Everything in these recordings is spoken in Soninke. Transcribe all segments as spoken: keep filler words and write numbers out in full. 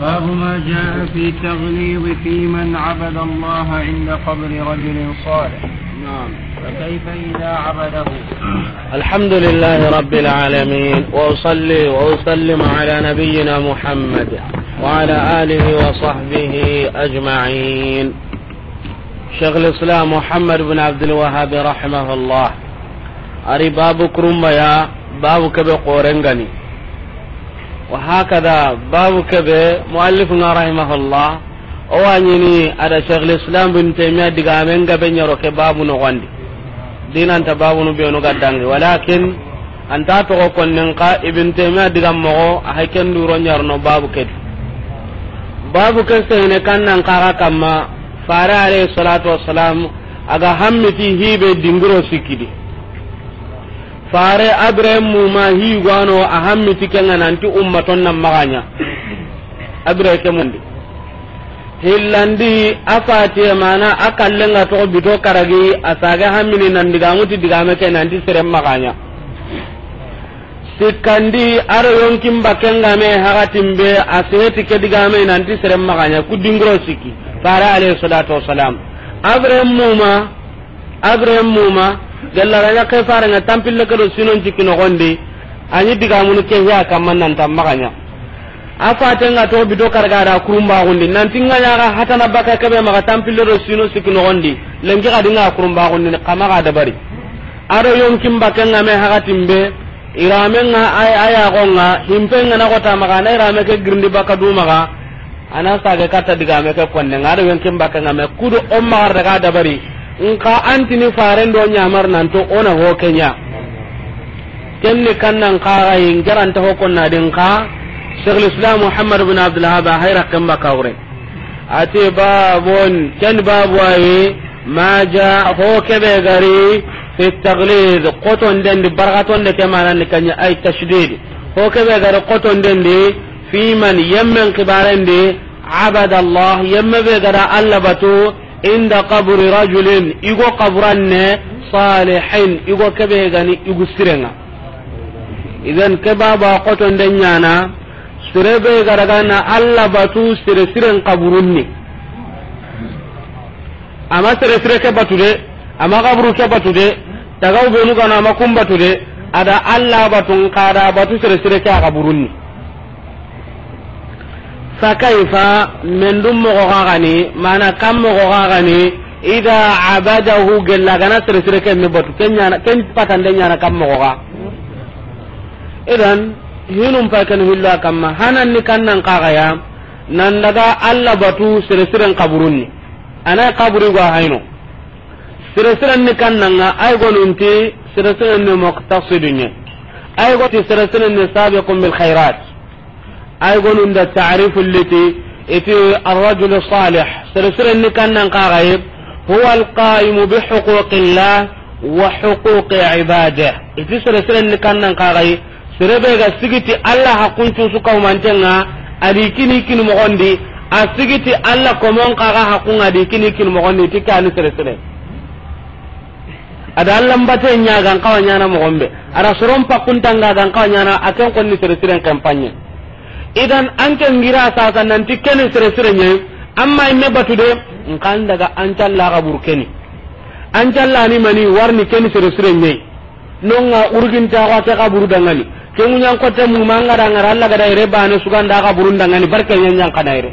باب ما جاء في التغليظ في من عبد الله عند قبر رجل صالح. نعم. فكيف إذا عبده؟ الحمد لله رب العالمين، وأصلي وأسلم على نبينا محمد وعلى آله وصحبه أجمعين. Cheikhul Islam Muhammad bin Abdul Wahhab rahimahullah, a ri babu kurumba ya, babu kebe korengani. Wa hakada, babu kebe muallif nga rahimahullah, o wa ɲini a da Cheikhul Islam bin Taymiya digamen gabe ɲaro ke babu noxondi. Dinanta babunu benu ga dangi, walakin anta toxo konnen xa Ibn Taymiya digan moxo, a hay ken duro ɲarno babu ke di. Babu ke sehene kannan kaxa kamma, Fare alayhi salatu wassalam, a ga hammiti hibe dingiro sikki di. Fare abire muma higwano a hammiti kenga nanti ummaton nan maxa ɲa. Abire ke mundi. Hillandi a fatiye mana a kallenga toxo bito karagi a sage hammini nan digamuti digame ke nanti seren maxa ɲa. Sikkandi, a ro yonkin bakken game hakatin be, a seheti ke digame nanti seren maxa ɲa, ku dingiro sikki. Fare alayhi salatu wassalam. Abire muma, abire muma, gella ga ɲa ke fare nga tampille ke do sinon cikki noxondi, a ɲi digamunu ke hiya kamma nan tan maxa ɲa. A fatenga to bito karga da kurumbaxundi, nanti nga ɲaga hatana baka kebe maxa tampille do sino sikki noxondi, lenki xadi nga kurumbaxundi, xa maxa dabari. A ro yonkin bakken game hakatin be, irame nga ay, aya xo nga, himpe nga na xota maxa, na irame ke girindi baka du maxa, a na sage katta digame ke konne nga, a ro yonkin bakken game, kudo o maxa daga dabari, nka antini faren do ɲamar nanto o na ho ke ɲa. Kenni kannan kaxayi, nkeranta ho konna din xa, Cheikhul Islam Muhammad bin Abdul Wahhab a hayra kemba kawre. Ati babun, ken babu ayi, ma ja, ho kebe gari, fi taglid, koton dendi, barkaton de ke manan ni kanya ay tashdid. Ho kebe gari koton dendi, fi man yemmen kibaren di, abada Allah, yemme be gara Allah batu, inda qabri rajulin, igo qaburanne, salihin, igo kebe gani, igu sirenga. Idan ke baba koton de ɲana, sere be gara gana Allah batu, sere siren qaburunni. Ama sere sire ke batu de, ama qaburu ke batu de, tagaw benu gana ama kum batu de, ada Allah batu, nka da batu sere sire ke a qaburunni. Fa kaifa, mendum mogo gagani, mana kam mogo gagani, ida abadahu, gella gana sere sire ke ni batu, ken ɲana, ken patande ɲana kam mogo ga. Idan, hinum pa ken hillo kamma, hanan ni kannan kaga ya, nan daga Allah batu sere siren qaburunni. Ana qaburi go hayno. Sere siren ni kannanga, ay gonunti, sere siren ni muqtasidun ye. Ay gonti sere siren ni sabiqun bil khairat. Ay gonunda ta'rifu liti, iti ar-rajul salih. Sere siren ni kannan kagaye, huwa al-qaimu bi huquqillah wa huquqi ibadihi. Iti sere siren ni kannan kagaye, sere be ga sigiti Allah haqqun cusu kawmantenga, adi kini kini mogondi, a sigiti Allah komon kaga haqqunga di kini kini mogondi, ti kani sere sire. Ada Allah mbate ɲaga, nkawa ɲana mogombe. Ada soron pakkuntanga ga, nkawa ɲana, a ken konni sere siren kampanye. Idan, anke ngira sasa nanti keni sere sire ɲe, amma imme batu de, nkan daga ancalla kaburu keni. Ancalla ni mani warni keni sere sire ɲe. Nonga urginta wa ke kaburu dangani. Ke ŋuɲan kote mu manga dangara Allah gada ire bane suganda kaburun dangani barke ɲanɲan kana ire.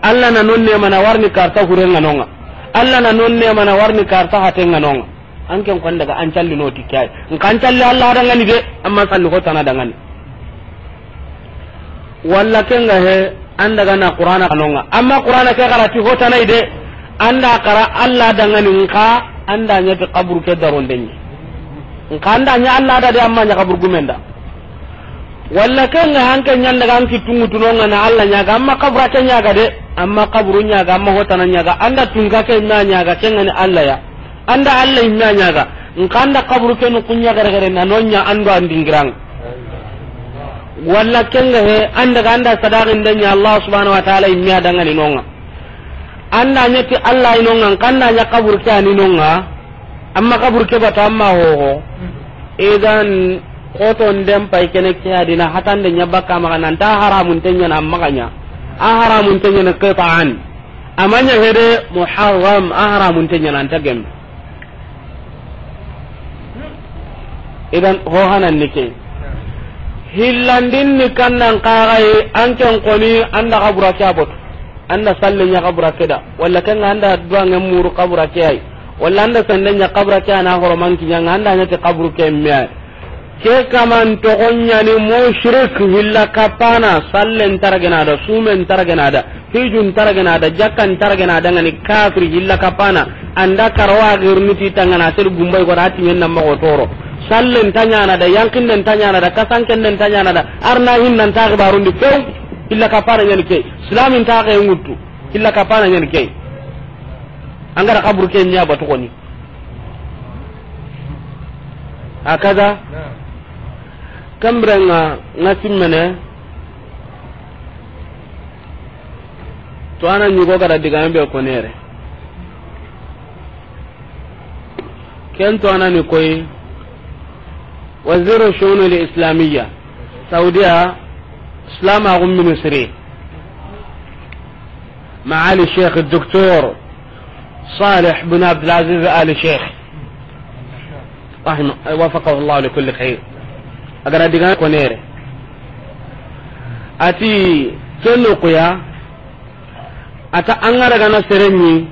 Allah na nonne mana warni karta hurenga nonga. Allah na nonne mana warni karta hatenga nonga. Anken kon daga ancalli no tikkay. Nkan calli Allah dangani de, amma salli hotana dangani. Walla kenga he, anda gana Qur'ana kanonga. Amma Qur'ana ke garati hotanai de, anda kara Allah dangani nka, anda ɲa ti kaburu ke darondenye. Nka anda ɲa Allah da de, amma ɲa kaburu gumenda. Walla kenga hanke ɲanda ga anki tungu tunonga na Allah ɲaga, amma kabura ke ɲaga de, amma kaburu ɲaga, amma hotana ɲaga, anda tunka ke ma ɲaga, kenga ni Allah ya. Anda Allah imme a ɲaga, nka anda kaburu ke nu kunya gare gare na nonya ando andingirang. Walla kenga he, anda ga anda sadaqin danya Allah subhanahu wa ta'ala imme a dangani nonga. Anda ɲeti Allah inonga, nka anda ɲa kaburu ke ani nonga. Amma kaburu ke bata amma hoho. Idan Xotonden pay kene ke adina hatande ɲa bakka maxa nan ta haramunte ɲana maxa ɲa. A haramunte ɲana qita'an. A ma ɲa hede muharram, a haramunte ɲana an ta gemme. Idan ho hanan ni ke. Hillandin ni kannan kaxaye an ken koni an da xabura ke a botu. An da salle ɲa xabura ke da. Walla ken ŋa an da duwangen muru xabura ke ay. Walla an da sende ɲa xabura ke a na horoman kiɲa ŋa an da ɲa ti xaburu ke me ay. Ke kaman toxon ɲani mushrik hilla kapana, sallen taragena da, sumen taragena da, hijun taragena da, jakkan taragena da ŋani kafiri hilla kapana, an da karawa girni ti tangana sel gumbay ko da timen na mago toro. Sallen ta ɲana da, yankinden ta ɲana da, kasankennen ta ɲana da, arna hinnan ta xibarundi few, hilla kapana ɲani ke, islamin ta xe ŋuttu, hilla kapana ɲani ke. An ga da xaburu ke ɲa batu koni. Hakaza. Kambirenga nga simmene. To ana ɲugo ga da digame be konere. Ken to ana ni koy. Waziru shunul islamiyya. Saudiya. Islam agum ministri. معالي الشيخ الدكتور صالح بن عبد العزيز آل الشيخ، رحمه، وفقه الله لكل خير. A ga da diga konere. A ti, ken noxu ya, a ta an ga daga na sere ɲi,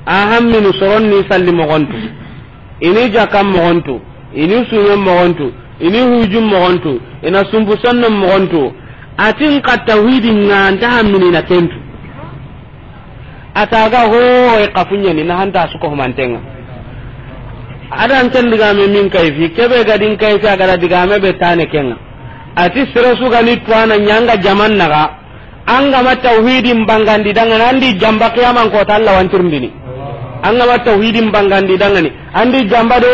a hammini soron ni salli moxontu. I ni jakkan moxontu, i ni sumen moxontu, i ni hujun moxontu, i na sumbu sonnon moxontu. A ti n xa tawhidi ŋa an ta hammini na kentu. A ta ga ho, i xa fuɲeni na hanta su ko humantenga. A da n ken digame min kayfi, kebe ga din kayfi a ga da digame be tane kenga. A ti sere su ga ni tuwana ɲanga jaman naga. An ga ma tawhidin bangandi dangani, an di jamba qiyaman kota Allah wa an tirindini. An ga ma tawhidin bangandi dangani, an di jamba de.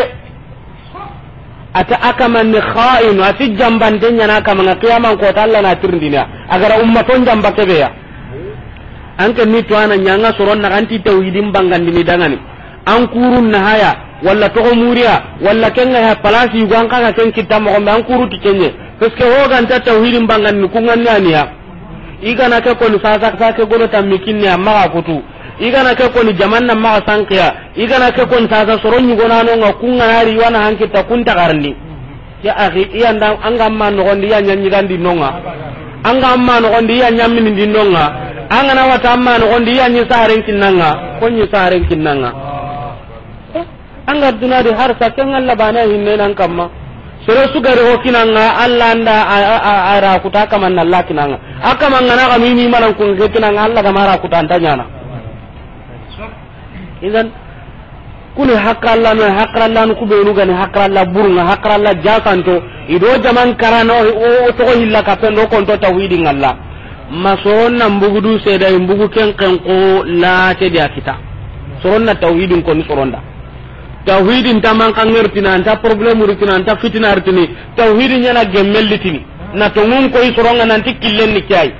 A ta a kaman ni kha'inu, a ti jambante ɲana a kaman ŋa qiyaman kota Allah na tirindini. A ga da ummaton jamba kebe ya. An ken ni tuwana ɲanga soron na an ti tawhidin bangandini dangani. An kurun na haya, walla toxo muriya, walla ken ga ya palasi yugo an xa ga ken kitta moxo be an kuru ti kenye. Parce que ho ga nta tawhidin bangandini ku ŋa ni a ni ya. I ga na ke koni sasa, sa ke golo tammi kinne a maxa kutu. I ga na ke koni jamanna maxa sankiya. I ga na ke koni sasa soro ɲugonano ŋa ku ŋa na ri wana hankitta kun ta garni. Ya akhi, i ya nda an ga ma noxondi i ya ɲa ɲigandi no ŋa. An ga ma noxondi i ya ɲa minindi no ŋa. An ga na wata an ma noxondi i ya ɲi saren kinna ŋa. Ko ɲi saren kinna ŋa. An ga duna di har sa ken Allah bana hinne nan kamma. Sere su gari ho kinanga Allah nda a, a, a, a ra kuta kaman Allah kinanga. A kaman ngana ga mini manan kun ke kinanga Allah ga mara kuta anta ɲana. Idan kuni hakralla no, hakralla no kubenu gani hakralla burunga, hakralla jasanto. I do jaman karano o, o toxo hilla ka pendo konto tawhidi ngalla. Ma soronna mbugudu seda mbugu ken ken ko la te dia kita. Soronna tawhidin koni soronda. Tawhidin ta man kangertina, anta problème ritina, anta fitina ritini. Tawhidin ɲana gemmellitini. Na tongun koy soronga nanti killen ni kiyai.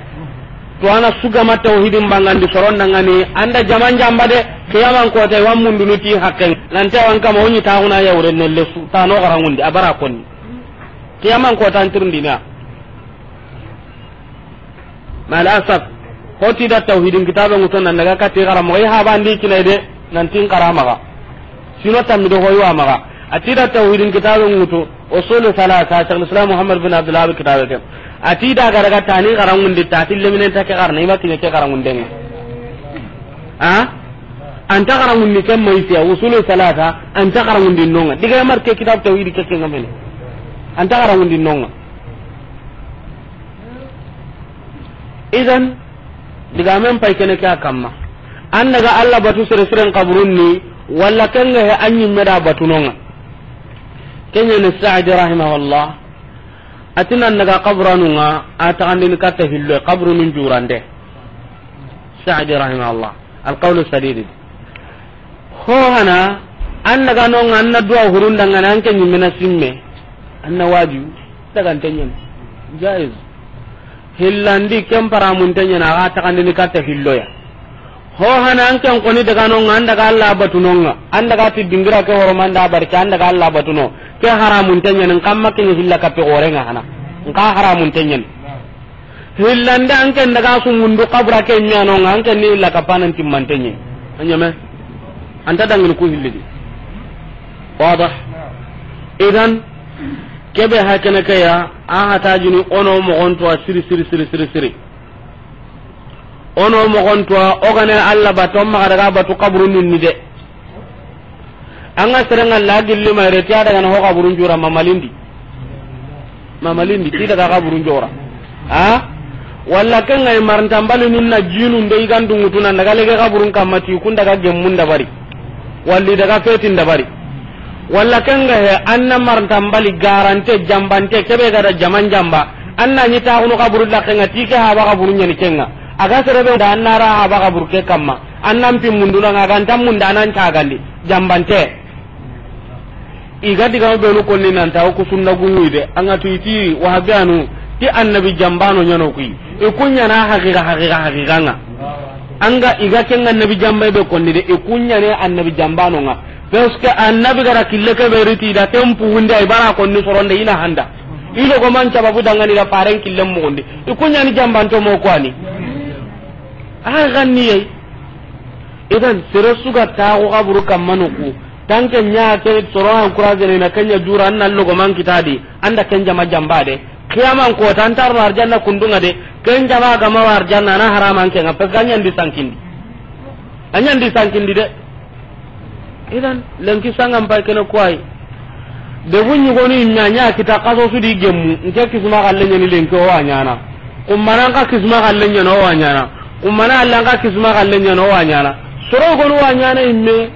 To ana sugama tawhidin bangandi soronda ngani, anda jaman jamba de, qiyaman kota wa mundunu ti hakken. Nanti wan kama woni taxuna yawre nelle su, tano garangundi, abara konni. Qiyaman kota antirindina. Mal asaf, hoti da tawhidin kitabe nguto nan daga kati gara mo ha bandi kinai de nan tin karamaga. Sino tammi do hoywa maga. Ati da tawhidin kitabe nguto usul salasa Sheikh Islam Muhammad bin Abdul Wahhab kitabe ke. Ati da gara ga tani garangundi tati leminen ta ke garna ima kine ke garangunden. Ha? Anta garangundi ke mai siya usul salasa anta garangundi nonga. Diga mar ke kitab tawhid ke ke ngamene. Anta garangundi nonga. Idan, digamen pay kene ke a kamma. An daga Allah batu sere siren kaburun ni, walla ken ga he an ɲimme da batu nonga. Kenya ni Sa'di rahimahullah, atinan daga kaburanunga, a taxandini katta hillo, kaburunun jurande. Sa'di rahimahullah, al qawlu sadidi. Ho hana, an daga nonga, an na duwa hurun dangana, an ke ɲimme na simme. An na waju, daga an tenyen. Jaiz. Hillandi ken paramun tenyen, a ga taxandini katta hilloya. Ho hana an ken koni daga no nga, an daga Allah batu no nga, an daga ti dingira ke horomanda barke, an daga Allah batu no. Ke haramun tenyen, n kamma ken hilla kape gore nga hana. Nka haramun tenyen. Hillande an ken daga su mundu kabura ke nya no nga, an ken ni hilla kapanan timmantenye. Anyame. Anta dangin ku hillidi. Wadah. Idan, kebe hakene ke ya, a hata jini ono mogonto siri, siri, siri, siri, siri. Ono mogonto o gane Allah batu, maxa daga batu kaburun ni de. An ga serenga la gilli ma ire, ti a daga na ho kaburun jura mamalindi. Mamalindi, ti daga kaburun jura. Ha? Walla ken ga marantambali nun na jinun de i ga ndungutu nan daga lege kaburun kamma ti kun daga gemmun dabari. Walli daga fetin dabari. Walla ken ga he, an na marantambali garante, jambante, kebe ga da jaman jamba. An na ni taxunu kaburu laxe nga ti ke haba kaburu nyani kenga. A ga serebe da an na ra haba kaburu ke kamma. An nan pi munduna nga ga nta munda nan tagandi. Jambante. I ga diga benu konni nan ta ku sunna gumu de. An ga tu iti wahabiyanu. Ti annabi jambano nyano kui. I kunya na haqiqa, haqiqa, haqiqa nga. An ga i ga ken annabi jamba be konni de. I kunya ne annabi jambano nga. Parce que annabi gara kille ke be riti da tempu hunde ay bara konni soronde ina handa. Ilo go man sababu dangani da faren kille mo gonde. I kunya ni jambanto mo kwani. A ganni yai. Idan, sere su ga taxu kaburu kamma no ku. Tanke nya ke soro encourage ne na kenya jura an na logo man kitadi. An da ken jama jamba de. Kiyaman ko tan tar arjanna kundunga de. Ken jama ga ma arjanna na haraman ke nga. Parce que a nyandi sankindi. A nyandi sankindi de. Idan, lenki sangam pay kene kuwai. Debu ɲugonu imme a ɲa kita kaso su di gemmu, nke kisma xalle ɲani lenki o wa ɲana. Kummana nka kisma xalle ɲana o wa ɲana. Kummana alla nka kisma xalle ɲana o wa ɲana. Soro gonu wa ɲana imme.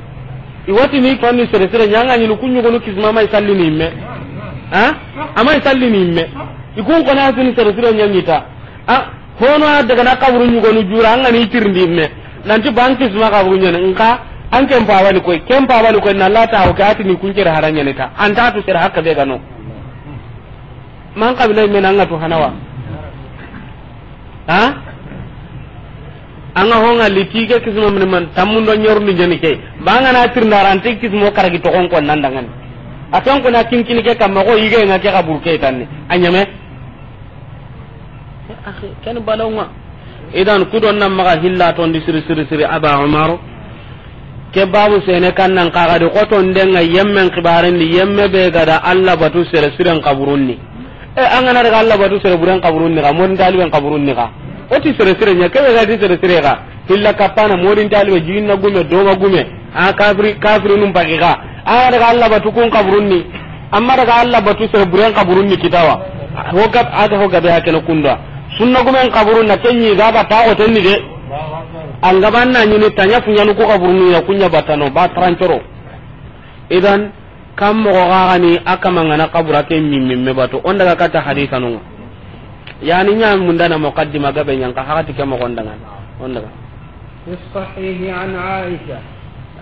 I wati ni konni sere sere ɲanga ɲini ku ɲugonu kisma may salli ni imme. Ha? Amay salli ni imme. I kun kona sini sere sere ɲangita. A, hono a daga na kaburu ɲugonu jura, an ga ni tirindi me. Nanti ban kisma kaburu ɲene, nka, an ken pabani koy, ken pabani koy, na lata o ke atini kuncere hara ɲene ta. An ta tu sere hakka be gano. Man kabila me na an ga tu hanawa. Ha? An ga honga liti ke kisma min man, tammundo ɲorundi ɲene ke. Banga na tirinda ranti kismo karagi to kon kon nan dangan. A ton ko na kinkini ke kamma ko yige nga ke kaburu ke tanni. A ɲame. Akhi, ken balonga. Idan kudon nan maga hilla tondi siri siri siri Aba Umar. Ke babu sene kan nan kaga de koton denga yemmen kibaren di yemme be gada Allah batu sere siren kaburunni. E, an ga na daga Allah batu sere buren kaburunni ga, mon daliben kaburunni ga. O ti sere sire ɲa, ke be ga ti sere sire ga. Hilla kapana, modin talibe, jinna gume, doma gume. A kafiri, kafiri num pagi ga. A daga Allah batu kun kaburunni. Amma daga Allah batu sere buren kaburunni kitawa. Ho gab, aga ho gabe hakene kunda. Sunna gumen kaburun na kenyi ga ba ta o tenni de. An gaban na nyini tanya funyanu ko kaburunni ya kunya batano, ba trancoro. Idan, Kam moxo xaxani a kamangana kabura ke mimmimme batu. On daga kata hadisa nunga. Yani ɲa mundana muqaddima gabe ɲanka hakati ke moxon dangan. On daga. في الصحيح عن عائشة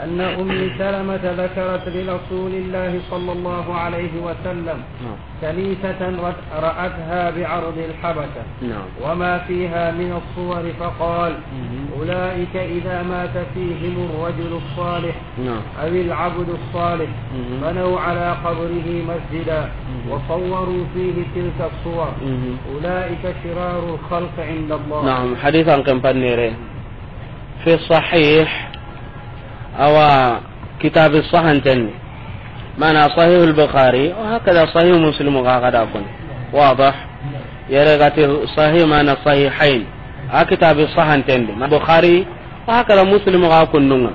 أن أم سلمة ذكرت لرسول الله صلى الله عليه وسلم نعم. كنيسة رأتها بعرض الحبشة نعم. وما فيها من الصور فقال: مهم. أولئك إذا مات فيهم الرجل الصالح نعم. أو العبد الصالح مهم. بنوا على قبره مسجدا مهم. وصوروا فيه تلك الصور مهم. أولئك شرار الخلق عند الله. نعم، حديث عن كم بنيري في الصحيح أو كتاب الصحن تني. معنى صحيح البخاري وهكذا صحيح مسلم وهكذا كن. واضح؟ يرغتي صحيح معنى صحيحين. ها كتاب الصحن تني. ما بخاري وهكذا مسلم وهكذا كن.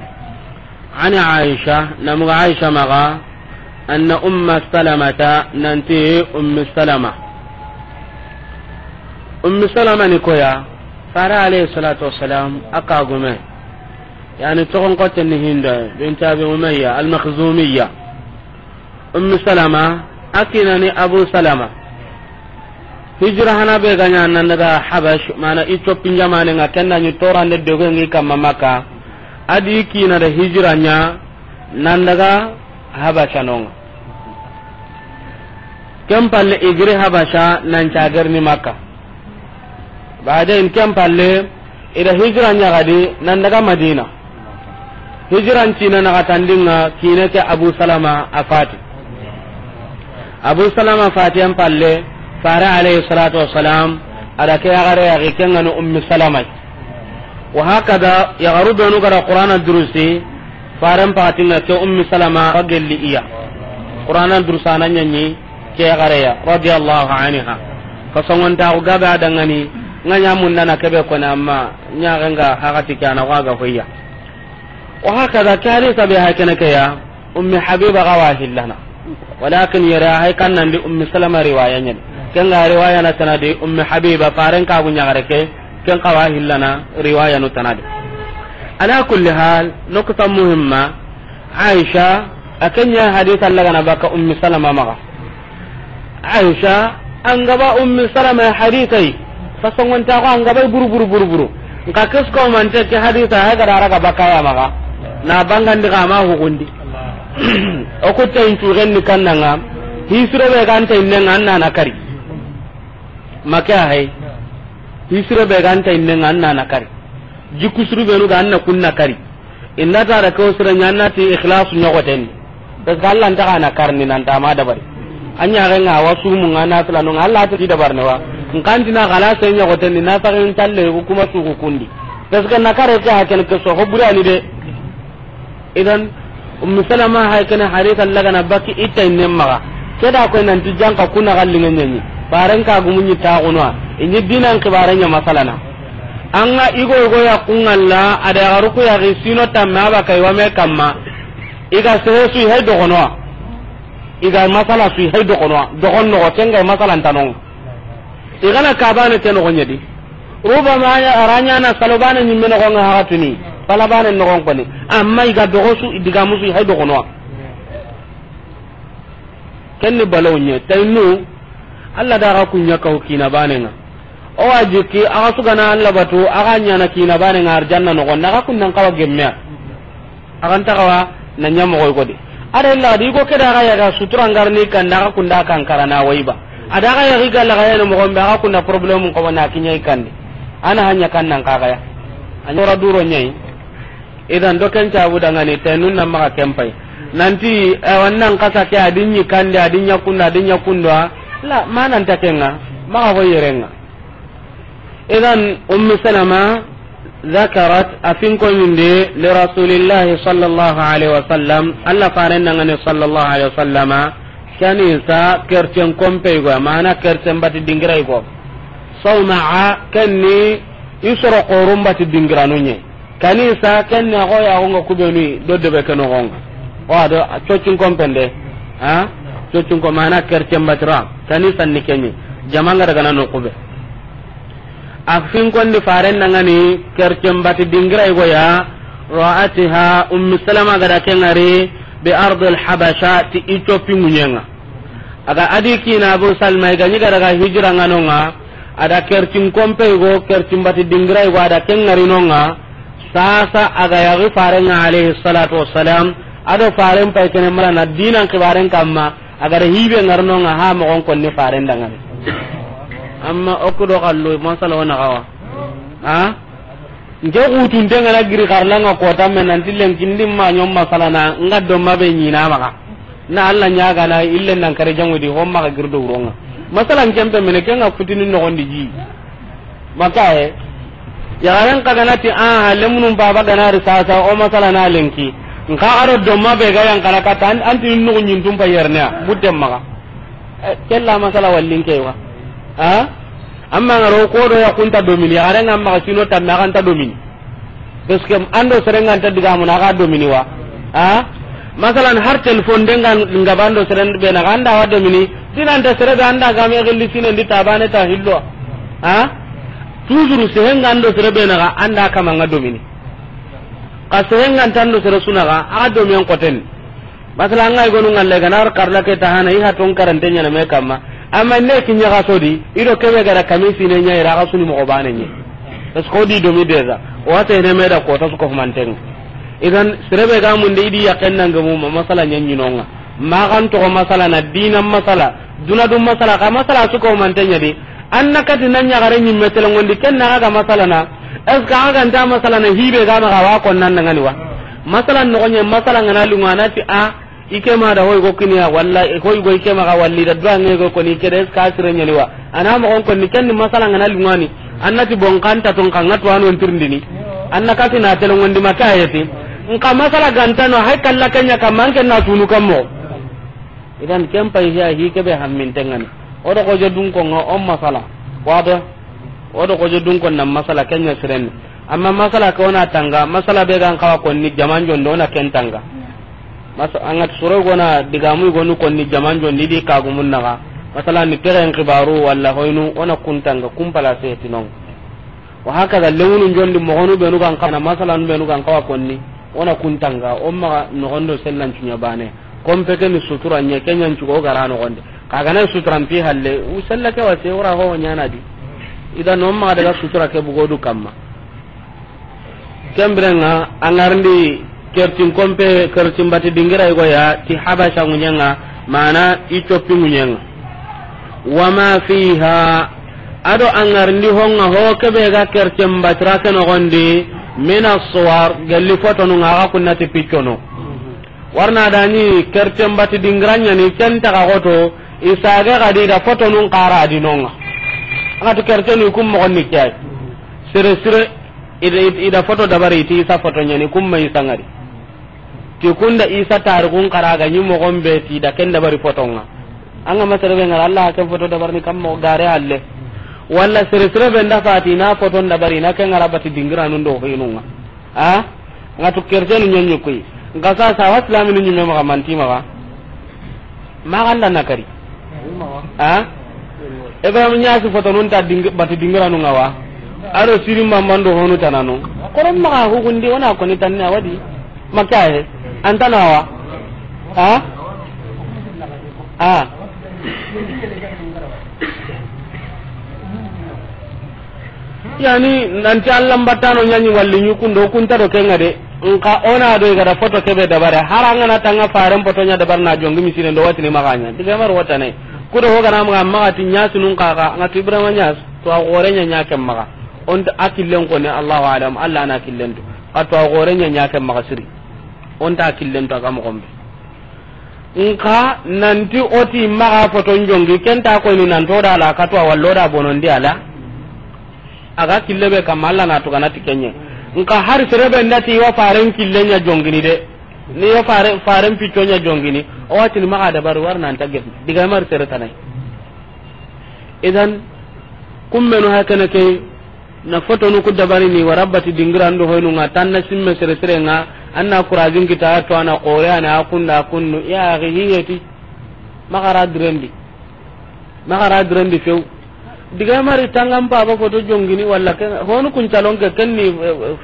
عن عائشة، نمغ عائشة مغا، أن أم سلمة، ننتي أم سلمة. أم سلمة نكويا، فارا عليه الصلاة والسلام، أكاغمي. Yani toxon xotten ni Hinda bint Abi Umayya al-Makhzumiyya. Ummi Salama, a kinani Abu Salama. Hijira hana be ga ɲa nan daga Habash, mana Ethiopie jamane nga, kenda ni torande doge ngi kamma Makka. A di kina da hijira ɲa nan daga Habasha nonga. Ken palle i giri Habasha nan cagar ni Makka. Baden ken palle I da hijira ɲaxadi nan daga Madina. Hijiran cina naxatandinga kine ke Abu Salama a fati. Abu Salama fatiyen palle, Fare alayhi salatu wassalam, a da ke yaxare yaxi, ke ŋa ni Ummi Salama. Wa hakada, yaxaru benu ga da Qur'ana durusi, Faren paxatinga ke Ummi Salama wa gelli iya. Qur'ana durusana ɲaɲi ke yaxareya, radiyallahu anha. Fasongontaxu gabe a dangani, ŋa ɲa mundana kebe kone, amma ɲaxenga haxati ke ana xo a ga hoyya. Wa hakada, ke hadisa be hay kene ke ya, Ummi Habiba ga wa hillana. Walakin yere hay kan nan di Ummi Salama riwaya ɲani. Ken ga riwaya na tanadi Ummi Habiba, Faren kagu ɲaxare ke, ken xa wa hillana riwaya nu tanadi. Ala kulli hal, nukta muhimma, Aisha, a ke ɲa hadisa lagana baka Ummi Salama maxa. Aisha, an ga ba Ummi Salama hadisai, fasongontaxu an ga ba buru, buru, buru, buru. Nka kesko mante ke hadisa, hay ga da raga bakaya maxa. Na bangandi ga ma hugundi. O kutta intu genni kannanga, hisiro be ganta innenga an na na kari. Make a hay. Hisiro be ganta innenga an na na kari. Jikku suru benu ga an na kunna kari. Inda ta da ko sira ɲanna ti ikhlas ɲogoten. Parce que Allah nta kana karni nan ta ma dabari. Anya ga nga wasu mun ga na sala no Allah ta ki dabar ne wa. Nkanti na kala sai ɲogoten ni na sa ga talle ko kuma su ku kundi. Parce que na kare ke haken ke so ho burani de. Idan Ummu Salama hay kana harita lagana baki ita inne maga. Ke da ko nan ti janka kuna gallinga ɲani. Faran ka gumunyi ta gunwa. Inyi dinan kibare ɲa masalana. An ga igo igo ya kungalla, a da yaxaru ku yaxi sino tamme a ba kay wame kamma. I ga sehe su i hay dogonoa. I ga masala su i hay dogonoa. Dogon noxo, ken ga masala ntanon. I gana kabane ke noxo ɲedi. Rubama ya aranya na salobane ɲimme noxo nga haxatuni. Palabane noxon koni. Amma i ga dogo su, i digamu su i hay dogonoa. Ken ni balaw ɲe. Taynu, Allah da ga kunya kaw kina banenga. O wa jikki, a ga sugana Allah batu, a ga ɲana kina banenga arjanna noxon, a ga kunnan kawa gemmeya. A ga nta kawa na ɲa moxo godi. A da illa di ko ke da ga ya ga sutura ngarni kan da ga kunda kan karana waiba. A da ga ya ga la ga ya no moxo be a ga kunda problème ko na kinya kandi. Ana hanya kan nan kaga ya. An yora duro ɲai. Idan do ken cabu dangani tenun na maxa ken pay. Nanti, eh, wannan kasa ke a di ɲi kande, a di ɲa kunda, a di ɲa kunda. La, manan ta kenga, maxa ho yerenga. Idan Ummu Salama ذكرت a finko ɲinde li Rasulillahi sallallahu alaihi wasallam, Allah faren dangani sallallahu alaihi wasallama, kanisa kercen kompe go, mana kercen bati dingira go. Sawma'a, kenni isoro qorum bati dingiranu ɲe. Kanisa, kenni a go ya go nga kubenu do debe ke noxonga. O a do cocin kompende. Ha? Cocin ko mana kercen batira. Kanisa ni kenni. Jamanga daga na no kube. A finkondi faren dangani kercen bati dingira i go ya. Ra'atiha Ummu Salama ga da kengari bi ardil Habasha ti Ethiopie ŋuɲenga. A ga a di kina Abu Salma i ga ɲi ga daga hijira nga nonga. A da kercin kompe i go, kercin bati dingira i go, a da kengari nonga. Sasa a ga yaxi farenga alayhi salatu wassalam. A do faren pay kene mala na dinan kibaren kamma. A ga da hibe ngar nonga ha moxon konni faren dangani. Amma o ku do xallu masala wona xawa. Ha? Nke xutunte ngana giri xarlanga kota me nanti lenkindi ma ɲom masalana nga do mabe ɲina maxa. Na Allah ɲagana ille nan kare jaŋudi ho maxa giri do wuronga. Masalan kempe mene kenga futini noxondi ji. Makaye. Yaxaren xa gana ti, aha, lemunun baba gana ri sasa, o masala na lenki. Nka a do do mabe ga yan kara kata, an, anti nuxu ɲintum pa yerne ya, butten maxa. Eh, kella masala wallin ke wa. Ha? Amma ngaro ko do ya kunta domini, yaxaren nga maxa sino tamme a ga nta domini. Parce que an do sere nga nta digamu na a ga domini wa. Ha? Masalan, har telephone de nga, nga ba an do sere be na a ga nda wa domini, dinanta sere be an da ga me gilli sine ndi tabane ta hillo. Ha? Toujours sehe nga an do sere be na a ga an da kama nga domini. Ka sehe nga nta an do sere su na a ga, a ga domi an koten. Masala, an ga i gonu ngalle ga na ar karla ke ta hana i ha ton karante ɲana me kamma. Amma ne kinya ga sodi, i do kebe ga da kami sine ɲa i ra ga suni moxo bane ɲe. Parce que o di domi déjà. O wa te ne me da kota su ko manten. Idan sere be ga munde i di yaken nan ga mu ma masala ɲa ɲinonga. Ma kan to masala na dinan masala, duna dun masala, ka masala su ko manten ɲa di. An na kati na ɲaxare ɲimme telengondi ken na ga masala na. Est-ce que a ga nta masala na hibe ga ma ga wa ko nan ngani wa? Masala no gonye masala ngana lunga na ti a, i ke ma da hoy go kiniya, walla hoy go i ke ma ga walli da duwa nge go ko ni ke de, est-ce que a sire nyani wa? Ana mo gon ko ni ken ni masala ngana lunga ni. Anna ti bon kan ta ton kan ngatu anu tirndini. Anna kati na telo ngondi makayeti. Nka masala ga nta no hay kalla kenya ka manke na tunu kammo. Idan ken pay hiya hi ke be hammin tengani. O do ko jodun ko nga on masala. Wado. O do ko jodun ko nan masala kenya siren. Amma masala ko na tanga, masala be gan kawa ko ni jaman jondo na ken tanga. Masa, angat suro gona digamu gonu ko ni jaman jondi di kagumun naga. Masala ni teren kibaru walla hoynu ona kuntanga kumpala se tinon. Wa hakaza lewunu jondi mogonu benu gan kana masala nu benu gan kawa konni. Ona kuntanga o maga nogondo sellan cunya bane. Kompe ke ni sutura nye kenyan cugo gara nogonde. Kaga na sutura mpi halle u sella ke wase ora ho nyana di. Ida no maga daga sutura ke bugodu kamma. Kembirenga angarndi kertin kompe kertin bati dingira igo ya ti habasha ŋuɲenga, mana i coppi ŋuɲenga. Wama fiha, ado angarndi honga ho kebe ga kertin batira ke nogondi, mina suwar, gelli fotonu nga aga kunnati piccono. Warna dani kerten bati dingiranya ni ken taga goto, isage gadi da fotonun qara dinonga. Angatu kertenu kum mo ni kiyai. Sire sire ida, ida, ida foto dabari ti isa foto nyani kum ma isa ngari. Ti kunda isa tarikun qara ga ni mo gombe ti da ken dabari fotonga. Anga masere be ngara Allah ken foto dabar ni kam mo gare halle. Walla sire sire be nda fati na foton dabari na ken ngara bati dingiranun do hinunga. A ngatu kertenu ɲaɲi koy. Nka sa sa wa islaminu ɲime maxa manti maxa. Maxa nda nakari. A Ibrahim ɲasi fotonun ta ding, bati dingiranu nga wa. Ado siri mamando honu tananu. Koron maxa hugundi ona koni tanne awadi. Makahe antana wa. A a Yani nanti Allah mbattano ɲaɲi walli ɲukundo kunta do kenga de. Nka ona do igada foto kebe dabare haranga na tanga faren foto ɲa dabar na jongi misine ndo watini maganya diga mar watane. Kudo ho gana maga maga ti ɲasu nun kaga ngatu Ibrahima ɲas to a gore ɲa ɲa kem maga. Onta akillen ko ne Allahu alam Allah na killen to. Kato a gore ɲa ɲa kem maga siri. Onta akillen to aga mo gombe. Nka nanti oti maxa foton jongi kenta koyni nanto da la katwa wallo da bonondi ala. Aga kille be kam Allah na tugana ti kenye. Nka har serebe ndati wa faren kille ɲa jongini de. Ni wa faren, faren picco ɲa jongini. O watini maxa dabar war nan ta gef diga mar sere tanai. Idan kummenu hakana ke. Na fotonu ku dabarini wara bati dingirandu hoynu nga tanna simme sere sere nga. Anna kurajin kita to ana qore ana akunda akunnu ya akhi hiyeti. Magara direndi. Magara direndi few. Diga mari tangam paba foto jongini walla ken honu kun calon ke kenni.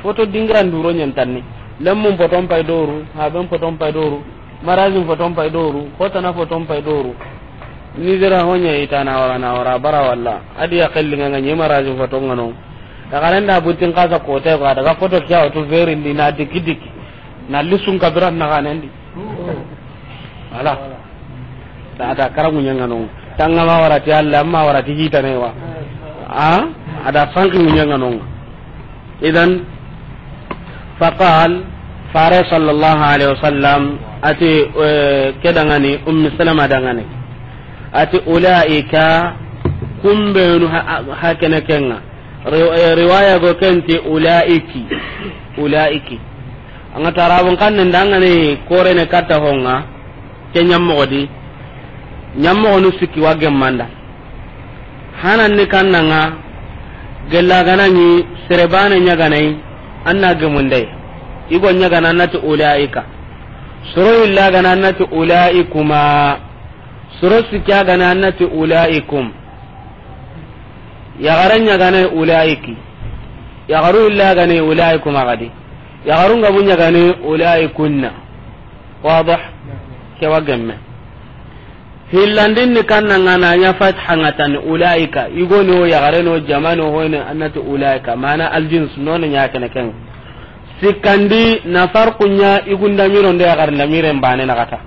Foto dingirandu ro nyen tanni. Lemmun foton pay doru haben foton pay doru. Marazin foton pay doru hotana foton pay doru. Nizera honya itana wara na wara bara walla. Adi ya kellinga nga nyema razin foton ngano. Tagarenda butin kasa kote ko daga foto kya to veri ndi na diki diki. Na lisun kabiran na ganendi. Wala. Ta ada karamu nyangano. Tangama wara ti Allah amma wara ti hitane wa. A ada sanki nyangano. Idan faqal fare sallallahu alaihi wasallam ati, eh, kedangani ummi salama dangani ati ulaika kumbenu ha, ha kene kenga. Ri-, eh, riwaya go kenti ulaiki. Ulaiki anga tarabun kanne ndangani korene katta honga. Ke ɲammoxo di ɲammoxonu sikki wa gemmanda. Hananni kannanga gella ganaɲi serebane ɲaganayi. Anna gemundey igo ɲagana annati ulaika. Soro illa gana annati ulaikuma. Soro sikki a gana annati ulaikum. Yaxare ɲaganayi ulaiki. Yaxaru illa ganayi ulaikuma gadi. Yaxarun gabu ɲagani ulaikunna. Wadih. Kewa gemme. Hillandin ni kanna nga na ɲa fatha nga tan ulaika igoni o yaxare no jamano hoyne annati ulaika mana aljins nono ɲa kene ken. Sikkandi na farqu ɲa igunda miro ndo yaxare nda miren bane na kata.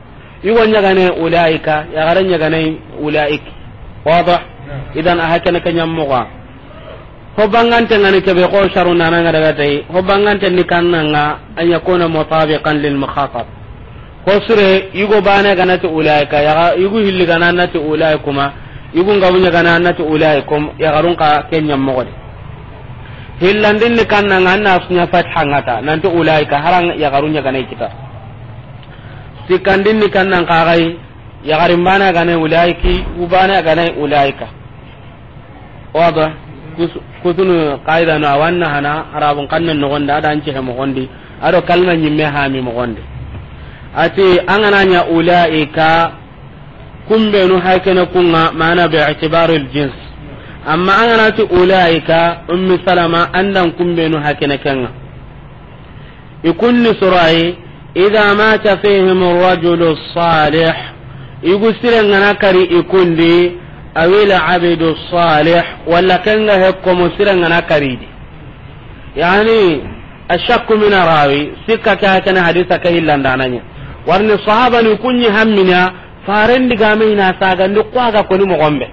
Igo ɲagane ulaika yaxare ɲagane ulaik. Wadih. Idan a hakene ke ɲammoxa. Ho bangante ngani kebe ko sharu nana nga daga tay. Ho bangante ni kanna nga an yakuna mutabiqan lil mukhatab. Ho sire yugo bane ganati ulaika, yaga yugo hilli ganati ulaikuma, yugo ngabunya ganati ulaikum, yagarun ka kenya mogodi. Hillandin ni kanna nga anna sunya fatha ngata, nanti ulaika harang yagarunya ganai kita. Sikandin ni kanna nga gai, yagarin bane ganai ulaiki, ubane ganai ulaika. Wada. Kus-, kutunu qaida no awanna hana arabun kanne nogondi, adan cehe mogondi, ado kalma nyimme hami mogondi. Ati an gana nya ulaika, kumbenu hakene kunga, mana bi i'tibaril jins. Amma an gana ti ulaika, Ummi Salama, andan kumbenu hakene kenga. I kunni sorayi, idha mata fihim ar-rajulu salih, yugu sire ngana kari i kundi, awil abdu salih, walla kenga hekko mo sire ngana kari di. Yani, ashakku min rawi, sikka ke hakene hadisa ke hillandananya. Warni sahabani kunyi hammina, Faren digame ina sagandi ko aga koni mogombe.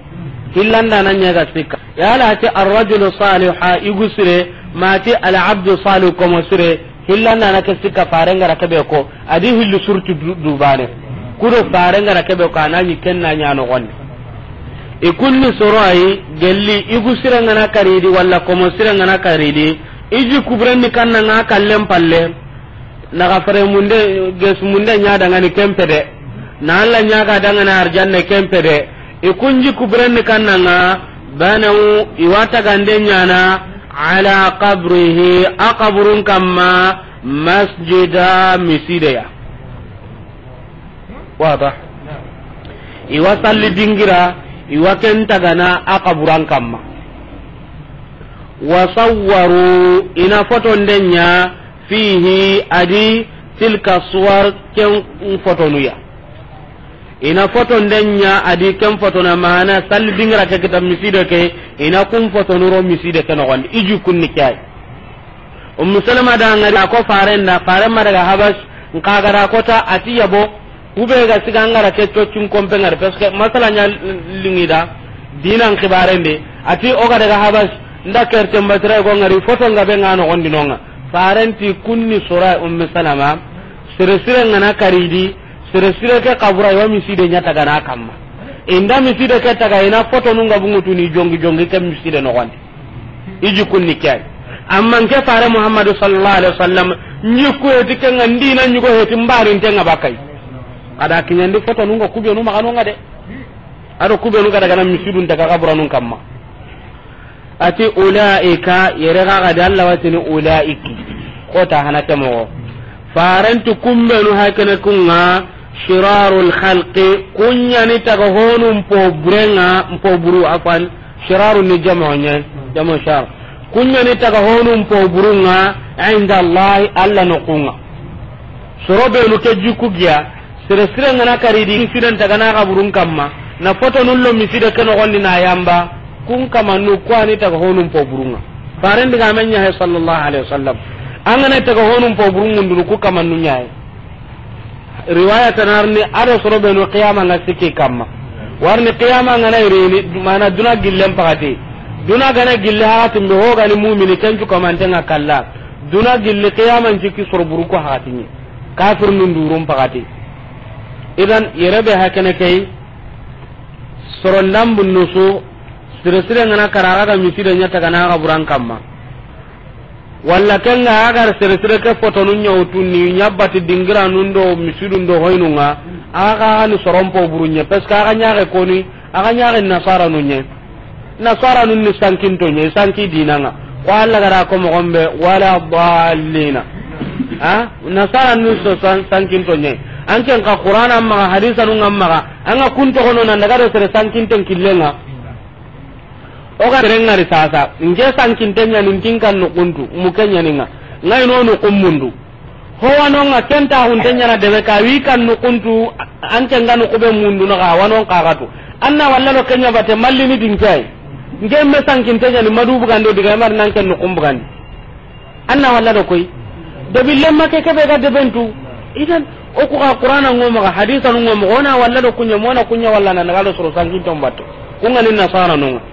Hillanda na nyaga sikka. Yala ti ar-rajulu saliha yugu sire, mati al-abdu salih komo sire, hillanda na ke sikka faren gara kebe ko, adi hillu surtu du-, dubane. Kudo faren gara kebe ko, anani kenna nya no gonde. I kunni soro ayi, gelli yugu sire ngana karidi, walla komo sire ngana karidi, iji kubrenni kanna nga kallen palle. Naga fare munde, ges munde nya dangani kempe de. Na Allah nya ga dangana arjanne kempe de. I kunji kubrenni kannanga, banaw iwata gande nyana, ala qabrihi, a qabrun kamma, masjida, misideya. Wada. Iwa salli dingira, iwa ken tagana a qaburan kamma. Wa sawwaru, ina foto ndenya, fihi, adi tilka suwar, ken fotonuya. Ina foto ndenya, adi ken fotona mana, salli dingira ke kita miside ke, ina kun fotonuro miside ke nogondi. Iju kunni kyai. Ummu Salama da ngari ko farenda, farema daga Habas, nka gara kota ati yabo, kube ga siga ngara ke cocin kompe ngari, parce que masala nya lingida, dinan xibarende, ati o ga daga Habas, nda kerte mbatira go ngari, foto nga be ngano gondi nonga. Farenti kunni sora Ummu Salama, sire sire ngana karidi, sire sire ke kabura yo miside nya tagana kamma. Inda miside ke taga ina foto nunga bungutu ni jongi jongi ke miside nogondi. Iji kunni kay. Amma nke fare Muhammadu sallallahu alaihi wasallam, nyi kuweti ke nga ndina nyugo heti mbari nte nga bakai. Ada kinyandi foto nunga kubenu maganonga de. Ado kubenu ga daga na misidun daga kaburanun kamma. Ati ulaika, yere ga ga da Allah watini ulaiki. Kota hana temo. Farantu kumbenu hakene kunga, shirarul khalqi, kunyani taga honu mpo burenga, mpo buru afan, shiraru ni jamo nye, jamo shar. Kunyani taga honu mpo burunga, inda Allah, Allah no kunga. Soro benu ke jiku giya, sere sire ngana karidi, siren taga na kaburun kamma, na foto nullo miside ke nogondi na yamba, kun kamannu kwani taga honu mpo burunga. Faren diga men nya he sallallahu alaihi wasallam. Angana taga honu mpo burunga ndunu ku kamannu nya he. Riwaya tanarni ado soro benu qiyama nga sikki kamma. Warni qiyama nga na irini, mana duna gillen pagati. Duna gana gille hakatin be hogani mumini kencu kamante nga kalla. Duna gilli qiyama njiki soro buru ko hakatinye. Kafir nun durum pagati. Idan yere be hakene kay, soro ndambu nusu, sire sire ngana karaga ga miside nya taga na kaburan kamma. Walla kenga agar sere sere ke fotonu nyawtu ni nyabati dingira nundo misidu ndo hoynunga, aga ni sorompo burunye, parce que aga nyage koni, aga nyage nasara nunye. Nasara nun ni sankinto nye, sanki dinanga. Ko Allah gara ko mo gombe, wala dallina. Ha? Nasara nun so san-, sankinto nye. Anken ka Qur'ana maga, hadisa nunga maga, anga kunto kono nan daga do sere sankinten killenga. O ga rengari sasa, nge sankinte ɲani ntin kan nukuntu, muke ɲaninga, ngai no nukumundu. Ho wanonga kenta hunte ɲana debe ka wi kan nukuntu, anke nga nukube mundu no ga wanon kagatu. Anna walla do kenya bate mallini dinkai. Nge me sankinte ɲani madu bugando diga mar nan ken nukum bugandi. Anna walla do koy. Debi lemma ke kebe ga debentu. Idan, o ku ga Qur'ana ngo maga, hadisa ngo maga, ona walla do kunya, mona kunya walla nan ga do soro sankin tombato. Kunga ni nasara nonga.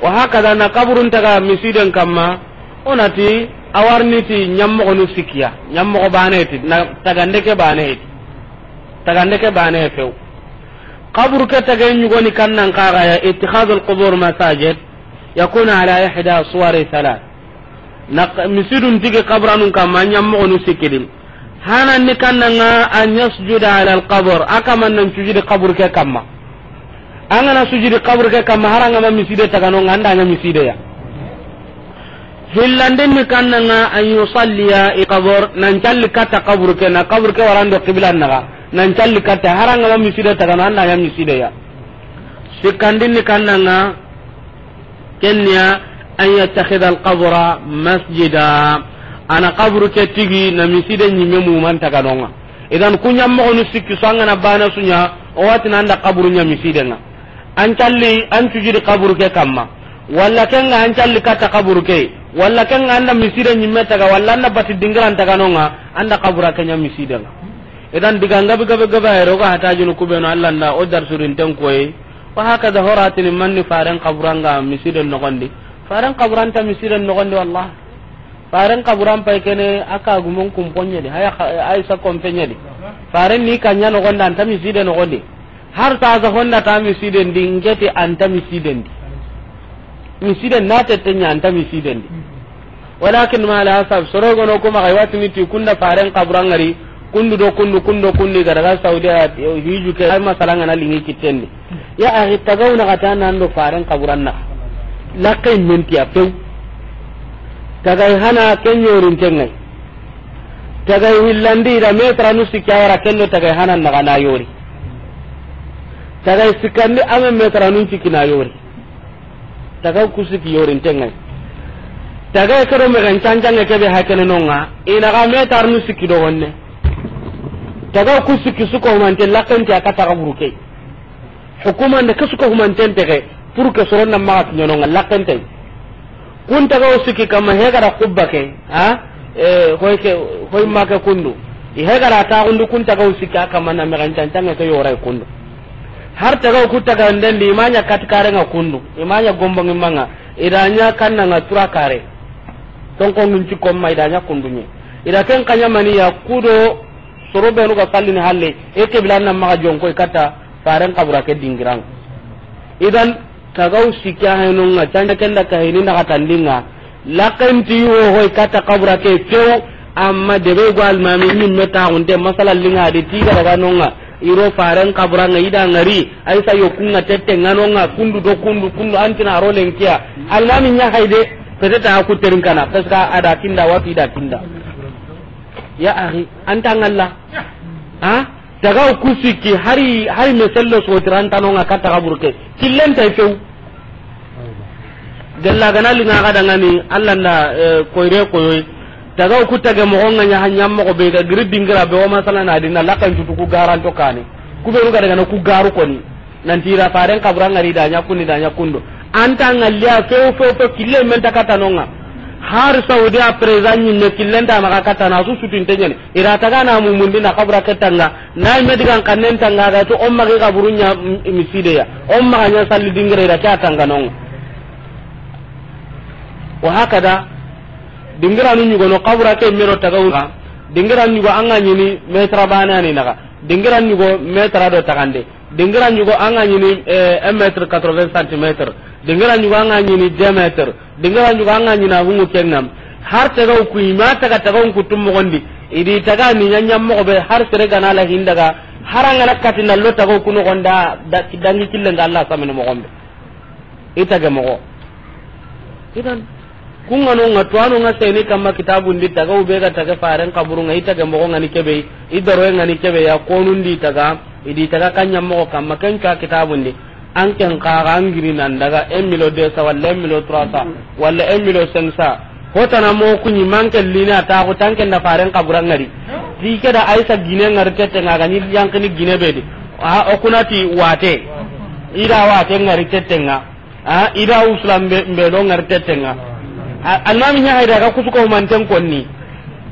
Wa hakaza na kaburun taga misiden kamma, o na ti a wa ri ni ti ɲammoxonu sikki ya, ɲammoxo baane ti, na tagande ke baane ti, tagande ke baane few. Kaburu ke tage ɲugoni kannan kaga ya, ittikhadul qubur masajid, yakuna ala ihda suwari thalath. Na k-, misidun tigi kaburanun kamma, ɲammoxonu sikki di. Hananni kannanga an yasjuda ala alqabr, a kaman nan sujudi kaburu ke kamma. An ga na sujudi kaburu ke kamma, hari an ga ma miside taganonga, an da ɲa miside ya. Hillandinni kannanga an yusalliya i qabr, nan calli katta kaburu ke, na kaburu ke warando qiblan naga, nan calli katta, hari an ga ma miside tagano, an da ɲa miside ya. Sikkandinni kannanga, Kenya an yattakhidha al-qabra masjida. Ana kaburu ke tigi na miside ɲimme muman taganonga. Idan ku ɲammoxonu sikki su an ga na bana su ɲa, o wa ti na an da kaburu ɲa misidenga. An calli, an sujudi kaburu ke kamma. Walla kenga an calli katta kaburu ke. Walla kenga an da miside ɲimme taga, walla an da bati dingiran taganonga, an da kabura ke ɲa misidenga. Idan diga ngabe gabe gabe ayro ga hatajunu kubenu Allah nda o dar surinten koyi. Wa hakaza horatini manni faren kaburanga misiden nogondi. Faren kaburanta misiden nogondi wallah. Faren kaburan pay kene aka gumon kumponye di. Haya Aisha kompenye di. Faren ni kanya nogondi anta miside nogondi. Har ta za honda ta misiden di ngeti anta misiden di. Misiden na tette ɲa anta misiden di. Walakin ma la asaf soro gono kuma ga watini ti kunda faren kaburangari kundu do kundu kundo kundi ga daga Saudi a hiju ke ay masalanga na lingi kitendi. Ya axi tagawna kata nan do faren kaburanna. Lakkay mentiya pew. Tagay hana kenyorin tengay. Tagay hillandi da metra nu sikki a wara kendo tagay hanan naga na yori. Tagay sikkandi ame metra nun cikki na yori. Tagaw ku sikki yorinten ŋa yi. Tagay ke do mexen cancange kebe hakene nonga. Ina ga metar nu sikki do honne. Tagaw ku sikki su ko humante lakkenti a katta kaburu ke. Hukumande ke su ko humanten tege pour que soronna maxa kiɲononga lakkentey. Kun tagaw sikki kamma hegara kubba ke, ha? Eh, hoy ke, hoy make kundu. I hegara taxundu kun tagaw sikki a kamma na mexen cancange ke yoray kundu. Har tagaw ku tagandendi, i ma ɲa katikare ŋa kundu, i ma ɲa gombongi maŋa, i da ɲa kanna ŋa tura kare. Tonko ŋun ci komma, i da ɲa kundu ɲe. I da ken kaɲa mani ya kudo, soro benu ga sallini halle, e kebila na maxa jonko i katta, faren kabura ke dingiran. Idan, tagaw sikki a hayno ŋa, canja kenda ka hini na katandinga, Lakkenti wo hoy katta kabura ke few, amma debe go almami ɲimme taxunte masala linga di tiga daga nonga, iro faren kabura ŋa i da ŋari, aysa yokunga tette ŋa nonga, kundu do kundu, kundu antina aro lenkiya. Almami ɲa hayde, peut-être a ku terin kana, parce que a da kinda, wati da kinda. Ya axi, anta ŋalla. Ha? Tagaw ku sikki, hari, hari mesello sotirantano ŋa katta kaburu ke. Killentay few. Gella gana linga ga dangani, Allah nda, eh, koyre koyoy. Tagaw ku tage moxo ŋa ɲa, ha ɲa moxo be ga giri dingira be o masala na dinna lakan cutu ku garanto kane. Ku be ru ga dangana ku garu koni. Nanti ira faren kabura ŋari da ɲa kunni da ɲa kundo. Anta ŋalliya few few few kille men ta katta nonga. Har Saudi a président ɲimme killenta maxa katta na su sutinte ɲani. Ira taga na mumundi na kabura ke tanga. Na me digan kannen tanga ga to on magi kaburu ɲa m-, miside ya. On maxa ɲa salli dingire ira ke a tanga nonga. Wa hakada dingiranu ɲugono kabura ke mero tagawunga. Dingiranu ɲugo anga ɲini metra bane ani naga. Dingiranu ɲugo metra do tagande. Dingira ɲugo anga ɲini, eh, un mètre quatre-vingts centimètres. Dingira ɲugo anga ɲini deux mètres. Dingira ɲugo anga ɲini a hungu kengam. Har tagaw ku ima taga tagaw ku tum moxondi. Idi taga ni ɲaɲam moxo be har sere gana la hindaga. Har anga na kati na lo tagaw ku noxonda da, dangi killen ga Allah samene moxombe. I tage moxo. Idan, kunga no nga tuwano nga seni kamma kitabun di taga ube ga taga faren kaburu nga i tage moxo nga ni kebe, i daro nga ni kebe ya konun di taga, i di taga kanya moxo kamma ken ka kitabun di. An ken kaga an giri nan daga un million deux cents wala un million trois cents wala un million cinq cents. Hotana mo kuɲi manke lina ta ko tanke nda faren kabura ngari. Ti ke da Aisa gine ngari tete nga ga ni yankini gine be di. A o kunati wate. Ida wate ngari tete nga. A ida uslam be, be do ngari tete nga. A, almami ɲa hayda ga kusuko manten konni.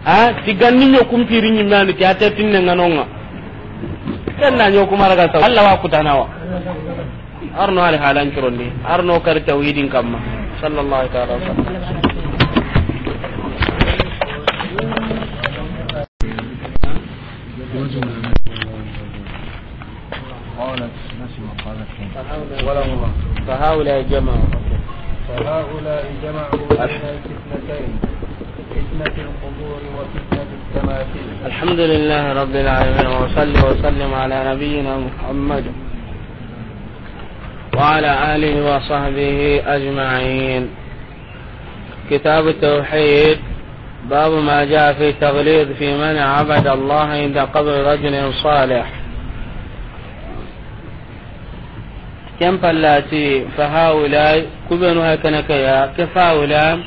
A ti ganni ɲo kumpiri ɲi mani ti ate tinne nga nonga. Ken na ɲo kumara ga sa. Allah wa kutanawa. Arno ali halan curondi, arno kari tawhidin kamma. Sallallahu ta'ala wa sallam. قالت، نسمع، قالت. ولهما. فهؤلاء جمعوا. فهؤلاء جمعوا بين الفتنتين، فتنة القبور وفتنة التماثيل. الحمد لله رب العالمين، وصلي وسلم على نبينا محمد وعلى آله وصحبه أجمعين. كتاب التوحيد، باب ما جاء في التغليظ في من عبد الله عند قبر رجل صالح. Ken pallati, فهؤلاء، ku benu hakana ke ya, ke فهؤلاء.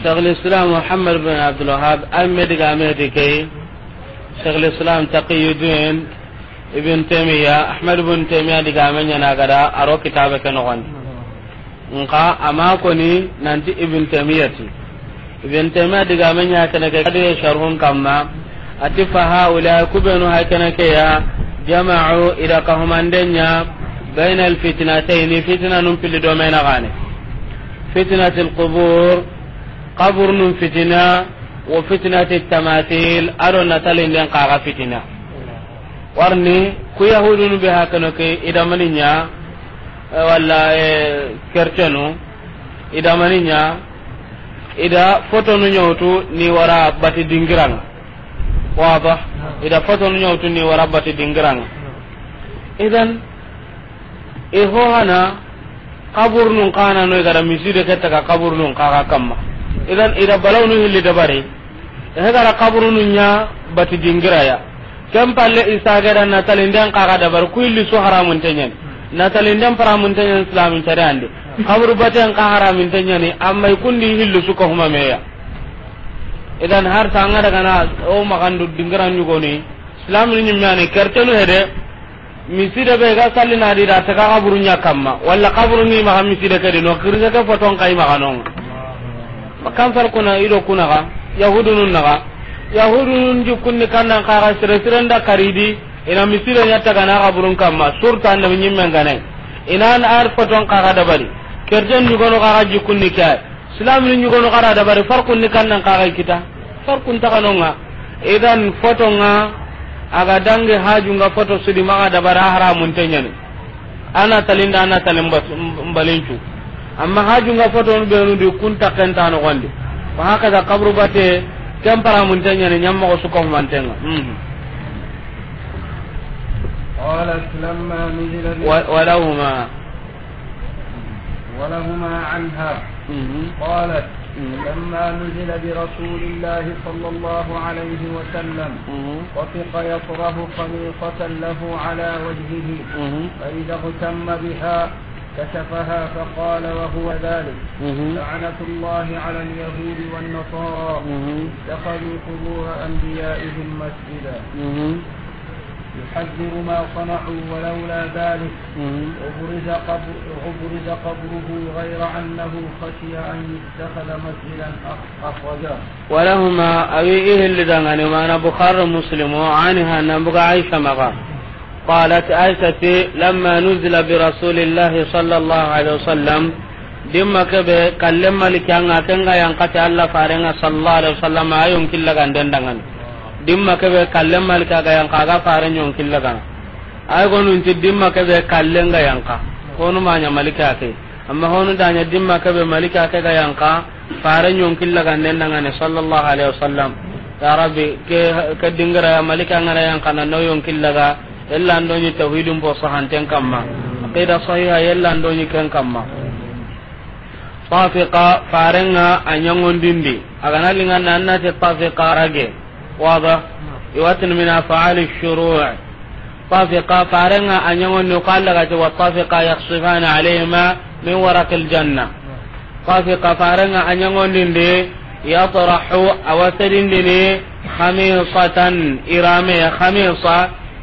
Shaykhul Islam Muhammad bin Abdul Wahhab, a me diga me di ke, Shaykhul Islam Taqiyuddin Ibn Taymiya, Ahmad Ibn Taymiya diga me ɲa na gada, a ro kitabe ke noxon. Nka a ma koni nanti Ibn Taymiya ti. Ibn Taymiya diga me ɲa kene ke kadi sharhun kamma. A ti, فهؤلاء، ku benu hakana ke ya, جمعوا، i da kahumanden ɲa, بين الفتنتين، fitina nun pilli do me na gane. فتنة القبور، قبر nun fitina, وفتنة التماثيل، a do natalinden kaga fitina. Warni, ku yahudunu be hakana ke, i da mani ɲa, eh, walla, eh, kercenu, i da mani ɲa, i da fotonu ɲa wutu ni wara bati dingiranga. Waba, i da fotonu ɲa wutu ni wara bati dingiranga. Idan, i ho hana, kaburunun kana no i ga da miside ke taga kaburunun kaga kamma. Idan, i da balawunu hilli dabari. He gara kaburunu ɲa bati dingira ya. Ken palle i saga da natalinden kaga dabari, ku hilli su haramunte ɲani. Natalinden paramunte ɲani Islamin cari andi. Kaburu baten ka haramunte ɲani, amma i kundi hilli su ko huma meya. Idan har sanga daga na o magandu dingira ɲugoni. Islamin ɲimmani kertenu hede. Miside be ga salli na di da ta ka kaburu ɲa kamma, walla kaburu ni maxa miside ke di no, kirise ke foton kai maxa non. Makan far kuna i do kuna ga, yahudunun naga. Yahudunun jikkunni kannan kaga sire siren da karidi, i na miside ɲa taga na kaburun kamma, surta annabi ɲimmen gane. I na an ar foton kaga dabari. Kerten ɲugono kaga jikkunni kai. Silamini ɲugono xara dabari, farkun ni kannan kaga i kita. Farkun taxanonga. Idan fotonga, a ga dangi hajunga foto sudi maxa dabari, a haramunte ɲani. A na talinda, a na talin bas-, m-, mbalincu. Amma hajunga foto benu di kun taxenta noxondi. Wa hakaza kaburu bate, ken paramunte ɲani, ɲammoxo suka humantenga. Mhm. قالت لما نزل ب- و-، ولهما. ولهما عنها. مم. قالت: مم. لما نزل برسول الله صلى الله عليه وسلم، مم. طفق يطرح خميصة له على وجهه، مم. فإذا اغتم بها كشفها فقال وهو ذلك: مم. لعنة الله على اليهود والنصارى، مم. اتخذوا قبور أنبيائهم مسجدا. مم. يحذر ما صنعوا ولولا ذلك، مم. أبرز قبر-، أبرز قبره غير أنه خشي أن يتخذ مسجدا أخ-، أخرجاه. ولهما، أوي إهل دعاني، معنى بخاري مسلم، عنها، نبغى عائشة مغا. قالت عائشة: لما نزل برسول الله صلى الله عليه وسلم، Dimma kebe kallen maliki anga, kenga yanka ti Allah farenga sallallahu alaihi wasallam, a yonki laganden dangani. Dimma kebe kallen maliki aga yanka, aga faren yonki lagana. Ay gonun ti dimma kebe kallen ga yanka. Honu manya maliki ake. Amma honu danya dimma kebe maliki ake ga yanka, faren yonki laganden dangani sallallahu alaihi wasallam. Ya Rabbi, ke, ke dingira ya maliki angara yanka na no yonki laga. Yalla ando ni tawhidun bo sahanten kamma. Aqida sahiha yalla ando ni ken kamma. Tafiqa, farenga a ɲangondindi. A gana linganda an na ti tafiqa rage. Wada. Iwatin min af'ali shuru'. Tafiqa, farenga a ɲangondi, qala ga ti wa tafiqa yakhsifani alayhima min waraqil janna. Tafiqa, farenga a ɲangondindi, yatrahu, a wa sedindini, khamisatan, irame, khamisa,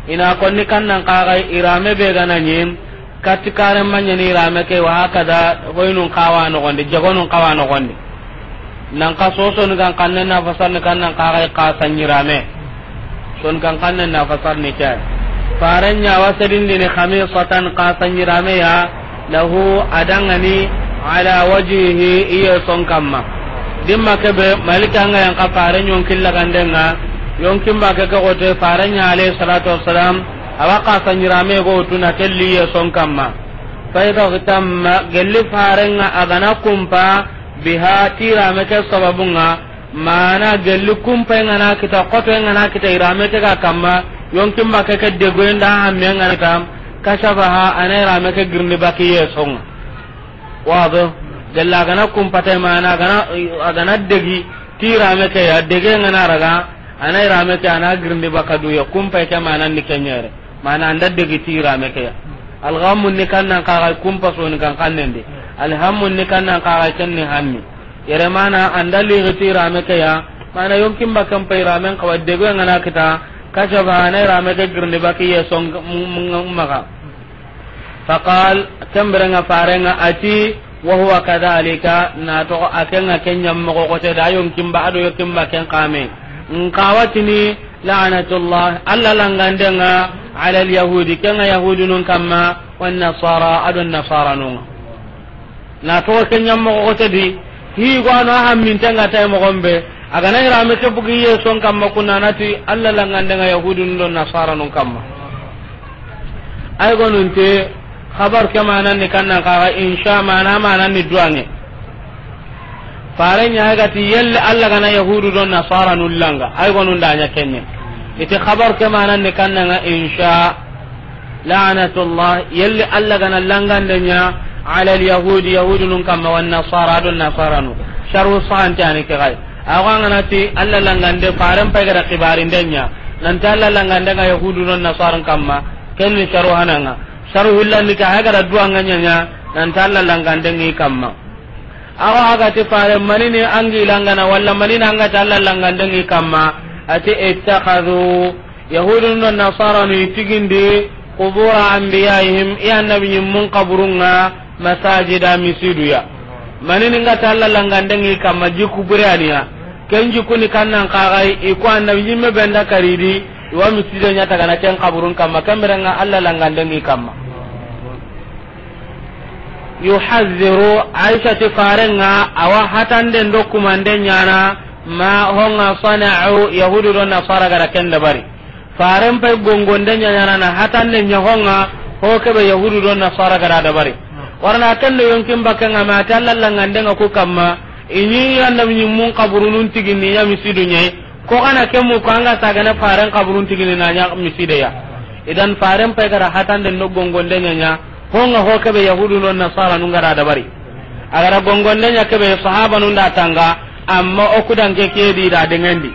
ina konni kannan kaga irame be gana ɲi, katti karen maɲani irame ke, wa hakada, hoynun kawa nogondi, jagonun kawa nogondi. Nan ka so soni kan kannen na fasarni kannan kaga i ka saɲirame. Soni kan kannen na fasarni ke. Faren ɲa wa sedindini khamisatan, xasa ɲirame ya, lahu, a dangani, ala wajhihi, i yeson kamma. Dimma kebe, Malika nga yan xa faren yonkin lagandenga, yonkin ba ke ke xote, faren ɲa alayhi salatu wassalam, a wa xasa ɲirame go tuna kelli i yeson kamma. Fa idha ihtamma, gelli faren ŋa a ga na kumpa, biha, ti yirame ke sababun ŋa, mana gelli kumpa nga na kita, xoto nga na kita yirame ke ga kamma, yonkin ba ke ke degoyen da hamme nga na kita, kashafaha, a na yirame ke girindi baki i yeson ŋa. Wado, gelli a ga na kumpa ta mana a ga na, a ga na degi ti yirame ke ya, dege nga na raga, a na yirame ke a na girindi baka du ya, kumpa ke mana ni ke ɲere. Mana an da degi ti yirame ke ya. Alghammu ni kannan xa ga kumpa so ni kan kannen di. Alhammu ni kannan xa ga ken ni hammi. Yere mana an da ligi ti yirame ke ya. Mana yonkin ba kan pa yiramen xawa dego nga na kita. Kashafaha, a na yirame ke girindi baki i yeson ŋa, m-, m-, maxa. Faqal, ken bire nga faren ŋa a ti, wa huwa kadhalika, na toxo a ke nga ken ɲa moxo xote da yonkin ba, a do yonkin ba ken xame. Nxa wa tini, la'natullah, Alla langandenga, ala al-yahudi, ke nga yahudunun kamma, wan nasara, a do nasaranun ŋa. Na toxo ken ɲa moxo xote di, hi go a no a hammintenga tay moxon be, a ga na yirame ke bugi i yeson kamma, kunna na ti, Alla langandenga yahudunun do nasaranun kamma. Ay gonunte, xabar ke manan ni kannan xa ga insha mana, manan ni duwange. Faren ɲa ga ti yelle Alla ga na yahudu do nasaranun langa. Ay gonun da ɲa kenne. Iti xabar ke manan ni kannan ga insha, la'natullah, yelle Alla ga na langande ɲa, ala al-yahudi, yahudunun kamma, wan nasara, a do nasaranu. Sharu sahante ani ke gay. Awa nga na ti Alla langande, faren pay ga da xibarinde ɲa. Nan ti Alla langandenga yahudu do nasaran kamma. Ken ni sharu hananga. Saru hillandi ke, a ga da duwanga ɲaɲa, nan ti Alla langandengi kamma. Awa a ga ti fare manini angi langana, walla manini anga ti Alla langandengi kamma, a ti, ittakhadhu, yahudun do nasaranu i tigindi, qubura anbiyaihim, i annabi ɲimmun kaburunga, masajida, misiduya. Manini nga ti Alla langandengi kamma, jikku bure aniya. Ken jikkuni kannan xa ga i ko annabi ɲimme benda karidi, i wa miside ɲa tagana ken kaburun kamma, ken bire nga Alla langandengi kamma. Yuhadhdhiru, Aisha ti faren ŋa a wa hatande ndo kumande ɲana, ma honga sana'u, yahudu do nasara ga da ken dabari. Faren pay gongonde ɲaɲana na hatande ɲa honga, ho kebe yahudu do nasara ga da dabari. Warna kendo yonkin bakenga ma ti Alla langandenga ku kamma, i ɲi annabi ɲimmun kaburunun tigini ɲa misidu ɲai, ko kana kemu ko anga sagane faren kaburun tigini na ɲa misideya. Idan faren pay ga da hatande ndo gongonde ɲaɲa, honga ho kebe yahudu no nasara nun ga da dabari. A ga da gongonde ɲa kebe sahabanun da tanga, amma o kudanke kedi da dengendi.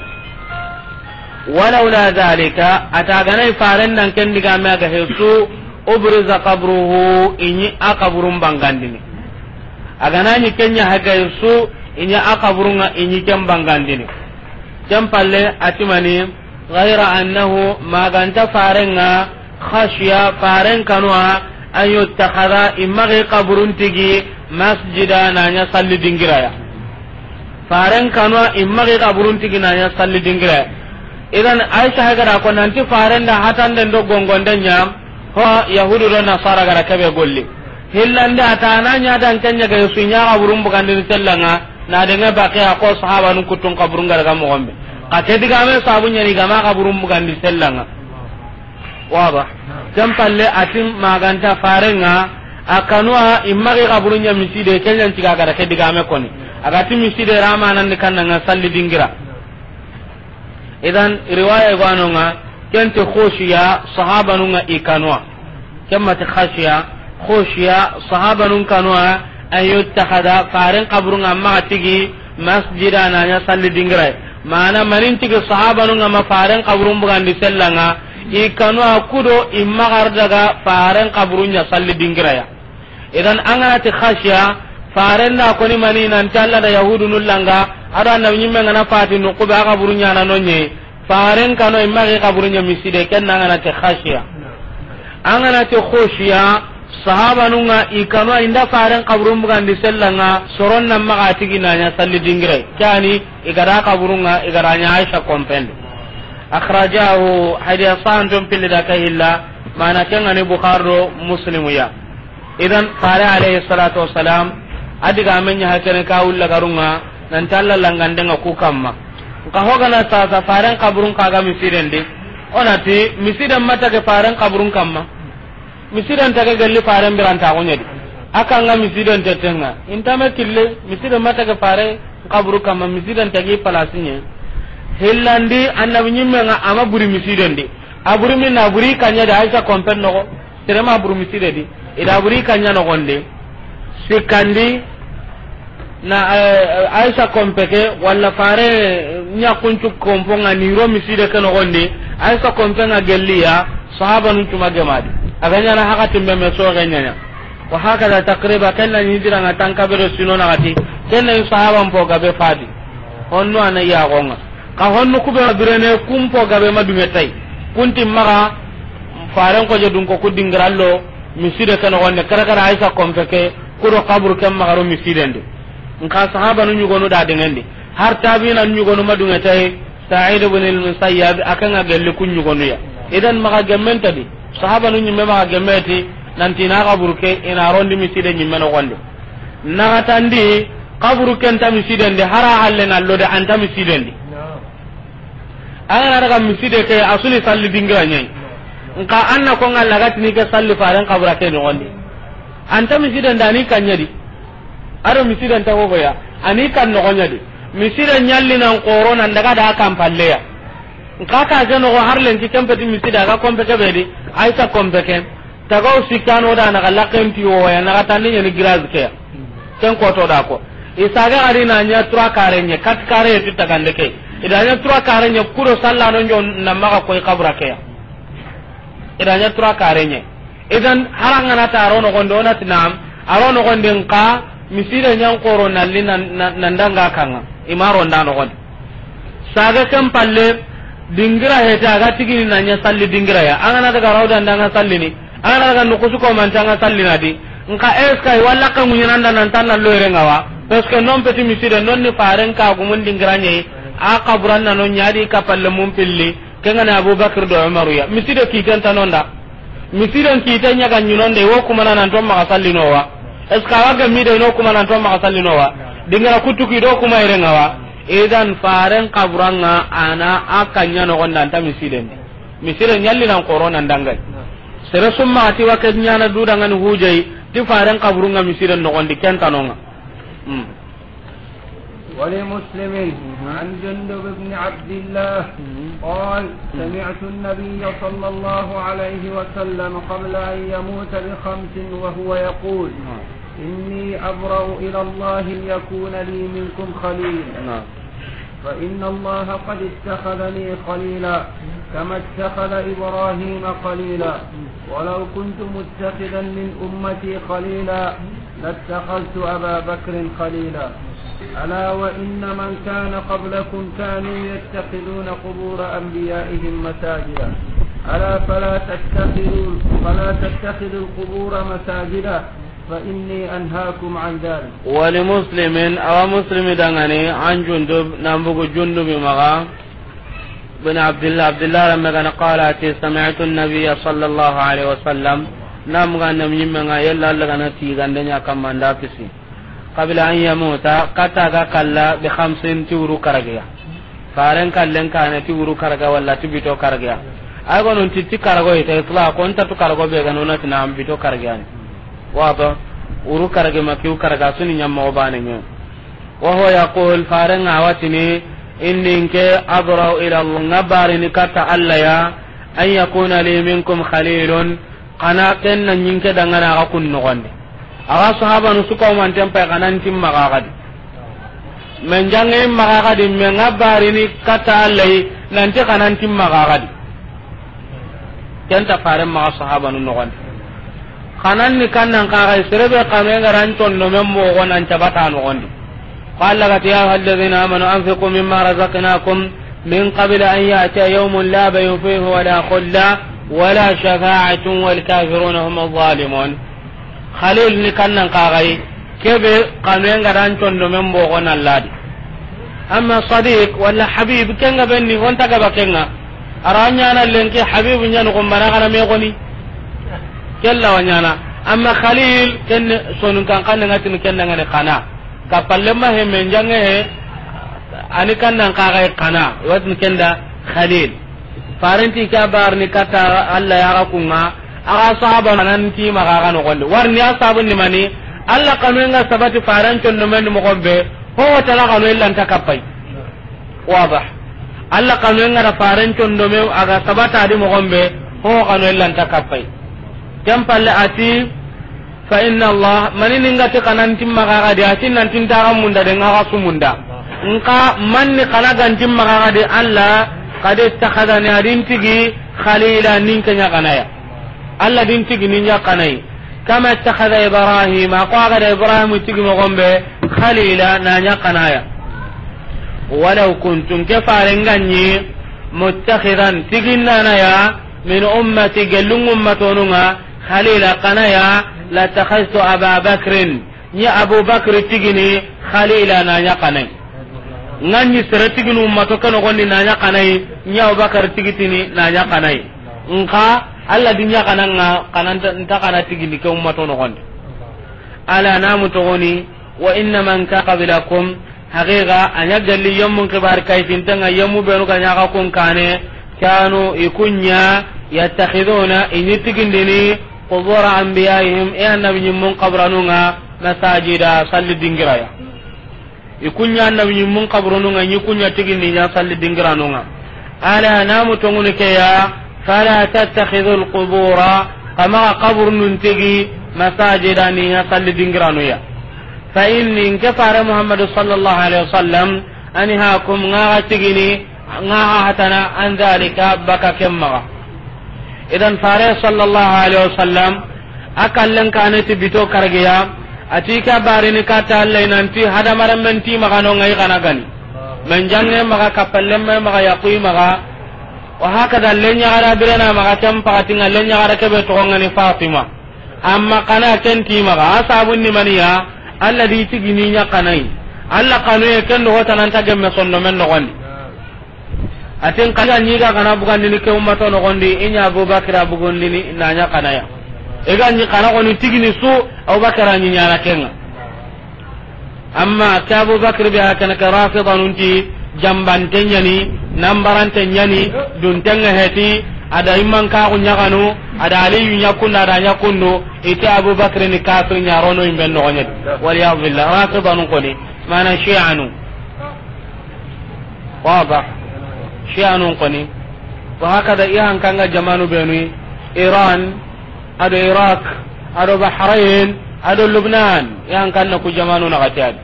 Walaula dhalika, a ta ganai faren dan ken digame a ga hesu, ubriza qabruhu, i ɲi a kaburun bangandini. A gana ɲi ken ɲa haga hesu, i ɲi a kaburun ŋa, i ɲi ken bangandini. Ken palle a ti mani, ghayra annahu, maganta faren ŋa, khashiya, faren kanuwa, an yuttakhadha, i magi kaburun tigi, masjida, na ɲa salli dingiraya. Faren kanuwa, i magi kaburun tigi na ɲa salli dingiraya. Idan Aisha haga da ko nanti faren da hatande ndo gongonde ɲa, ho yahudu do nasara ga da kebe golli. Hillande a ta na ɲa dan ken ɲa ga su ɲa kaburun bugandini sellan ŋa, na denge baqe a ko sahabanun kutun kaburun ga da ga moxon be. Ka ke digame sabu ɲani gama kaburun bugandi sellan ŋa. Waba. Ken palle a ti maganta faren ŋa, a kanuwa i magi kaburun ɲa miside, ken ɲan ciga ga da ke digame koni. A ga ti miside ramanan ni kannan ŋa salli dingira. Idan riwaya go a no ŋa, ken ti khushiya, sahabanun ŋa i kanuwa. Ken ma ti khashiya, khushiya, sahabanun kanuwa, an yuttakhadha, faren kaburun ŋa maga tigi, masjida, na ɲa salli dingira. Mana manin tigi sahabanun ŋa ma faren kaburun bugandi sellan ŋa, i kanuwa kudo i magar daga faren kaburun ɲa salli dingira ya. Idan an gana ti khashiya, faren da koni mani nanti Alla da yahudu nun langa, a do annabi ɲimme ngana fati nuqube a kaburun ɲa na no ɲe. Faren kano i magi kaburun ɲa miside, ken na an gana ti khashiya. An gana ti khushiya, sahabanun ŋa i kano i nda faren kaburun bugandi sellan ŋa, soron na maga tigi na ɲa salli dingire. Kani i ga da kaburun ŋa, i ga da ɲa Aisha kompende. Akhrajahu, hadiya santon pilli da ka hilla, Mana ke ŋa ni Bukhari do Muslimu ya. Idan, fare alayhi salatu wassalam, a digaame ɲa hakene ka wulla garunŋa, nan ti Alla langandenŋa ku kamma. Nka ho ga na sasa faren kaburun xa ga misiden di, o na ti misiden ma tage faren kaburun kamma. Misiden tage gelli faren birantaxu ɲa di. A kan ŋa misiden tettenŋa. Inta me kille, misiden ma tage fare kaburu kamma, misiden tagi palasi ɲa. Hillandi, annabi ɲimme ŋa a ma buri misiden di. A buri min na, a buri kaɲa di, Aisha kompen noxo. Sere ma buri miside di. I da buri kaɲa noxon di. Sikkandi, na, eh, Aisha kompe ke, walla fare ɲaxuncu kompo ŋa ni ro miside ke noxon di. Aisha kompe ŋa gelli ya, sahabanun cu ma gema di. A ga ɲaana hakatin be me soxe ɲaɲa. Wa hakada takriba, ken na ɲi hijira ŋa tanka be do sino naxati, ken na ɲi sahaban po gabe fadi. Honnu a na yaxon ŋa. Ka honnu ku be birene kun po gabe ma duŋe tay. Kun ti maxa faren ko je dun ko ku dingirallo miside ke noxon di, kara kara Aisha kompe ke, ku do kaburu ke maxa ro misiden di. Nka sahabanu ɲugonu da deŋen di. Har tabina ɲugonu ma duŋe tay, Sa'id ibn al-Musayyab, a ke ŋa gelli ku ɲugonu ya. Idan maxa gemmen ta di. Sahabanu ɲimme maxa gemme ti, nan ti na kaburu ke, i na rondi miside ɲimme noxon di. Naxatandi, kaburu ke nta misiden di, hara halle na lo de a nta misiden di. An ga na daga miside ke, a su ni salli dingira ɲa yi. Nka an na ko ŋa lagatini ke salli faren kabura ke noxon di. A nta misiden di, a ni kaɲa di. A do misiden ta gogo ya, a ni kan noxon ɲa di. Misiden ɲalli nan xoro nan daga da kan palle ya. Nka ka ke noxo har lenki ken peti miside a ga kompe ke be di, Aisha kompe ke. Tagaw sikkano da na ga lakken ti wo ya, naxatandi ɲa ni giraz ke ya. Ken ko to da ko. I saga gari na ɲa trois quarts ɲa, quatre quarts ti tagande ke. I da ɲa trois quarts ɲa, ku do sallano ɲo na maxa koy kabura ke ya. I da ɲa trois quarts ɲa. Idan, hara an ga na ta a ro noxon di, o na ti naam, a ro noxon di nka, miside ɲan xoro nalli nan, nan, nan danga kan ŋa, i ma ro nda noxon di. Saga ken palle, dingira hete a ga tigini na ɲa salli dingira ya. An ga na daga rawda nda ŋa sallini, an ga na daga nukusu ko man ta ŋa sallina di. Nka eska i walla ka ŋuɲana nda nan tan na loyre ŋa wa. Parce que non peti miside, non ni faren ka gumun dingira ɲa yi, a kaburan na no ɲa di ka palle mun pilli, Ken ga ni Abubakar do Umaru ya. Miside kiten ta no nda. Misiden kiten ɲa ga ɲi no nda, i wo kuma na nan to maxa sallino wa. Est-ce que a wa ga mi de no kuma nan to maxa sallino wa. Dingira kutu ki do kuma yere ŋa wa. Idan faren kaburan ŋa a na a kaɲa noxon di a nta misiden di. Misiden ɲalli nan xoro nan dangay. Sere su maxa ti wa ke ɲaana du dangani hujai, ti faren kaburun ŋa misiden noxon di ken ta no ŋa. Hmm. ولمسلم عن جندب بن عبد الله قال: سمعت النبي صلى الله عليه وسلم قبل أن يموت بخمس وهو يقول: إني أبرأ إلى الله أن يكون لي منكم خليل، نعم. فإن الله قد اتخذني خليلا كما اتخذ إبراهيم خليلا، ولو كنت متخذا من أمتي خليلا لاتخذت أبا بكر خليلا. ألا وإن من كان قبلكم كانوا يتخذون قبور أنبيائهم مساجدا. ألا فلا تتخذوا، فلا تتخذوا القبور مساجدا، فإني أنهاكم عن ذلك. ولمسلم، أو مسلم دعاني، عن جندب، نبوغ جندب مغا، بن عبد الله، عبد الله رمغان، قال أتي: سمعت النبي صلى الله عليه وسلم، نام غانم يمغا يلا لغنا تيغان دنيا كمان داكسي. قبل أن يموت، kata ga kalla, بخمس, ti wuru karage ya. Faren kallen kane ti wuru karage walla ti bito karage ya. Ay gonon ti ti karago ita itlaq, on ta tu karago be ga nona ti na bito karage ya ni. Wado, wuru karage ma kiw karage su ni ɲamma o bane ɲe. وهو يقول, faren ŋa wa tini, إني, nke, أبرأ إلى الله, ŋa barini kata Alla ya, أن يكون لي منكم خليل, Xa na ken na ɲi nke dangana a ga kun noxon di. A ga sahabanu su kawmanten pay xa nan ti maxa xa di. Men jange maxa xa di, men ŋa barini kata Alla yi, nan ti xa nan ti maxa xa di. Ken ta faren maxa sahabanu noxon di. Xa nan ni kan nan xa ga yi, sere be xa men ga ran condo men moxo nan cabata noxon di. Ko Alla ga ti: يا أيها الذين آمنوا أنفقوا مما رزقناكم من قبل أن يأتي يوم لا بيع فيه ولا خلة ولا شفاعة والكافرون هم الظالمون. Khalil ni kannan kaxayi, kebe xanuyen ga dan condo men boxo na ladi. Amma sadiq wala habib, kenga benni honta gaba kenga. Ara ɲana lenki habibu ɲanu ko mbana kana me xoni. Kella wa ɲaana. Amma Khalil, ken ni Soninkan xannen ŋa tini ken da ŋa ni xana. Kappalenma he, men jaŋe he, a ni kannan xaxa xana. I wa tini ken da Khalil. Faren ti ke a bari ni katta Alla ya ga ku ŋa, a ga sahaba nan ti maxa ga noxon di. Wari ni a sabu ni mani, Alla xanuyen ŋa sabati faren condomen di moxon be, ho tala xanu i lanta kappa yi. Wadah. Alla xanuyen ŋa da faren condome a ga sabata di moxon be, ho xanu i lanta kappa yi. Ken palle a ti, fa inna Allah, mani ni ŋa ti xanan ti maxa ga di, a ti nan ti n ta ga munda de, ŋa ga su munda. Nxa man ni xana ga n ti maxa ga di Alla, qad ittakhadhani, a di n tigi, khalila, ni n ke ɲa xana ya. Alla di n tigi ni ɲa xana yi. Kama ittakhadha Ibrahim, a ko a ga da Ibrahim tigi moxon be, khalila, na ɲa xana ya. Walaw kuntu, n ke faren ga ɲi, muttakhidhan, tigi n na na ya, min ummati, gellun ŋummatonun ŋa, khalila, xana ya, lattakhadhtu Aba Bakrin, n ɲi Abu Bakri tigi ni, khalila, na ɲa xana yi. N ga ɲi sere tigi ni ummato ke noxon di na ɲa xana yi, n ɲi Abu Bakri tigi tini na ɲa xana yi. Nxa Alla di ɲa xana ŋa, xana nta, nta xana tigi ni ke ummato noxon di. Ala, na mu toxoni, wa inna man kana qablakum, haqiqa, a ɲa gelli yemmun xibari kayfinte ŋa, yemmu benu ga ɲa xa kun kane, kanu, i ku ɲa, yattakhiduna, i ɲi tigindini, qubura anbiyaihim, i annabi ɲimmun xaburanun ŋa, masajida, salli dingira ya. I ku ɲa annabi ɲimmun xaburanun ŋa, i ɲi ku ɲa tigindi ɲa salli dingiranun ŋa. Ala, na mu toŋunu ke ya, fala tattakhidhul qubura, xa maxa xaburunun tigi, masajida, ni ɲa salli dingiranu ya. Fa inni, n ke fare Muhammadu sallallahu alaihi wasallam, anhaakum, ŋa xa tigini, ŋa xa hatana, an dhalika, baka ken maxa. Idan fare sallallahu alaihi wasallam, a kallen kane ti bito kargiya, a ti ke a barini katta Alla yi nan ti hadamarenmen ti maxa no ŋa i xana gani. Men jaŋe maxa, kappalenme maxa, yaxuyi maxa. Wa hakada, lenyaxara birena maxa, ken paxati ŋa lenyaxara kebe toxon ŋa ni Fatima. Amma xana ken ti maxa, a sabun ni mani ya, Alla di tigini ɲa xana yi. Alla xanuye ken do ho tana nta gemme sondomen noxon di. A ti n xa ga ɲi ga xana bugandini ke ummato noxon di, i ɲa Abubakar a bugandini na ɲa xana ya. I ga ɲi xana xoni tigini su, Abubakar a ɲi ɲaana ken ŋa. Amma ke Abubakar be hakana ke Rafidanun ti, jambante ɲa ni, nambarante ɲa ni, dunten ŋa heti, a da imman kaxu ɲaxanu, a da Aliyu ɲa kundu, a da ɲa kundu, i ti Abubakar ni kafir ɲa, rono yimben noxon ɲa di. Wal iyadu billah, Rafidanun xoni, mana Shi'anu. Wadah. Shi'anun xoni. Wa hakada i hankan ŋa jamanu benu, Iran, ado Iraq, ado Bahrain, ado Lubnan, i hankan na ku jamanu na xati a di.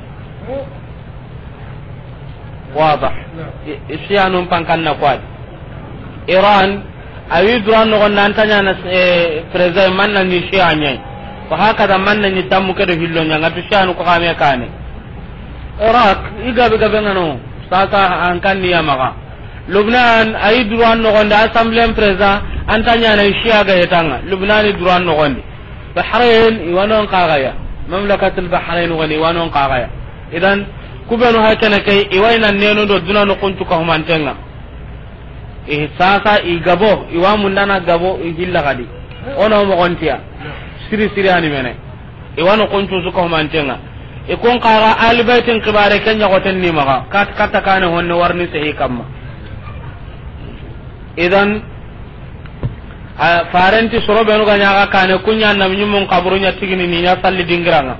Wadah. I, i Shi'anun pankan na ku a di. Iran, a wi duran noxon di an ta ɲaana, eh, président, man na ɲi Shia ɲa yi. Wa hakada man na ɲi tammu ke do hillo ɲa ŋa, tu Shi'anu ko xame kane. Iraq, i gabe gabe ŋa no, sasa an kan ni ya maxa. Lubnan, a yi duran noxon di, assemblée président, an ta ɲaana Shia ga hetan ŋa. Lubnan i duran noxon di. Bahrain, i wa non xaxa ya. Mamlakatul Bahrain woni, i wa non xaxa ya. Idan, ku benu hakana ke, i wa i na nenu do duna no kuntu ka humanten ŋa. I sasa i gabo, i wa mundana gabo, i hilla xadi. Ono moxon ti ya. Siri siri ani mene. I wa no kuntu su ka humanten ŋa. I kun xaxa Ahlul Baytin xibare ken ɲa xoten ni maxa. Kat, katta kane honne warni sehi kamma. Idan, a, faren ti soro benu ga ɲa ga kane, ku ɲa annabi ɲimmun xaburu ɲa tigini ni ɲa salli dingira ŋa.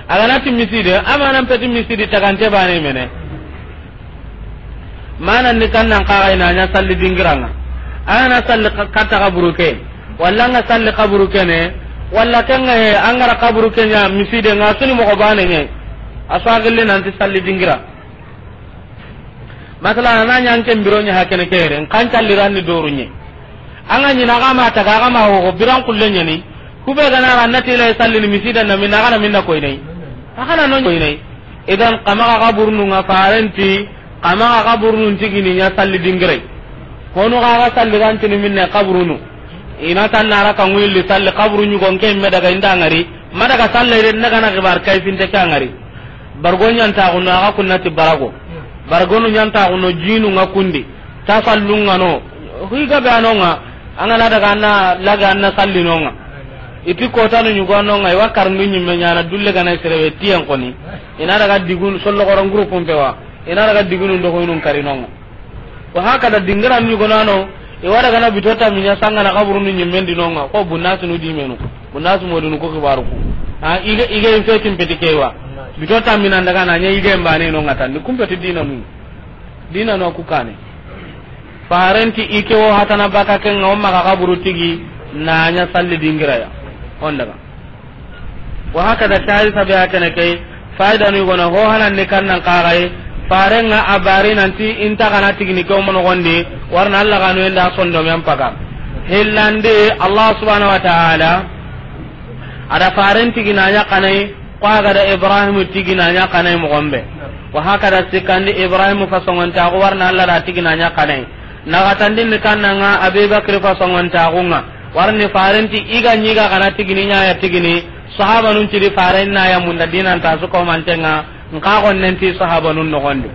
A ga na ti miside, a manan peti misidi tagante bane mene. Manan ni kannan xaxa i na ɲa salli dingira ŋa. A ga na salli ka-, katta xaburu ke. Walla ŋa salli xaburu ke ne. Walla ken ŋa he, an ga ra xaburu ke ɲa miside ŋa, suni moxo bane ɲa. A su a gilli nan ti salli dingira. Masala, a na ɲa an ken biro ɲa hakene ke yere, n kan calliran ni doru ɲe. An ga ɲi na ga ma taga, ga ma ho, ho, biran kulle ɲa ni. Ku be ga na ra na ti la sallini misida na minna, a ga na minna koy ne. A ga na no koy ne. Idan, xa maxa xaburunu ŋa faren ti, xa maxa xaburunun tigini ɲa salli dingire. Honu xa ga salli gan tini minne xaburunu. I na tan na ra ka ŋuyilli salli xaburu ɲugo n ke me daga i nda ŋari. Ma daga salle de, n daga na xibar kayfinte ke a ŋari. Bargo ɲantaxuno, axa kunna ti barago. Bargonu ɲantaxuno, jinu ŋa kundi. Tasallu ŋa no. Xiga be a no ŋa. An ga na daga an na laga an na salli no ŋa. I ti kotanu ɲugo no ŋa, i wa karandu ɲimme ɲaana dulle ga na sere be tiyen koni. I na daga digunu sollo goron groupe mpe wa. I na daga digunu ndo ko inun kari no ŋa. Wa haka da dingira ɲugo nano, i wa daga na bito tammi ɲa sanga na kaburunu ɲimmen di no ŋa. Ko bunnasu nu di menu. Bunnasu modunu ko kibaru ku. Ha, ige, ige in fetin peti kewa. Bito tammi nan daga na ɲa ige mbane no ŋa tan. Ni kumpeti dina nu. Dina no ku kane. Farenti i ke wo hatana baka ke ŋa, o maxa kaburu tigi na ɲa salli dingira ya. On daga. Wa haka da tari sabe hakene ke, faida nu gona ho hanan ni kannan kagai, farenga a bari nanti inta kana tigini ke o mono gondi, warna Allah ganu enda sondo men paga. Hillande Allah subhanahu wa ta'ala, ada farenti gina ɲa kanai, Ko a ga da Ibrahim tigi na ɲa kanai moxo be. Wa haka da sikandi Ibrahim fasongontaxu warna Allah da tigi na ɲa kanai. Naxatandin ni kannanga Abibakri fasongontaxu ŋa. Warni farenti i ga ɲi ga kana tigini ɲa ya tigini. Sahabanun cidi faren na ya munda dinanta su komantenga. Nka gonnenti sahabanun noxondi.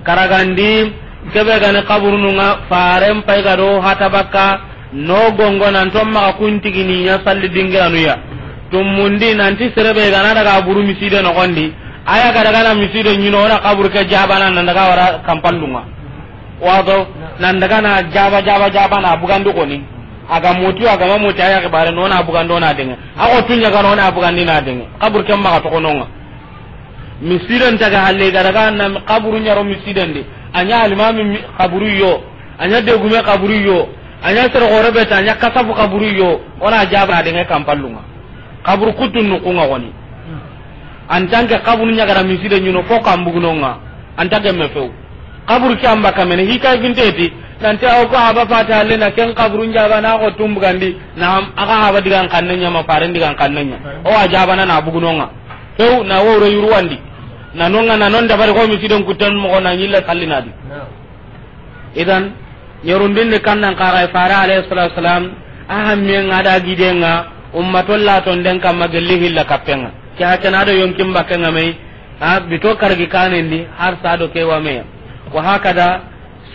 Karagandi kebe gani kaburunu ŋa faren pay ga do hata bakka. No gongo nan to maxa kun tigini ɲa salli dingiranu ya. Tumundi nanti serebe gana daga buru miside no gondi. Aya ga daga na miside ɲino na kaburu ke jabana nan daga wara kampallunga. Wato nan daga na jaba jaba jaba na bugandi koni. Aga moti aga ma moti aya ke bare no na bugando na denge. Ago tunya ga no na bugandi na denge. Kaburu ke maxa to kononga. Misiden taga halle ga daga na kaburu ɲaro misiden de. A ɲa alimami mi-, kaburu yo. A ɲa degume kaburu yo. A ɲa sere gore beta, a ɲa kasafu kaburu yo. Ona jaba denge kampallunga. Kaburu kutun nu kunga goni. En tant que kaburu ɲa ga da misiden ɲino fo kambugunonga. En tant que me few. Kaburu ke amba kamene hikay ginteti. Nanti aw ko aba fata halle na ken kaburu ɲaba na ko tumbugandi. Na aga haba digan kanne ɲa ma faren digan kanne ɲa. O a jaba na na bugunonga. Few na woro yuruwandi. Na nonga na non dabari ko misiden kutten moxo na ɲilla sallinadi. Idan, ɲerundin ni kannan kaga fare alayhi salatu wasalam, a hammiyen ŋa da giden ŋa, ummatol la ton den kamma gelli hilla kappenga. Ke hakena do yonkin bakkenga mai, a bito kargi kanendi, har sa do ke wa meya. Wa hakada,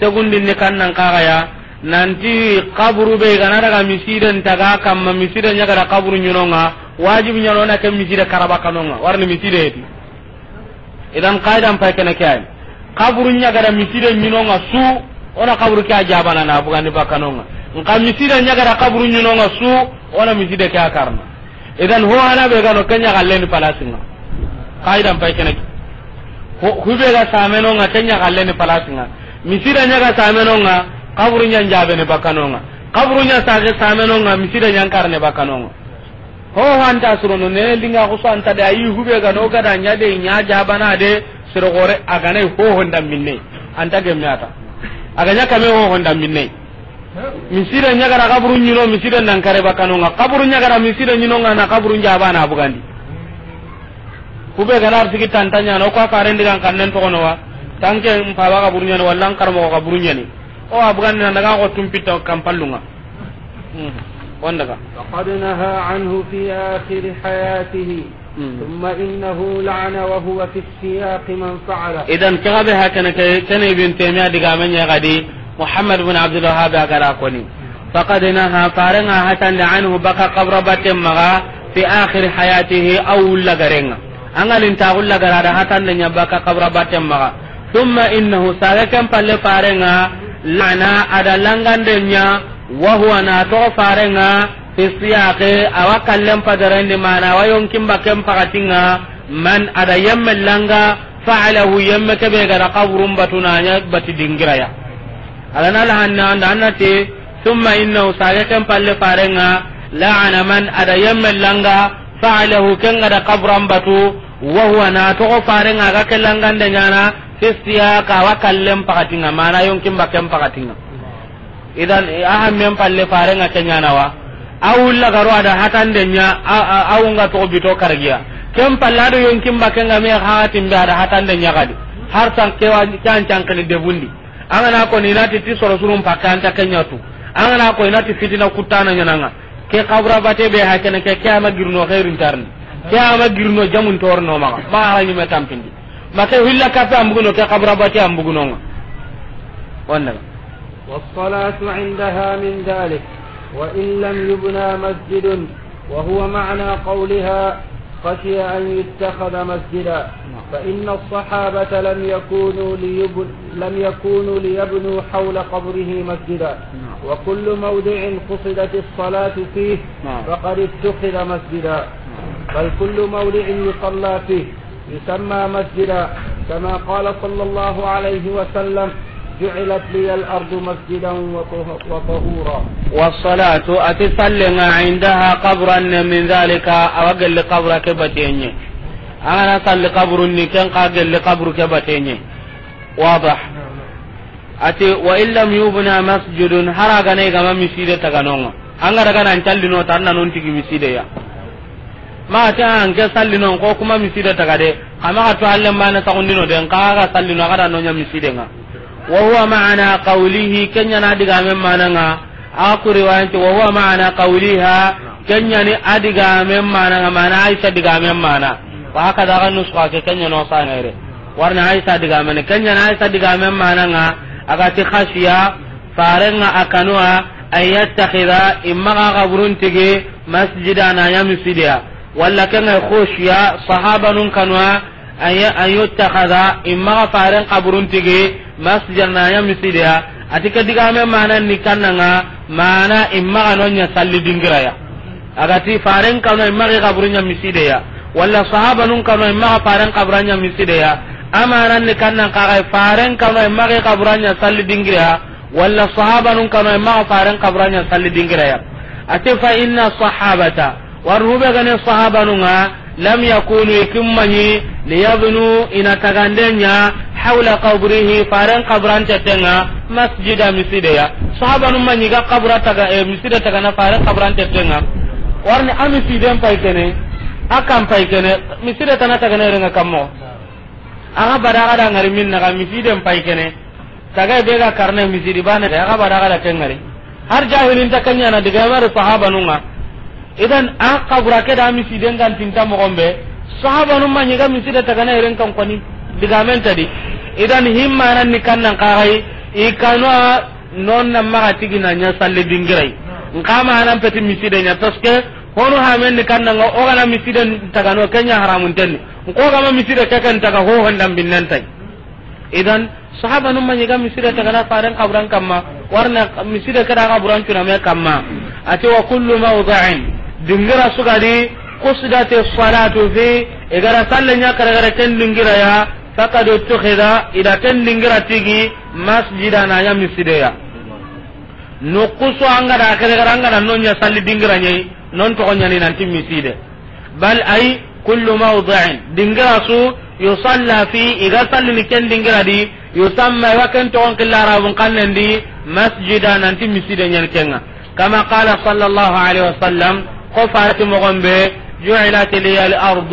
Segundin ni kannan kaga ya, nanti kaburu be gana daga misiden taga kamma misiden ɲa ga da kaburu ɲinonga, wajibi ɲano na ke miside karaba kanonga, warni miside heti. Idan qaidan pay kene ke ay. Kaburu ɲa ga da miside ɲinonga su, ona kaburu ke a jabana na bugandi bakanonga. Nka miside ɲa ga da kaburu ɲinonga su, ona miside ke a karna. Idan ho hana be gano kenya galle ni palasinga. Qaidan pay kene. Ho, hube ga sameno nga kenya galle ni palasinga. Misida nya ga sameno nga kaburu nya njabe ni bakano nga. Kaburu nya sage sameno nga misida nya karne bakano nga. Ho hanta surono ne linga ko so anta de ayi hube ga no ga da nya de nya jabana de siro gore agane ho honda minne. Anta gemyata. Aganya kame ho honda minne. Misire ɲagara kaburu ɲino, misire nan kare bakano nga. Kaburu ɲagara misire ɲino nga na kaburu njaba na bugandi. Kube gana arsiki tantanya no ko farendi kan kannen to kono wa. Tanke mpaba kaburu ɲani walla an karmo kaburu ɲani. O a bugandi nan daga ko tumpita kampallunga. Hmm. Wanda ka. فقد نهى عنه في آخر حياته. Hmm. ثم إنه لعن وهو في السياق من فعله. Idan kaga be hakana ke, kene Ibn Taymiyyah diga men ya gadi, Muhammad bin Abdul Wahhab a gara koni. Faqad naha, farenga hatande anhu baka kabra batte maga fi akhir hayatihi, aw wulla garenga. Angalin ta wulla gara da hatande nya baka kabra batte maga. Thumma innahu, saga ken palle farenga, la'ana, ada langande nya, wa huwa, na to farenga, fi siyaqi, awa kallen padarendi mana, awa yonkin bakken pakatinga, man, ada yemme langa, fa'alahu, yemme kebe gara kaburun batu na nya bati dingiraya. Agana la hanna anda annati, thumma innahu, saga ken palle farenga, la'ana man, ada yemme langa, fa'alahu, ken gara kaburan batu, wa huwa, na to farenga ga ke langande nyana, fi siyaq, awa kallen pakatinga, mana yonkin bakken pakatinga. Idan, a hammen palle farenga kenyana wa. A wulla garo ada hatande nya, a, a, a wunga to bito kargiya. Ken palle ado yonkin bakken ga me hatin be ada hatande nya gadi. Har san kewa can can kani debundi. Angana ko ni nati ti soro surun pakanta kenyatu. Angana ko ni nati fitina kutana nyananga. Ke kabura bate be hakene ke, ke ama girno khairin tarni. Ke ama girno jamun torno maga. Ma harangi me tampindi. Ma ke hilla kape ambuguno ke kabura bate ambuguno nga. Wanda. والصلاة عندها من ذلك. وإن لم يبنى مسجد، وهو معنى قولها: خشي أن يتخذ مسجدا، فإن الصحابة لم يكونوا ليب-، لم يكونوا ليبنوا حول قبره مسجدا، وكل موضع قصدت الصلاة فيه فقد اتخذ مسجدا، بل كل موضع يصلى فيه يسمى مسجدا، كما قال صلى الله عليه وسلم: جعلت لي الأرض مسجدا وطه-، وطهورا. والصلاة، a ti sallen ŋa, عندها قبرا من ذلك, a wa gelli kabura ke batenye. An ga na salli kaburun ni, ken xa gelli kaburu ke batenye. واضح. A ti, وإن لم يبنى مسجد, hari a ga na i ga ma miside taga no ŋa. An ga daga nan salli no, tan na non tigi miside ya. Ma a ti an ke salli no, ko kuma miside taga de. Kama ga to alle mana saxundino de, xa ga salli no, a ga da no ɲa miside ŋa. وهو معنى قوله, ken ɲa na digamen mana ŋa. A ku riwayan ti, وهو معنى قولها, ken ɲa ni a digamen mana ŋa, mana Aisha digamen mana. Wa haka da ga nuska ke, ken ɲa no sanere. Warna Aisha digamen, ken ɲa na Aisha digamen mana ŋa, a ga ti خشي, faren ŋa a kanu a, أن يتخذ, i ma ga kaburun tigi, مسجدا, na ɲa miside ya. Walla ken ŋa خشي, sahabanun kanu a, أن ي-، أن يتخذ, i ma ga faren kaburun tigi, مسجدا, na ɲa miside ya. A ti ke digamen mana ni kannan ŋa, mana i ma ga no ɲa salli dingira ya. A ga ti faren kanu a, i ma ga kaburun ɲa miside ya. Walla sahabanun kanu a, i ma ga faren kaburun ɲa miside ya. A mana ni kannan xa ga, faren kanu a, i ma ga kaburun ɲa salli dingira ya. Walla sahabanun kanu a, i ma ga faren kaburun ɲa salli dingira ya. A ti فإن الصحابة, warnu be ga ni sahabanun ŋa, لم يكونوا, i ku ma ɲi, ليبنوا, i na tagande ɲa, حول قبره, faren kaburan teten ŋa, مسجدا, miside ya. Sahabanun ma ɲi ga kabura taga, eh, miside tagana faren kaburan teten ŋa. Warni a misiden pay kene, a kan pay kene, miside tana tagana yere ŋa kammo. A ga bada ga da ŋari min na ga misiden pay kene. Taga be ga karne misidi bane, a ga bada ga da ken ŋari. Har jahilin ta ken ɲa na diga mari sahabanun ŋa. Idan a kabura ke da misiden gantinta moxon be. Sahabanun ma ɲi ga miside tagana yere ŋa kan koni. Digamen ta di. Idan himmanan ni kannan xa ga i, i kanu a non na ma ga tigi na ɲa salli dingira yi. Nxa ma nan peti miside ɲa, parce que honu hamen ni kannan ŋa, o ga na miside tagano, ken ɲa haramun tenni. Nko ga ma miside ke ken taga, ho hondan binnen tay. Idan sahabanun ma ɲi ga miside tagana faren kaburan kamma, warna miside ke da kaburan cuna me kamma. A ti وكل موضع, dingira su ga di, قصدت الصلاة فيه, i ga da sallen ɲa kare kare ken dingira ya, فقد اتخذ, i da ken dingira tigi, مسجدا, na ɲa miside ya. Noxu su an ga da kare kare an ga da no ɲa salli dingira ɲa yi, non toxo ɲa ni nanti miside. بل أي كل موضع, dingira su, يصلى فيه, i ga sallini ken dingira di, يسمى, i wa ken toxon xilla Arabun xannen di, مسجدا, nanti miside ɲa ni ken ŋa. كما قال صلى الله عليه وسلم, ko faren ti moxon be, جعلت لي الأرض,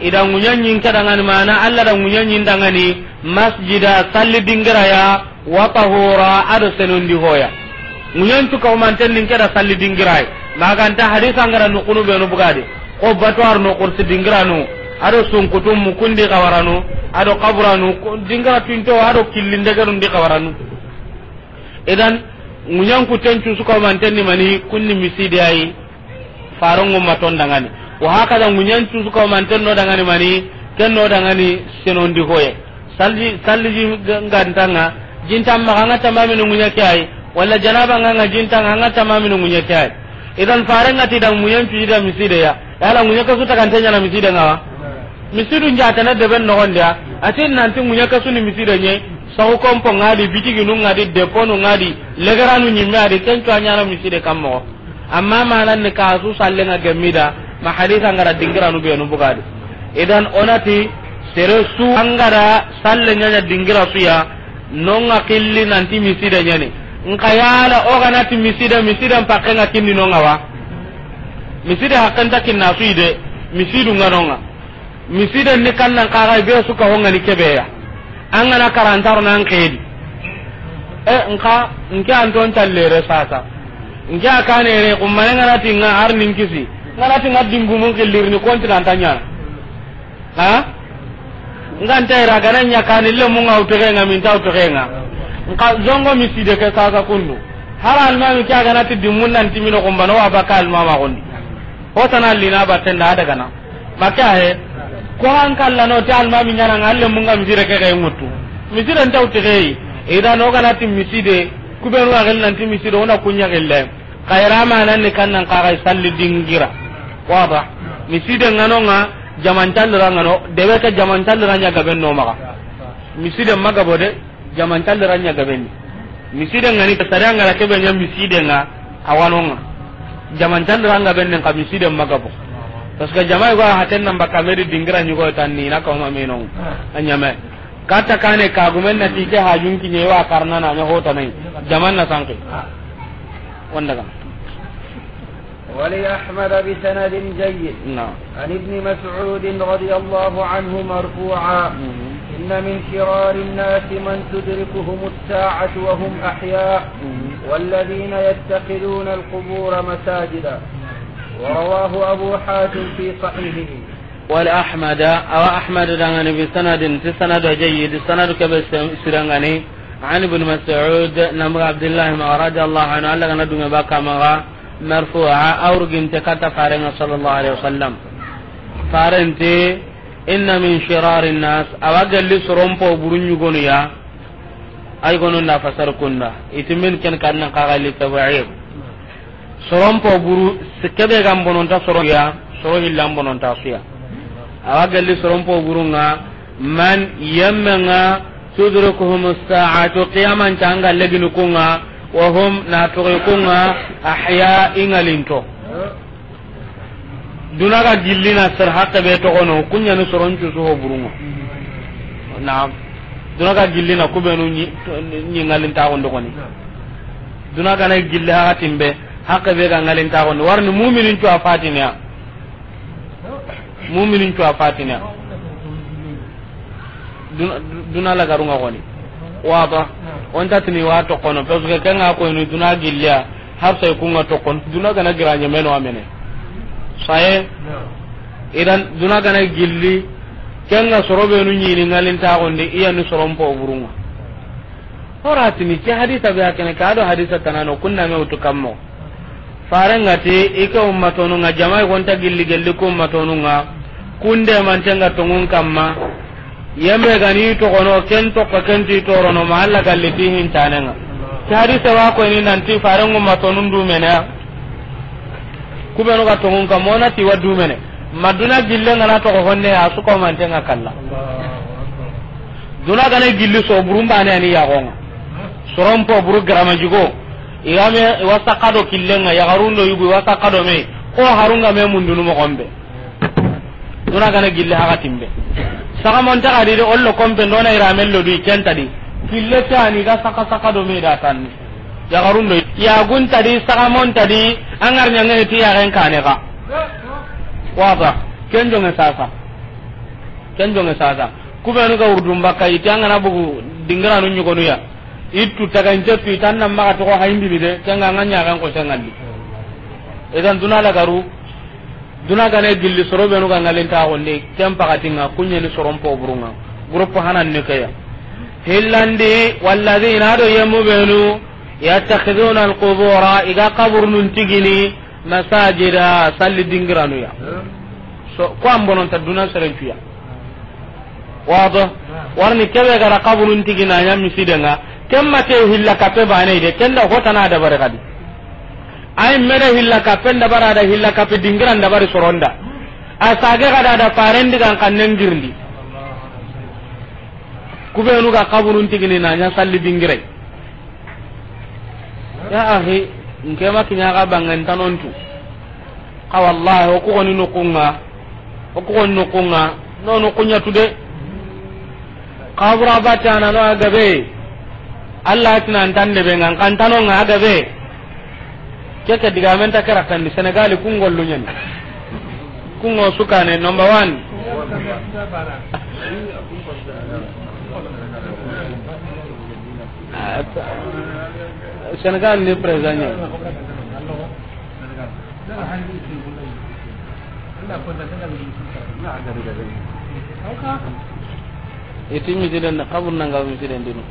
i da ŋuɲen ɲi n ke danŋa ni, mana Alla da ŋuɲen ɲi n danŋa ni, مسجدا, salli dingira ya, وطهورا, a do senondi hoya. Ŋuɲen tu ka humanten ni n ke da salli dingira yi. Ma ga nta hadisa n ga da noxunu benu bugadi. Ko batuwar no, kursi dingiranu, a do sunkutu mukundi xawaranu, a do kaburanu, ko dingira tinto, a do killinde gerundi xawaranu. Idan, ŋuɲen kuten cu su ka humanten ni mani, kun ni miside ya yi. Faron ŋo ma ton danŋa ni. Wa hakaza ŋuɲen cu su ka humanten no danŋa ni mani, ken no danŋa ni senondi hoye. Salli, salli ji ga-, ga nta ŋa, ji nta maxa, an ga tamamini ŋuɲe ke yi. Walla janaba ŋa, an ga ji nta ŋa, an ga tamamini ŋuɲe ke yi. Idan faren ŋa ti da ŋuɲen cu i da miside ya. Yala ŋuɲe ke su tagante ɲa na miside ŋa wa? Misidu n jatana deben noxon di ya. A ti nanti ŋuɲe ke su ni miside ɲa yi. Saxu kompo ŋa di, bitiginu ŋa di, deponu ŋa di, legeranu ɲimme a di, ken cu a ɲa na miside kan moxo. Amma manan ni ka su sallen ŋa gemme i da, ma hadisa n ga da dingiranu benu bugadi. Idan o na ti, sere su an ga da sallen ɲa ɲa dingira su ya, non ŋa xilli nanti miside ɲa ni. Nxa yala o ga na ti miside, misiden pakken ŋa kinni non ŋa wa? Miside hakken nta kinna su yi de, misidu ŋa non ŋa. Misiden ni kannan xa ga be su ka ho ŋa ni ke be ya. An ga na karantaro nan xedi. E, nxa, nke an ton tallere sasa. Nke a kanere, kummane n ga na ti ŋa har nin kisi. N ga na ti ŋa dingumun xillirini konti nan ta ɲa na. Ha? N ga nta ira ga na ɲa kani lemu ŋa wutoxe ŋa, min ta wutoxe ŋa. Nxa zongo miside ke sasa kundu. Har almaami ke a ga na ti dimmun nan ti mino kumbano wa baka almaama gondi. Ho tana lina batten da daga na. Maka he. Ko han kalla no ti almaami ɲaana nga alle munga misire ke ga ŋutu. Misire ntaw ti gei. Idan o ga na ti miside. Kubenu a gel nan ti miside o na kunya gelle. Kayra ma nan ni kan nan ka ga salli dingira. Waba. Miside ngano nga jaman tallira ngano. Debe ke jaman tallira ɲa gaben no maga. Miside maga bode. Jaman tallira ɲa gaben ni. Miside ngani sariya ngara kebe ɲa miside nga a wano nga. Jaman tallira nga ben ni ka miside maga bo. Parce que jama yugo haten nan baka medi dingira ɲugo tan ni na ka ma meno. A ɲame. Kata kane ka gumen na ti ke hajun ki ɲe wa karna na ɲa hota nai. Jaman na sanke. Wanda ga. ولأحمد بسند جيد نعم. عن ابن مسعود رضي الله عنه مرفوعا: إن من شرار الناس من تدركهم الساعة وهم أحياء، والذين يتخذون القبور مساجدا. ورواه أبو حاتم في صحيحه. ولأحمد، أو أحمد دعاني بسند، في سند جيد، سند كبس سرنغني، عن ابن مسعود، نمر عبد الله رضي الله عنه، الله غنا دون بكا مغا، مرفوعا، أورغن تكتا فارنا صلى الله عليه وسلم. Farenti, إن من شرار الناس، أو أقل سرمبو برنيو غنيا، أي غنون لا فسر كندا، إتمن كن كان قاغا للتبعيض. Soronpo buru, kebe ga n bononta soro ya, soro hilla n bononta su ya. Awa gelli soronpo buru nga, man yemme nga, tudrikuhum saatu, qiyaman ta nga legini ku nga, wa hum na toxi ku nga, ahya, i ŋalinto. Duna ga gilli na sere hakke be toxono, kunyani soron cusu ho buru nga. Naam. Duna ga gilli na kubenu ɲi, ɲi ŋalinta gondo koni. Duna gana gilli hakatin be, hakke be ga ŋalinta gondi. Warni muminin cu a fatiniya. Muminin cu a fatiniya. Duna, duna lagaru nga goni. Waba. On tatini wa toxono, parce que kenga ko ni duna gilliya, har sai ku nga toxono, duna gana gira ɲemeno amene. Saye. Idan duna gana gilli, kenga soro benu ɲini ŋalinta gondi, iya ni soronpo buru nga. Horatini, ke hadisa be hakene, ka do hadisa tanano, kunna me wutu kammo. Farengati, ike ummatonu nga, jamai gonta gilli gelli ku ummatonu nga, kunde mantenga tongun kamma, yembe gani toxono, ken toxo, ken ti torono, ma Allah galli ti hintanenga. Ke hadisa wa ko ni nanti, farengu ummatonun dumene, kubenu ga tongun kamma, ona ti wa dumene. Ma duna gille ngana toxo honne, a suko mantenga kalla. Duna gana gilli so burun bane ani yaxonga. Soronpo buru garama jigo. Igame wasa kado killenga, yaxarundo yugu wasa kado me. Ko harunga me mundunu moxombe. Duna gana gilli hakatimbe. Saxamonta xadi de ollo kompe ndona iramello di kentadi. Kille tani ga saka saka do me da tanni. Yaxarundo yaxuntadi, saxamontadi, angar ɲangani ti yaxen kane xa. Waba, ken jonge sasa. Ken jonge sasa. Kubenu ga wurdun bakka, iti angana bugu dingiranu ɲugonu ya. Ittu tagancetu, itan nan maxa toxo hayindini de, kenga nga ɲaxen ko sengalli. Idan duna lagaru, duna gane gilli soro benu ga ŋalinta gondi, ken pakatinga, kunyeni soronpo burunga. Groupe hanan ni keya. Hillandi, walladina do yemu benu, yattakhiduna alqubura, iga kaburunun tigini, masajida, salli dingiranuya. So, ko an bononta duna serencuya. Wado, warni kebe gara kaburun tigina nya misidenga, kemma ke hilla kape bane de, kenda hotana da bare kadi. Ay meda hilla kape nda bara da hilla kape dingiran da bari soronda. Asage kada da farendi kan kannen girndi. Kubenu ga kaburun tigini na nya salli dingirai. Ya akhi, nke ma kinya ga bangan tanontu. Ka wallahi, o ku goni nukunga, o ku goni nukunga, no nukunya tude. Kabura batana no agabe. Allah tinan tande be ngan kantano nga agabe. Keke diga men ta kara kandi Senegal ku ngollu nyani. Ku ngo sukane number one. Senegal ni président ɲa. Iti misiden na kabur nanga misiden dinu.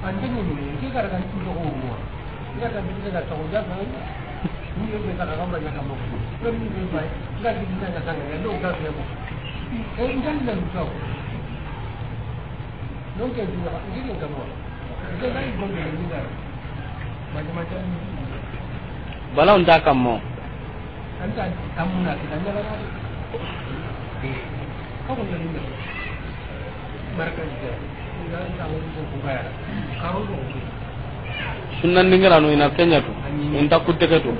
Bala unta kammo. Sunnan dingiranu ina kenya tu, inta kutte ke tu.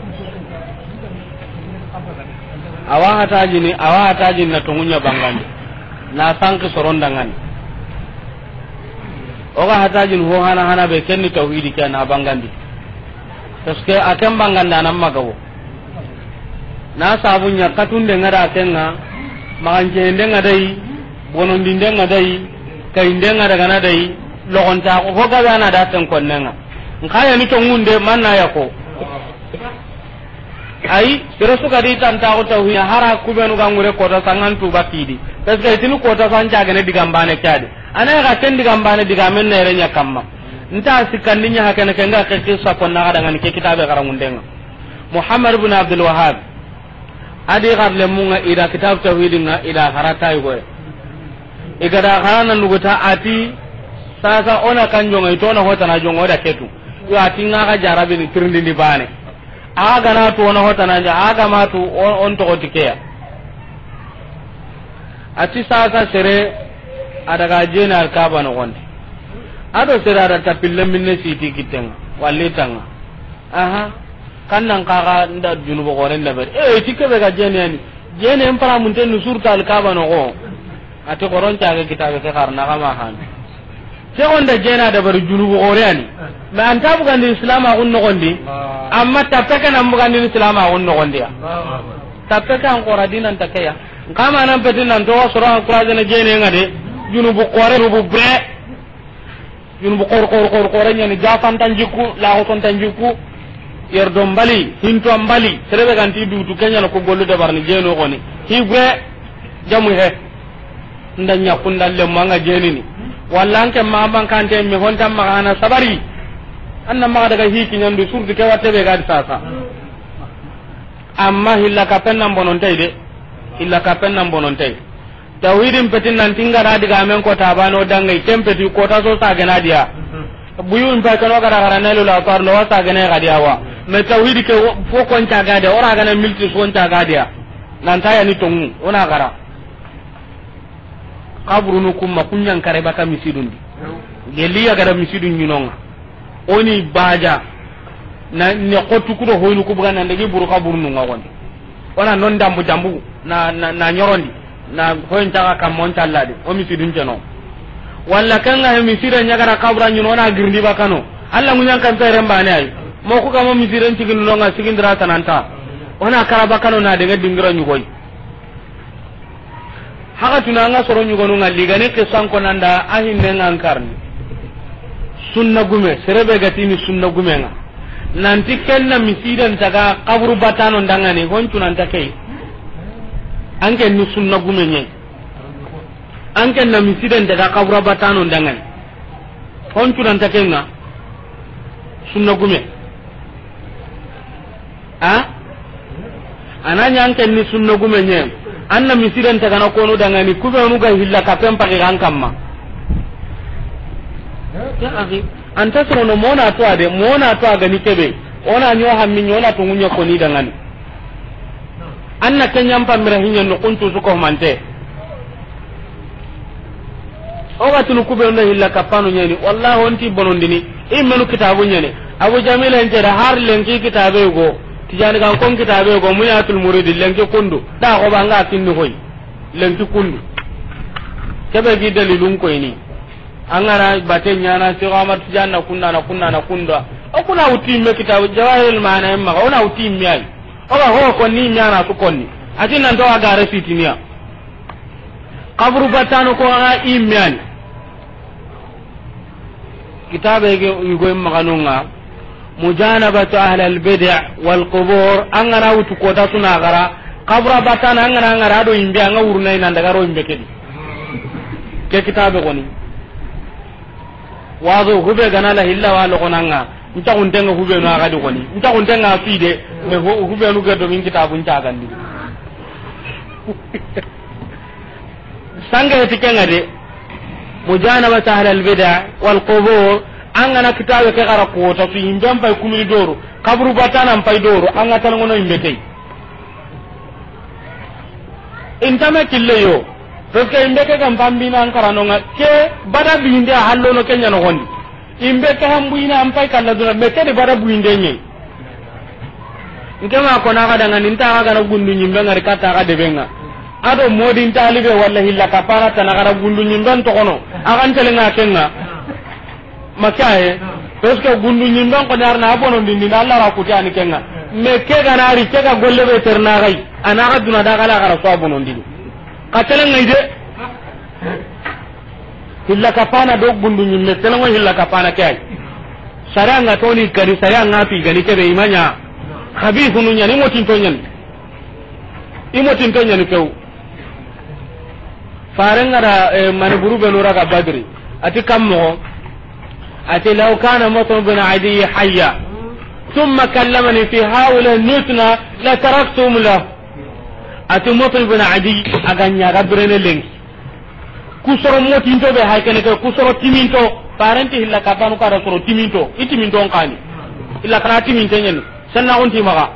Awa hatajini, awa hatajini na tongunya bangandi, na sanki soron dangani. Oga hatajini ho hana hana be kenni tawhidi ke na bangandi. Parce que a ken banganda nan magawo. Na sabu ɲa katunde ŋa da kenŋa, maxanceyinde ŋa dayi, bonondinde ŋa dayi, kayinde ŋa daga na dayi, loxonta ho gabe ana da ten konnenŋa. Nxa yani tongunde manna ya ko. Ayi, sere su ga di tantaxu tawhina hara kubenu ga ŋure kota sangan tuba kidi. Parce que itini kota san cagene digambane kadi. Ana ga ken digambane digamen nere ɲa kamma. Nta sikkandi ɲa hakene kenga ke kissa konna ga dangani ke kitabe garangundenŋa. Muhammad ibn Abdul Wahhab. Adi xarle munga ida kitab tawhidinga ida harata yugoye. Igada harana nuguta ati sasa ona kan jonga itona hotana jonga oda ketu. Yo ati nga ga jarabi ni tirindi ni bane. Aga na tu ona hotana ja aga ma tu on, on to tikeya. Ati sasa sere adaga jeni alkaba no gonde. Ado sere ada tapille minne siti kitenga. Walli tanga. Aha. Kan nan kaga nda junubu xoren da bari. Eh, ti kebe ga jene yani. Jene en para mun ten surta alkaba no go. Ati xoron ta ga kitabe ke xarna ga ma han. Ke onda jena da bari junubu xore yani. Ma anta bugandi islam a gun no gondi. Amma tapeke nan bugandi islam a gun no gondi ya. Tapeke an xora dinan takeya. Kama nan peti nan to soro an kuraje na jene ngade. Junubu xore, junubu bre. Junubu xor, xor, xor, xore ɲani, jafantan jikku, laxotontan jikku, yerdon bali, hinton bali, sere be ganti dutu, ke ɲana ko gollu dabarni, jeno xoni, hi gure, jamu he, nda ɲakku, nda lemmu, anga jenini, walla anke ma bankante, mi hontan maxa na sabari, anna maxa daga hi kiɲandu, surtout ke watte be gadi sasa. Amma hilla kapen nan bonontay de. Hilla kapen nan bonontay. Tawhidin petin nan tingara diga men ko tabano dangai tempeti ko ta so sagena dia. Buyu in pa kano gara gara ne lo la par lo sagena ga dia wa. Me tawhid ke fo kon ta ga dia, ora gana milti so ta ga dia. Nan ta yani tongu, ona gara. Kaburunu kumma kunɲan kare baka misidundi. Geliya gara misidun ɲinonga. Oni baja. Na ne xotu kudo hoynu kubuga nan dagi buru kaburunu nga gondi. Ona non dambu dambu na, na, na ɲorondi. Na hoyin taga kamon talladi. O misidun jeno. Walla kanga he misira ɲagara kabura ɲino na girndi bakano. Alla munyan kan pere mbane ay. Mo ku kamo misiren cigin nonga sigindira tananta. Ona kara bakano na daga dingira ɲugoy. Haka tuna nga soro ɲugonu nga ligani kisan ko nanda a hinne nga ankarni. Sunna gume, serebe gatini sunna gume nga. Nanti kenna misidan taga kaburu batano ndangani, hon tunanta kei. Anke ni sunna gume nye. Anke na misidan taga kabura batano ndangani. Hon tunanta kenga. Sunna gume. A? Ananya anke ni sunna gume nye. Anna misiren tagana konu dangani kube onu ga hilla kapen pagi kan kamma. Ya akhi, anta sorono mona to ade, mona to agani kebe. Ona nyo hammi nyona tungunya koni dangani. Anna kenyam pamira hinya no kuntu suko mante. O ga tunu kube onda hilla kapano nyani. Wallahi onti bonondini. Imenu kitabu nyani. Abu Jamil en jeda har lenki kitabe go. Tijani kan kon kitabe go. Muyatul Muridi lenki kundu. Da ko banga kinni hoy. Lenki kundu. Kebe gi dalilun ko ini. Angara bate nyana Cheikh Ahmad Tijani na kunda na kunda na kunda. O kuna uti me kitabu Jawahirul Ma'ani ma. Ona uti me ay. O ga ho konni nyana su konni. Ati nan to agare sitiniya. Kaburu batano ko a immani. Kitabe ge yugo maganunga. Mujanabatu ahli al bid'a wal qubur. Angana wutu kota suna gara. Kabura batana angana angara do imbe anga uruna ina daga ro imbe kedi. Ke kitabe koni. Wazo hube gana la hilla wa logonanga. Nta xuntenga hubenu a ga di xoni. Nta xuntenga fi de. Mais hu-, hubenu ga do min kitabun cagandi. Sanga heti kenga de. Mujanabat ahlal bid'a wal qubur. An ga na kitabe ke xara kota su yimben pay kumini doro. Kaburu batana pay doro. An ga tan ngono yimbe kay. Intame kille yo. Parce que yimbe ke kan pambina an karanonga ke bada binde a hallono kenya no gondi. Imbe ke hambu ina an pay kalla duna, me ke de bara buinde nye. Nke ma ko na ga dangani, nta ga na gundu nyimbe ngari kata ga de benga. Ado modi nta libe walla hilla kapana tana ga ra gundu nyimbe to kono. A ga ntele nga kenga. Makaye. Parce que gundu nyimbe ko narna abono dindi na Allah ra kuti ani kenga. Me ke ga na ri ke ga golle be terna gai. Ana ga duna da ga la ga ra so abono dindi. Ka tele ngai de. Hilla kapana do gundu nyimme, telengo hilla kapana ke ay. Sariya nga toni kadi, sariya nga fi gani kebe imanya. Khabithunu nyani, imotinto nyani. Imotinto nyani kew. Farenga da, eh, mani buru benu raga Badri. Ati kammo. Ati, "Law kana Mut'im bin Adi hayya, thumma kallamani fi haula nutna, la taraktum lahu." Ati, Mut'im bin Adi, a ga nya ga birene lenki. Kusoro motinto be hay kene ke, kusoro timinto, parenti hilla kapanu kada soro timinto, i timinto nkani. Illa kana timinte nyani, sanna on timaga.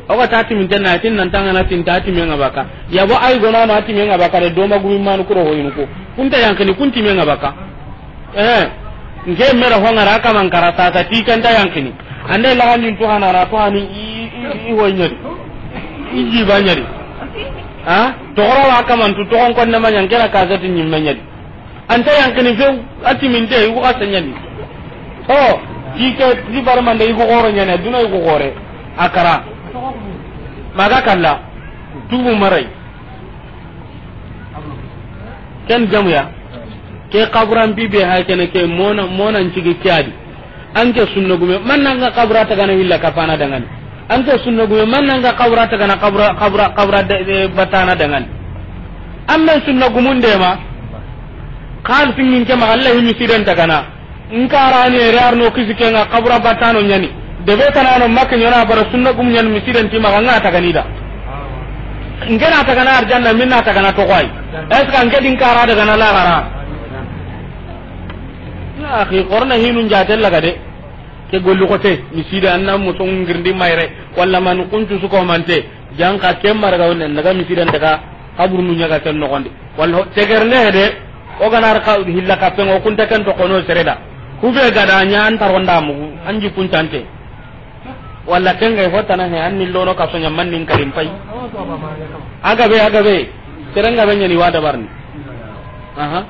O ga ta timinte na tin nan tanga na tin ta timenga baka. Ya bo ay gona na timenga baka de doma gumi manu kuro hoyinu ko. Kunta yankini kun timenga baka. Eh, nke mera hongara kaman kara sasa ti kanta yankini. Ande lagandin to hanara to hani i, i, i hoynyari. I jibanyari. Ha? Togora wa kaman tu togon konne manyan kera kasati nyimme nyari. Anta yankini few, ati minte, i ko asanyani. Oh, ti ke, ti barmande i ko goro nyane, duna i ko gore. Akara. Maga kalla. Tubu marai. Ken jamuya. Ke kaburan bibe ha kene ke mona, mona ncigi kiadi. Anke sunna gume, man nanga kabura tagana hilla kapana dangani. Anke sunna gume, man nanga kabura tagana kabura, kabura, kabura de, de, batana dangani. Amma sunna gumunde ma, kal singin ke ma Allah himi sidan tagana. Nkarani ere arno kisi kenga kabura batano nyani. Debe tanano makke nyona bara sunna gum nyani misidan ti maga nga tagani da. Ngena tagana arjanna minna tagana to koy. Est-ce que anke din kara daga na lagara? Ya akhi, qorna hinun jatella gade. Ke gollu ko te, miside anna mo songirndi mayre, walla man kuntu su ko mante, janka ke marga wonne, daga misiden daga, kaburu nu nyaga ken nogondi. Walla ho-, tegerne hede, o ganar ka hilla kapengo kunta ken to kono sereda. Kube gada nya an taronda mugu, anji kuntante. Walla kenga hotana he, anni lono ka sonya mannin karim pay. Agabe, agabe, serenga be nyani wada barni. Aha.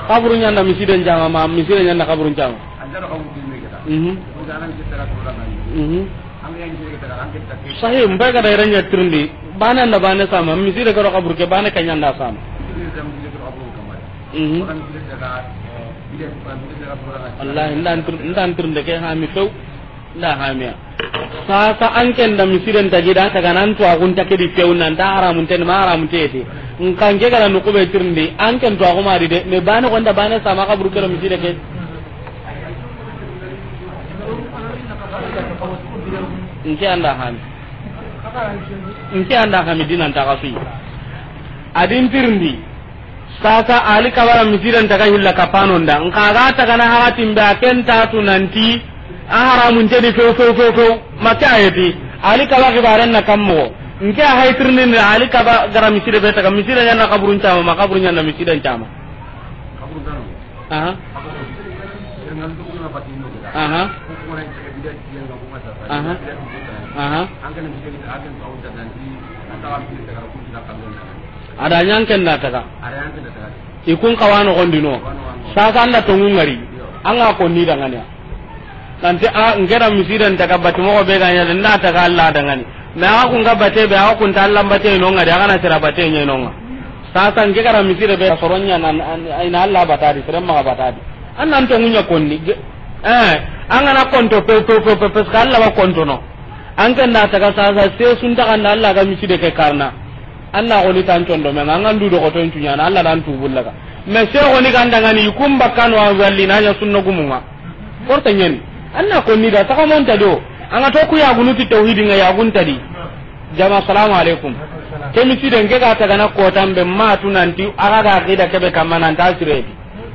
Kaburu ɲanda misiden jama ma, misiden ɲanda kaburu jama. Mhm. Mhm. Sahi, mbe ga da iranya tirindi. Bane nda bane sama, miside ga do kaburu ke, bane ke ɲanda sama. Mhm. Wallahi, ndan tir-, ndan tirinde ke ha mi few. Nda hamiya. Sasa an ken da misiden tagi da taga nan to agun ta ke di few nan da haramun ten ma haramun te te. Nkan ke gara no ko be tirindi an ken to agu ma di de me bane gonda bane sama kaburu kero miside ke. Nke anda hami. Nke anda hami dinan ta kafi. Adin tirindi. Sasa ali kabara misiren taga hilla kapanon da. Nka ga taga na hakatin be a ken ta tu nanti a haramun te di few, few, few, few. Maka ayeti. Ali kaba kibaren na kammo. Nke a hay tirnin ali kaba gara misire be taga misire ɲana kaburun cama ma kaburun ɲana misiren cama. Aha. Aha. Aha. Aha. Ada ɲan ken da taga. I kun kawano gondino. Sasa anda tongu ngari. Anga ko ni dangane. Nanti a ngera misiren taga bati mogo be ga ɲa nda taga Allah dangane. Na a kun ga bate be a kun ta Allah bate no ngari a kana sira bate ɲe no nga. Sasa nge gara misire be soronya nan ina Allah batadi sere maga batadi. An nan tongu ɲa konni. Eh, an gana konto pe, pe, pe, pe, parce que Allah wa konto no. An ken da taga sasa se sun taga nda Allah ga miside ke karna. An na xoni tan condo me ŋa, an ga ndu doxoto in tuɲana, Alla dan tubullaga. Mais se xoni ga ndangani, i kun bakkano a walli na ɲa sunna gumunŋa. Korta ɲani. An na konni da, sakamonta do. An ga to ku yagunu ti tawhidi ŋa, yagunta di. Jama, salamu alaikum. Ke misiden ke ga tagana kotan be ma tu nanti, a ga ga aqida ke be kamma nan ta siredi.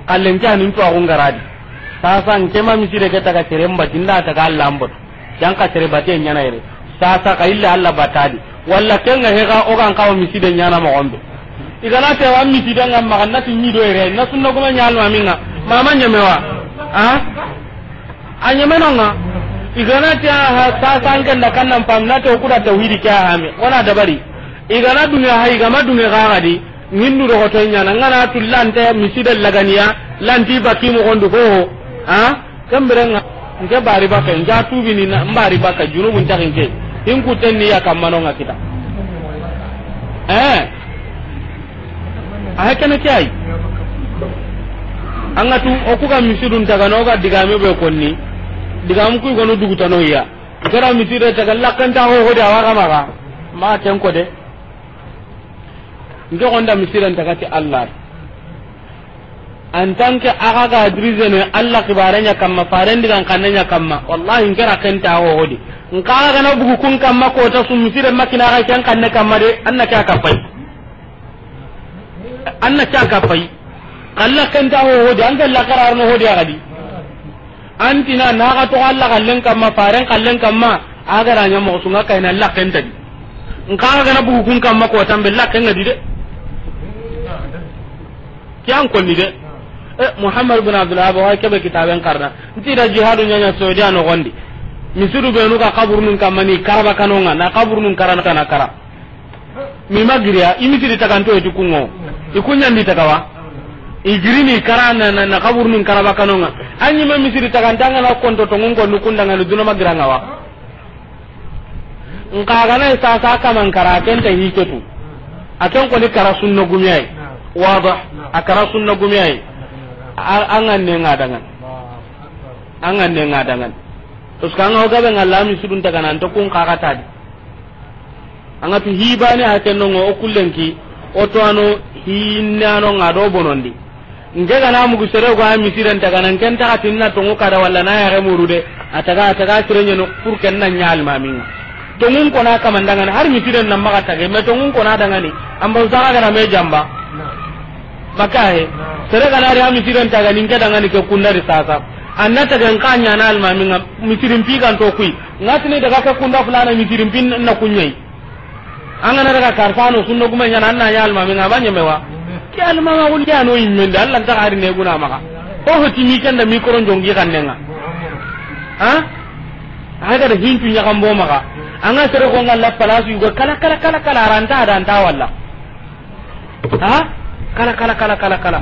Kallen ke anin to a gungaradi. Sasa n ke ma miside ke taga sere mbati nda taga Alla mboto. Yan ka sere bate ɲana yere. Sasa ka illa Alla batadi. Walla kenga hega o gan kawo miside ɲana mo gombe. I gana te wa miside nga maga na ti ɲi do yere. Na sunna kuma ɲal ma minga. Mama ɲemewa. Ha? A ɲemenonga. I gana te ha sasa an kenda kannan pam na te o kuda tawhidi ke ha me. Wana dabari. I gana dunge ha, i gama dunge ga gadi. Ngindu do hoto ɲana, ngana tu lante miside laganiya, lanti baki mo gondu ho. Ha? Kambere nga, nke bari baka, nja tubi ni na, mbari baka, junubun taxin ke. Hinku tenni ya kamano nga kita. Eh. A hakana ke ay. An ga tu, o ku ga misidun taga no ga digame be konni. Digam ku gonu dugutano ya. Gara miside taga lakanta ho ho da wa ga maga. Ma ken ko de. Nke gonda misiren taga ti Allah. En tant que aga ga adrisen ne Allah kibare ɲa kamma, faren digan kanne ɲa kamma. Wallahi nke ra ken ta ho hodi. Nka aga gana bugu kun kamma ko ta su misire makina ga ken kanne kamma de, an na ke a kapay. An na ke a kapay. Kalla ken ta ho hodi, an ke la karar no hodi a gadi. Antina na ga to Allah kallen kamma, faren kallen kamma, a ga ra ɲa mo sunga kayna Allah ken ta di. Nka aga gana bugu kun kamma ko tambe Allah ken ga di de. Kiyan konni de. Eh, Muhammad bin Abdul Wahhab wa kebe kitaben karna. Nti da jihadu ɲaɲa Saudi a no gondi. Misidu be nu ga kaburunun kamma ni karaba kanonga, na kaburunun karana kana kara. Mi magiriya, i misiri taganto eti kungo. I kunyandi tagawa. I girini kara na, na, na kaburunun karaba kanonga. Anyi ma misiri taganta nga na konto tongun ko nukunda nga duna magiranga wa. Nka gana sasa kaman kara kenta hiketu. Aken ko ni kara sunna gumiyai. Wada. A kara sunna gumiyai. A, an ga ne nga dangan. An ga ne nga dangan. Terus kanga o gabe nga lami sudun tagana anto kun kaga tadi. An ga tu hibane a kenno o kullenki, o to ano hinne ano nga do bonondi. Nke gana mugu sere go a misiren taga nan ken taga tinna tongu kada walla na yare muru de. A taga, a taga sire ɲeno pour ken na ɲa almaminga. Tongun kona kamandangani, har misiren na maga tage, me tongun kona dangani. Amba usaga gara me jamba. Maka he. Sere gana ri a misiren taga nin ke dangani ke kundari sasa. Anna taga nka ɲana almaminga, misirin pi ganto kui. Ngatini daga ke kunda fulana misirin pin na kunyai. An gana daga karfano sunna kuma ɲana, an na ɲa almaminga ba ɲemewa. Ke almama wul ya no immende, Allah ta gari ne guna maka. Ko hoti mi kenda mikro jongi kannenga. Ha? Aga da hintu ɲaga mbo maka. An ga sere ko ngalla palasu yugo kala, kala, kala, kala, aranta, aranta walla. Ha? Kala, kala, kala, kala, kala.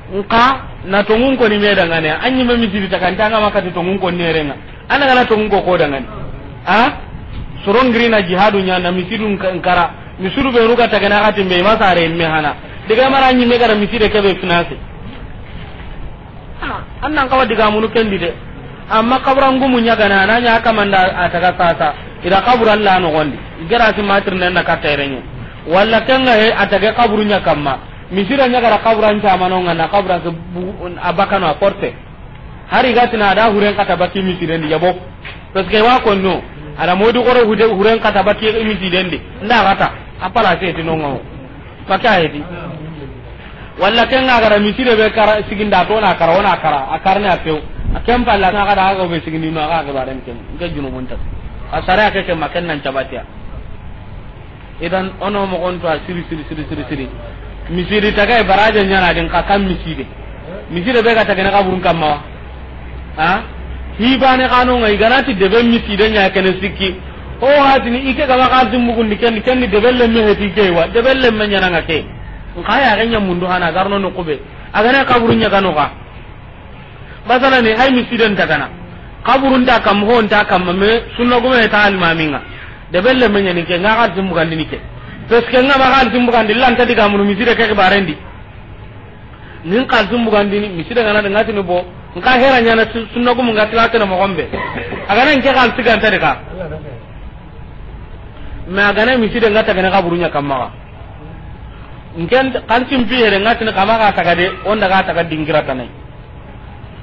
Nka, na tongun ko ni me dangane. Anyi ma misiri takanta nga makati tongun ko nerenga. Ana gana tongun ko ko dangane. Ha? Sorongiri na jihadu ɲa na misidun ka-, nkara. Misidu be ruga tagana gati me masare me hana. Diga mara anyi me gara miside kebe finance. Ah, an nan kawa diga munu kendi de. Amma kabura ngumu ɲagana, na ɲa kamanda a taga sasa. Ida kabura Allah no gondi. Igara si matir nen na katta irenye. Walla kenga he a taga kaburu ɲa kamma. Misira ɲagara kabura ncamano nga na kabura ke bu-, a bakano a porte. Hari gatina ada huren kata baki misirendi yabo. Parce que wa konno. Ada modu koro hude huren kata baki misirendi. Nda gata. Apala se tinongo. Maka hedi. Walla ken ga gara misire be kara siginda to na kara, wona kara, a karne a pew. A ken palla na ga da ga be sigindi no ga ga baren ken. Nke junubun ta. A sare ke ke maken nan cabatiya. Idan ono mo gonto a siri, siri, siri, siri, siri. Misiri taga e baraje ɲana din ka kam miside. Misire be ga taga na kaburun kamma wa. Ha? Hibane kanu nga iganati debe miside ɲa kene sikki. O hatini ike gaba kalti mugundi ken, ken debe le me heti ke wa, debe le me ɲana nga ke. Nka ya ga ɲa mundu hana garno no kube. Agana kaburu ɲa kanu ka. Basala ni hay misiden tagana. Kaburun ta kam ho nta kam me sunna gume ta almaminga. Debe le me ɲani ke nga kalti mugandi ni ke. Parce que nga ma kalti mugandi lanta diga munu miside ke barendi. Nin kalti mugandini, miside gana de ngatini bo, nka hera ɲana su-, sunna gumu ngati la tana mo gombe. Agana nke kalti ganta de ka. Mais a ga na miside nga taga na xaburu ɲa kamma ga. Nken xalisin pi yere nga tini kama ga taga de, o nda ga taga dingira tana yi.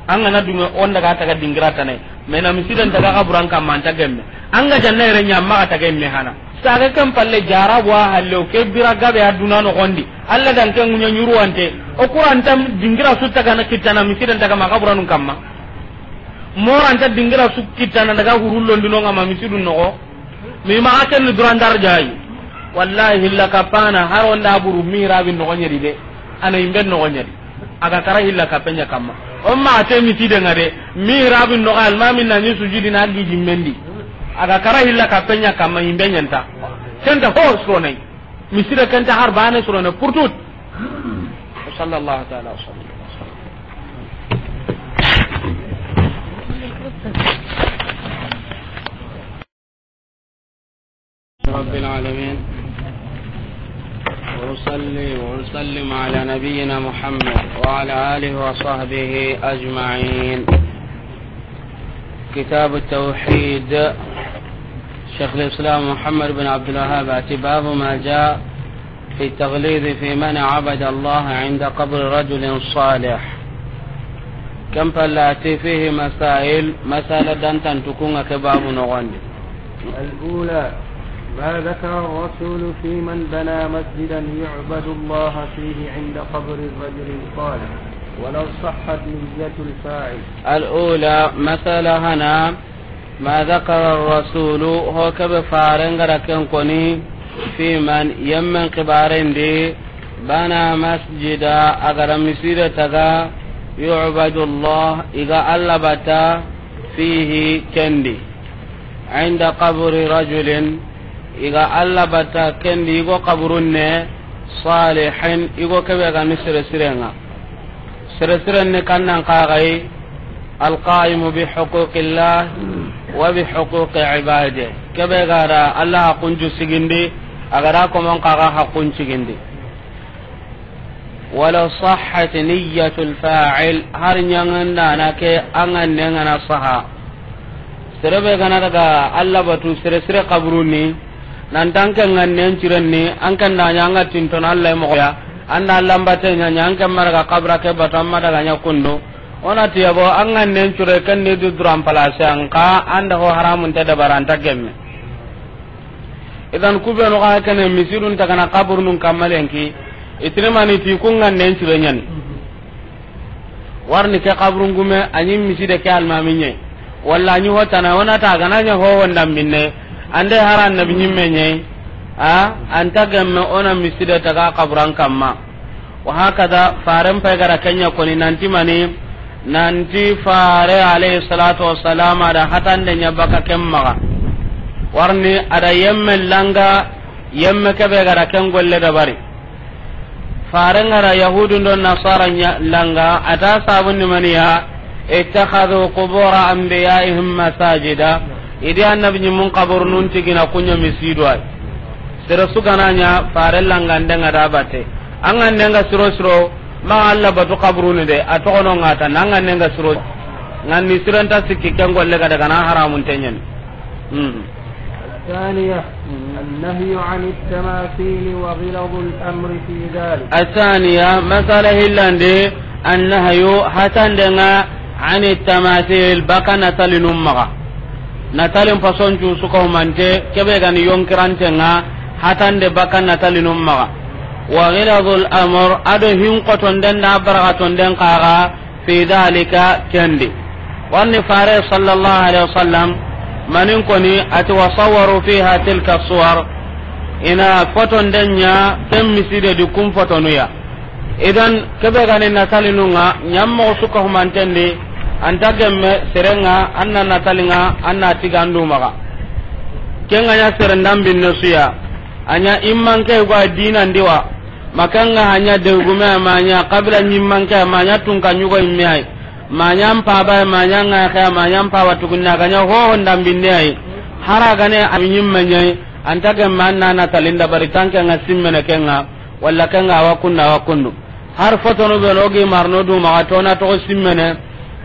An ga na dunŋe, o nda ga taga dingira tana yi. Mais na misiden taga xaburan kamma, an ta gemme. An ga janna yere ɲa, ma ga taga yemme hana. Saga ken palle, jarabu wa halle, o ke bira gabe a duna noxon di. Alla dan ke ŋuɲa ɲuruwante. O Qur'an ta dingira su taga na kittana, misiden taga ma xaburanun kamma. Moranta dingira su kittana daga hurullo ndinonga ma misidun noxo. Mi maxa ken ni duran darjayi. Wallahi hilla kapana har o nda buru mihrabi noxo ɲeri de. A na yimbe noxo ɲeri. A ga kara hilla kape ɲa kamma. O ma te miside nga de. Mihrabi noxo almami na ni sujudi na gi jimmendi. A ga kara hilla kape ɲa kamma, yimbe ɲa nta. Kenta ho soronayi. Miside kenta har bane sorona pour tout. Sallallahu ta'ala wa sallam. رب العالمين. وأصلي وأسلم على نبينا محمد وعلى آله وصحبه أجمعين. كتاب التوحيد. شيخ الإسلام محمد بن عبد الوهاب أتي باب ما جاء في التغليظ في من عبد الله عند قبر رجل صالح. كم فلاتي فيه مسائل، مسألة دانتان تكون كباب نغندي. الأولى، ما ذكر الرسول في من بنى مسجدا يعبد الله فيه عند قبر الرجل الصالح، ولو صحت نية الفاعل. الأولى، مسألة هنا، ما ذكر الرسول، هو كبفارن غركن كوني، في من يمن قبارن دي، بنى مسجدا، أغرى مسيرة تغا، يعبد الله، إغا الله بتا، فيه كندي. عند قبر رجل، إغا الله بتا كندي، إغو قبرن، صالح، إغو كبيغا نسر سرنا. Sere siren ni kannan kaxay, القائم بحقوق الله وبحقوق عباده. Kebe ga da Allah haqqun ju sigindi, a ga da komon kaxa haqqun sigindi. ولو صحت نية الفاعل, har ɲangandana ke an ga nengana saha. Sere be gana daga Allah batu sere sire kaburuni, nan tan ke ngannen cirenni, an kan da ɲa an ga tinton Allah moxo ya, an da Allah mbate ɲa ɲa an ke maraga kabra ke batu amma daga ɲa kundu. Ona tiyabo an ngannen cire ken ni du duran place an ka an da ho haramun ta dabaranta gemme. Idan kubenu ga kene misirun ta gana kaburunun kammalenki, itinimani ti kun ngannen cire ɲani. Warni ke kaburun gume, a ɲi miside ke almami ɲe. Walla a ɲi hotana, wona ta gana ɲa ho wonda minne. Ande hara annabi ɲimme ɲe. A, anta gemme ona miside taga kaburan kamma. Wa hakada, faren pay gara kenya koni nanti mani, nanti fare alayhi salatu wassalam ada hatande ɲa baka kemmaga. Warni ada yemme langa, yemme kebe gara ken golle dabari. Faren gara Yahudun do Nasara ɲa langa, ata sabun ni maniya, اتخذوا قبور أنبيائهم مساجدا. Idi annabi ɲimmun kaburunun tigina kunya misidu ay. Sere su gana ɲa fare langande nga da bate. An ga nenga siro siro, ma Allah batu kaburuni de, a togono ngata, nan ga nenga siro. Nganni siranta sikki ken golle ga daga na haramun tenyen. Hmm. الثانية، النهي عن التماثيل وغلظ الأمر في ذلك. الثانية، مسألة hillandi, النهي, hatandenga, عن التماثيل, baka natalin ummaga. Natalin fason cu suka humante, kebe gani yonkirantenga, hatande baka natalin ummaga. وغلظ الأمر, ado hin kotonden da baragatonden kaga, في ذلك, kendi. Warni fare sallallahu alaihi wasallam, manin koni ati, وصوروا فيها تلك الصور. Ina fotonden ɲa, ken miside di kun fotonuya. Idan, kebe gani natalinunga, ɲammo suka humantendi, anta gemme serenga, anna natalinga, anna tigandu maga. Kenga ɲa serendan binne suya, a ɲa immanke gwa dinan diwa, Makanga hanya degume a ma ɲa, kabila ɲimmanke a ma ɲa, tunka ɲugo imme ay. Ma ɲa mpaba a ma ɲa, ngaxe a ma ɲa, mpaba tugunna ga ɲa, hoho ndambinde ay. Hara gane a ɲimme ɲa ay, anta gemme an na natalin dabari tanke nga simmene kenga, walla kenga awa kundu, awa kundu. Har fotonu be no gi marno du maga tona togo simmene,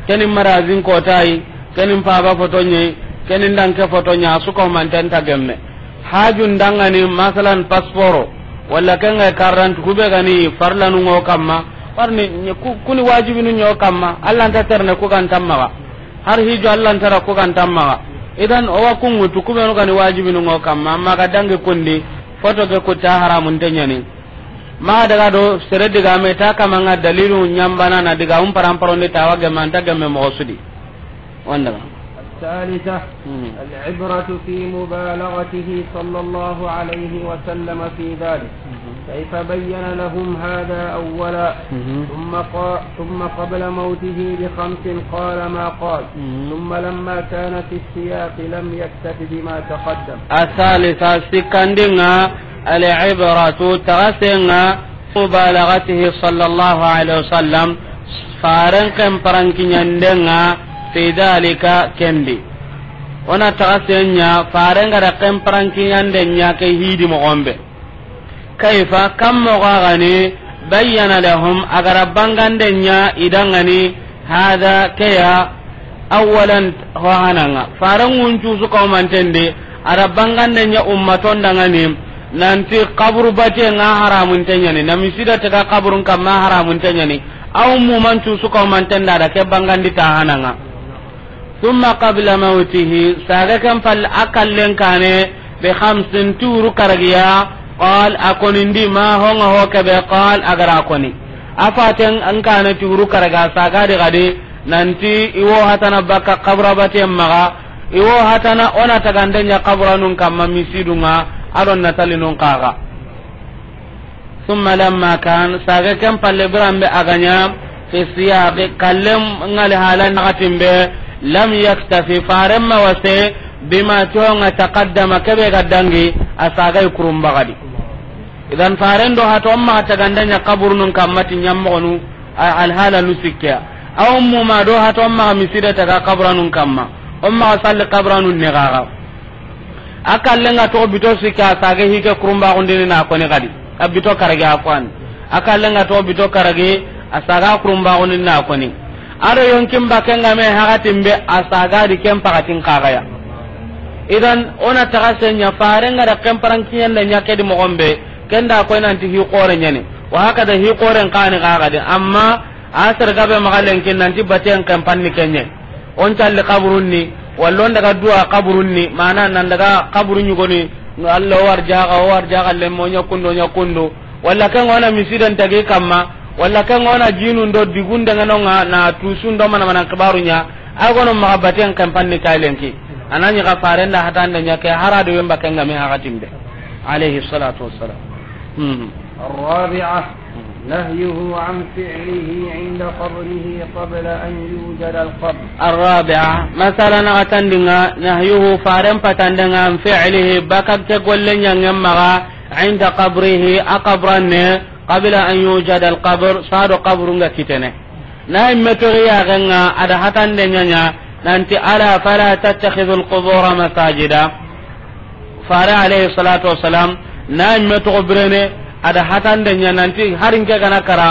keni marazin kota ay, keni mpaba foto ɲa ay, keni ndanke foto ɲa, a suka humanten ta gemme. Hajun dangani, masalan, pasporo, walla ken ga carte d'identité, ku be ga ni farlanu ŋo kamma, warni, ku-, kuni wajibinu ɲo kamma, Allah nta terne ku ga nta maxa. Har hijo Allah nta ra ku ga nta maxa. Idan, o wa ku ŋutu, ku be nu ga ni wajibinu ŋo kamma, amma ga dangi kundi, foto ke ku ta haramun te ɲani. Maxa daga do sere diga me ta kama ŋa dalilu ɲambana na diga um paramparondi ta wa gemme anta gemme moxo su di. Wanda. الثالثة، مم. العبرة في مبالغته صلى الله عليه وسلم في ذلك. مم. كيف بين لهم هذا أولا؟ مم. ثم قا-، ثم قبل موته بخمس قال ما قال. مم. ثم لما كان في السياق لم يكتف بما تقدم. الثالثة، sikkandinga, العبرة، taxasenga, مبالغته صلى الله عليه وسلم، faren ken parankiɲandenga, في ذلك، kendi. O na taxasenya, faren ga da ken parankiɲanden ɲa ke hidi moxo be. كيف، kam moxo ga ni, بين لهم، a ga da banganden ɲa i dangani, هذا، ke ya, أولا، ho hananga. Faren ŋun cusu kaumanten di, a da banganden ɲa ummaton dangani, nanti kaburu bate nga haramun te ɲani, na misida tega kaburun kamma haramun te ɲani, a ummuman cusu kaumanten da, da ke bangandi ta hananga. ثم قبل موته، saga ken palle a kallen kane, بخمس، ti wuru karagiya, قال، a konindi, ما، ho nga ho kebe, قال، a ga ra koni. A faten an kane ti wuru karaga, saga di gadi, nanti i wo hatana bakka kabura baten maxa, i wo hatana o na tagande ɲa kaburanun kamma misidunga, a do na talinun kaga. ثم لما كان، saga ken palle biran be a ga ɲa, في السياق، kallen ŋali halan nakatin be, لم يكتف، faren ma wase, بما، ti ho nga, تقدم، kebe ga dangi, a saga i kurun bagadi. Idan faren do hato maxa tagande ɲa kaburunun kamma ti ɲammoxonu, a, alhala nu sikkeya. A ummuma do hato maxa misida taga kaburanun kamma. O maxa salli kaburanun ne gaga. A kallen ga toxo bito sikki, a saga hi ke kurumbaxundini na koni xadi. A bito karagi a fo ani. A kallen ga toxo bito karagi, a saga kurumbaxundini na koni. A do yonkin bakken ga me hakatin be, a saga di ken pakatin kaga ya. Idan, o na taxase ɲa, faren ga da ken parankiɲande ɲa ke di moxon be, ken da koy nanti hi xore ɲani. Wa hakada hi xoren kani kaga di. Amma, a sere gabe maxa lenki nanti baten ken panni kenɲe. On calli kaburun ni, walla on daga duwa kaburun ni, mana nan daga kaburu ɲugoni, no Allah o warjaga, o warjaga lemmo ɲa kundo, ɲa kundo. Walla ken ŋa o na misiden tagi kamma, walla ken ŋa o na jinun do digun dangano ŋa na tusun do mana mana kibaru ɲa, a gono maxa baten ken panni kay lenki. A na ɲi ga faren da hatande ɲa ke harado yemba ken ga me hakatin be. Alayhi salatu wassalam. Hmm. الرابعة، نهيه عن فعله عند قبره قبل أن يوجد القبر. الرابعة، مثلا، a ga tandinga, نهيه، faren patandinga, عن فعله، baka ke golle ɲangen maxa, عند قبره، a kabranne, قبل أن يوجد القبر، sado kaburunga kitene. Na imme toxi yaxenga, a da hatande ɲaɲa, nanti, ألا فلا تتخذوا القبور مساجدا. Fare alayhi salatu wassalam, na imme toxo birene, a da hatande ɲa nanti, harin ke gana kara,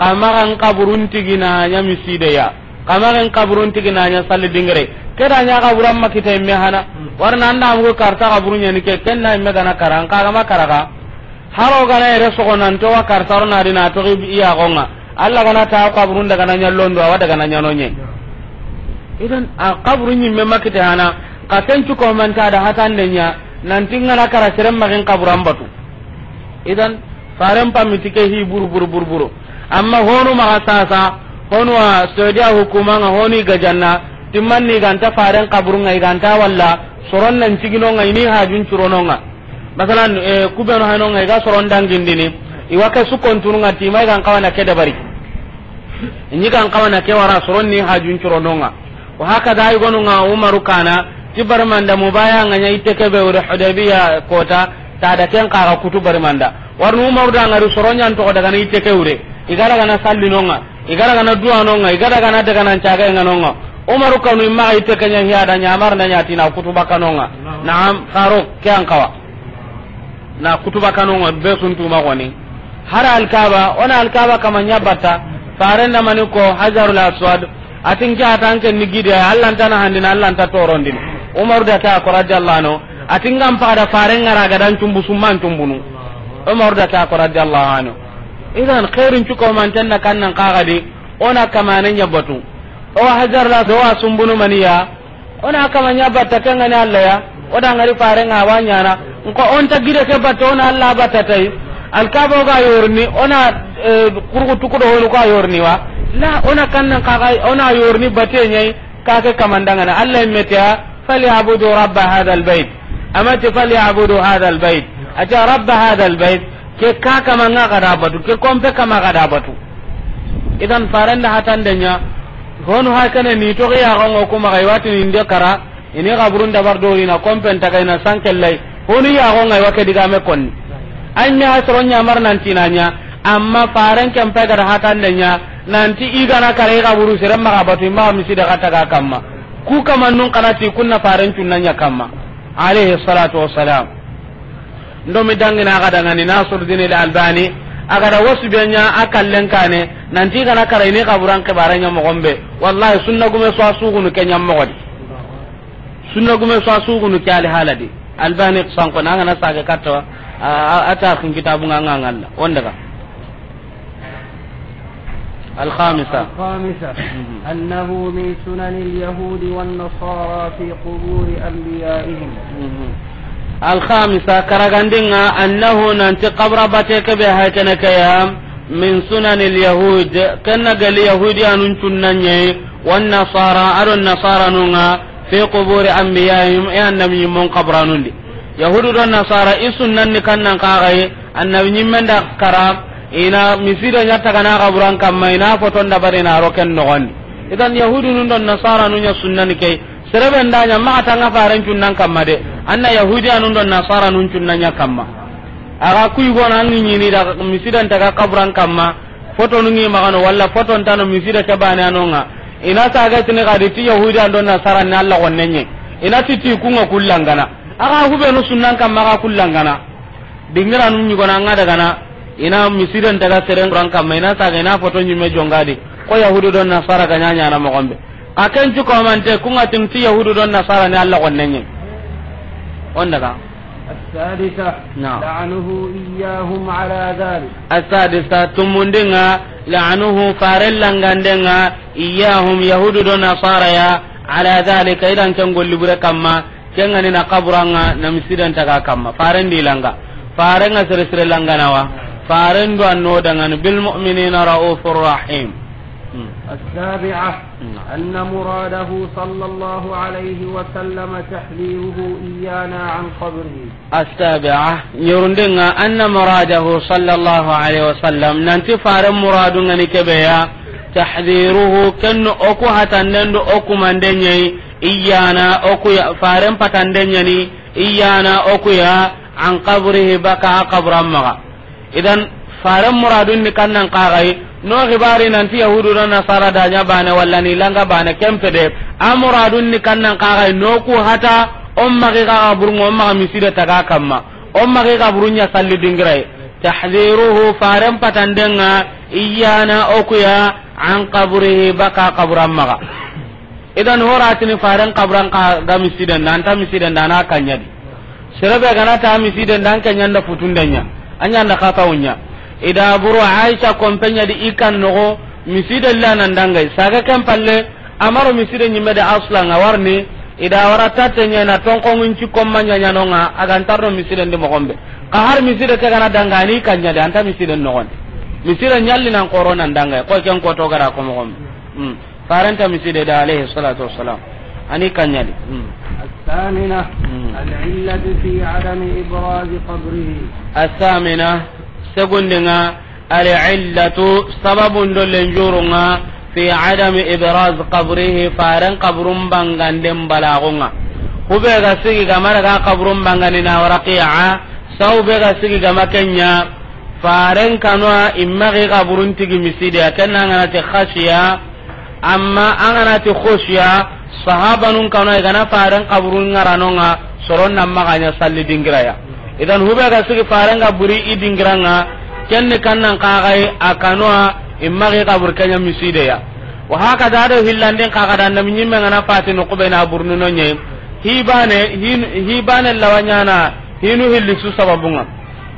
kamaxan kaburun tigina ɲa misideya. Kamaxan kaburun tigina ɲa salli dingere. Ke da ɲa kaburan makita imme hana. Warna anda mugo karta kaburun ɲani ke, ken na imme gana kara, an kagama karaga. Haro gana yere sogo nan to wa kartaro na dina to iya gonga. Allah gana ta kaburun daga na ɲallondo, awa daga na ɲanonye. Idan, a kaburun ɲimme makite hana, ka ken cuko manta da hatande ɲa, nanti ngana kara serem magin kaburan batu. Idan, faren pamiti ke hi buru, buru, buru, buru. Amma honu maxa sasa, honu wa Saudiya hukuma nga honi gajanna, timmanni ganta faren kaburunga, iganta walla, soron nan ciginonga, ini hajun curononga. Masalan, eh, kubenu hanonga, iga soron dangindini, iwa ke sukontununga tima, igan kawana ke dabari. Inyi gan kawana ke wara soron ni hajun curononga. Wa hakada, igonunga Umaru kana, ti barmanda mubaya nga ɲa itte kebe wure Hudaybiya kota, ta da ken kaga kutu barmanda. Warnu Umaru da ngari soron ɲan to daga na itte ke wure. Igara gana sallinonga, igara gana duwanonga, igara gana daga nan caga nganonga. Umaru kanu imma itte ke ɲa hiya da ɲamar na ɲatina kutu bakanonga. Naam, Faruk, ke an kawa. Na kutuba kanonga be sun tuma goni. Hara Alkaba, ona Alkaba kama ɲa batta, faren da mani ko Hajarul Aswad, atin ke atan ke ni gide, Allah nta na handina, Allah nta torondini. Umaru da ta ko radiyallahu anhu, A ti n ga n paga da faren ŋa ra ga da n cumbu summa n cumbunu. Umar da ke a ko radiyallahu anhu. Idan xeerin cuko man tenna kan nan kaga di, o na kamane ɲa batu. O Hajar la so a sumbunu maniya. O na kama ɲa batta ke ŋa ni Alla ya. O da ŋari faren ŋa wa ɲaana. Nko o nta gide ke batta o na Alla batta tay. Alkaba o ga yorni, o na, eh, kurgu tukudo honu ko a yorni wa. La, o na kan nan kaga, o na yorni batte ɲai. Ka ke kaman da ŋa na Alla yimme ti a, "Falyabudu rabba hadha albayt." A ma ti, "Falyabudu hadha albayt." A ti, "Rabba hadha albayt." Ke ka kama ŋa ga da batu, ke kompe kama ga da batu. Idan faren da hatande ɲa, honu hakene ni toxi ya gongo kuma ga i wa ti ni nde kara, i ni xaburun dabar do i na kompen taga i na sankellay. Honu ya gonga i wa ke digame konni. Ay me ha soro ɲa mar nan ti na ɲa, amma faren ken pe ga da hatande ɲa, nan ti i ga na kara i xaburu sere ma ga batu, i ma miside ga taga kamma. Ku kamannun xa na ti kunna faren cunna ɲa kamma, alayhi salatu wassalam. Ndo mi dangina a ga da ŋa ni Nasiruddin al-Albani, a ga da wasu be ɲa a kallen kane, nan ti i ga na kara i ni xaburan xibare ɲa moxon be. Wallahi, sunna gume so a sugunu ke ɲa moxo di. Sunna gume so a sugunu ke ali hala di. Albani sanko na ŋa na sage katta, a, a, a ta xi kitabu ŋa ŋa ŋalla. O n daga. الخامسة. الخامسة، أنه من سنن اليهود والنصارى في قبور أنبيائهم. الخامسة، karagandenga, أنه، nanti qabra bate ke be hay kene ke ya, من سنن اليهود, ken na gali Yahudiyanun cunna ɲa yi, والنصارى, a do Nasaranun ŋa, في قبور أنبيائهم, i annabi ɲimmon qabranun di. Yahudu do Nasara, i sunnan ni kan nan kaga yi, annabi ɲimmen da kara, i na miside ɲa taga na xaburan kamma, i na foton dabari na ro ken noxon di. Idan Yahudunun do Nasaranun ɲa sunnan ni ke yi. Sere be nda ɲa maxa tanga faren cunnan kamma de. Anna Yahudiyanun do Nasaranun cunna ɲa kamma. A ga ku yugo na an ŋi ɲini da misiden taga xaburan kamma. Fotonu ŋi maxa no, walla foton tano miside ke bane a no ŋa. I na saga tini xadi ti Yahudiyan do Nasaran ni Alla xonne ɲa. I na ti ti ku ŋa kullangana. A ga hubenu sunnan kamma ga kullangana. Dingiranu ɲugona ŋa daga na. I na misiden taga seren ran kamma. I na saga, i na foto ɲimme jonga di. Ko Yahudu do Nasara ga ɲa ɲaana moxon be. A ken cu komante ku ŋa tin ti Yahudu do Nasara ni Alla xonne ɲa. O n daga. السادسة، نعم. لعنه إياهم على ذلك. السادسة، tumundenga, لعنه, faren langandenga, إياهم, Yahudu do Nasara ya, على ذلك, i dan ken golli bure kamma, ken ga ni na xaburan ŋa, na misiden taga kamma. Faren di langa. Faren ŋa sere sere langana wa. Faren do anno dangani, بالمؤمنين رءوف رحيم. السابعة، نعم. أن مراده صلى الله عليه وسلم تحذيره إيانا عن قبره. السابعة، ɲerundenga, أن مراده صلى الله عليه وسلم, nanti faren muradunga ni ke be ya, تحذيره, ken o ku hatanden do o kumanden ɲa yi, إيانا, o ku ya, faren patanden ɲa ni, إيانا, o ku ya, عن قبره, baka a xaburan maxa. Idan, faren muradun ni kan nan kaga yi, no xibari nanti Yahudu do Nasara da ɲa bane, walla ni langa bane, ken pe de. A muradun ni kan nan kaga yi, no ku hata, o maxa i ga xaburun ŋa, o maxa miside taga kamma. O maxa i ga xaburun ɲa salli dingira yi. تحذيره, faren patandenga, إيانا, o ku ya, عن قبره, baka xaburan maxa. Idan horatini faren xaburan xa ga misiden da, anta misiden da, ana kanya di. Sere be gana ta misiden da, an kanya nda futunden ɲa, an ɲa nda xatawun ɲa. I da buru Aisha kompe ɲa di i kan noxo, misiden la nan dangai. Saga ken palle, a ma ro misiden ɲimme de aslan, a warni, i da wara tatte ɲa na tonkongun ci komma ɲa ɲa no ŋa, a ga ntarno misiden di moxon be. Xa har miside ke gana danga, ani kanya di, anta misiden noxon. Misiden ɲalli nan xoro nan dangai, ko ken ko to gara ko moxon be. Hmm. Faren ta miside da, alayhi salatu wassalam. Ani kanyadi. Hmm. الثامنة، Hmm. العلة في عدم إبراز قبره. الثامنة, segundenga, العلة, sababun do lenjurunga, في عدم إبراز قبره, faren xaburun banganden balagunga. Hube ga sigi ga mara ga xaburun bangani na waraqiya, saw be ga sigi ga makenya, faren kanwa imma ga xaburun tigi miside, akenna ngana te khashiya, Amma an gana ti khoshiya, sahabanun kanu, i gana faren kaburun ŋarano ŋa, soron nan maxa ɲa salli dingira ya. Idan hube ga sigi faren ga buri i dingira ŋa, ken ni kannan kaxay a kanu a, i maxa i kabur ke ɲa miside ya. Wa haka da do hillandin kaxa da, annabi ɲimme ŋana fati no kube na burnu no ɲe. Hibane, hin-, hibane lawa ɲaana, hinu hilli su sababun ŋa.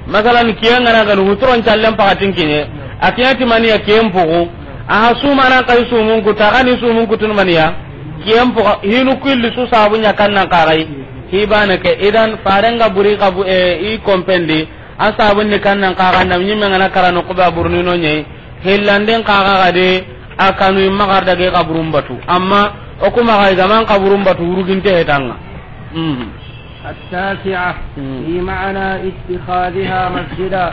Masalan, kiyen ga na ganu huturon callen pakatin kiɲe, a kiyen ti mani ya kiyen pugu, a ha sumanan kay sumun kutu, a ga ni sumun kutun mani ya, kiyen pugu, hinu ku hilli su sababun ɲa kan nan kagai, hibane ke, idan faren ga buri kabu, e, i kompendi, a sabun ni kan nan kaga, nam ɲimme ga na kara no kuba burni no ɲei, hillanden kaga ga de, a kanu i maxa daga i kaburun batu. Amma o kuma ga i ga man kaburun batu, wuruginte hetan ŋa. Mhm. التاسعة في معنى اتخاذها مسجدا.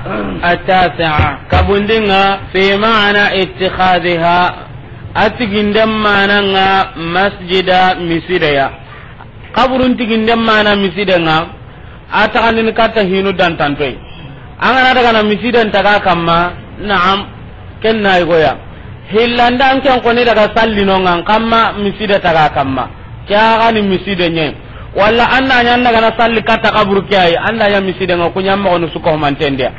التاسعة, kabundin ŋa, في معنى اتخاذها, a tiginden manan ŋa masjida, miside ya. Kaburun tiginden mana misiden ŋa, a taxandini katta hinu dantantoyi. An ga na daga na misiden taga kamma, naam, ken na yigoya. Hillanda an ken koni daga sallinon ŋa, kamma miside taga kamma. Ke a ga ni miside ɲe. Walla an da ɲa an daga na salli katta kaburu ke ayi, an da ɲa misiden ŋa, ku ɲa moxonu su ko mantendiya.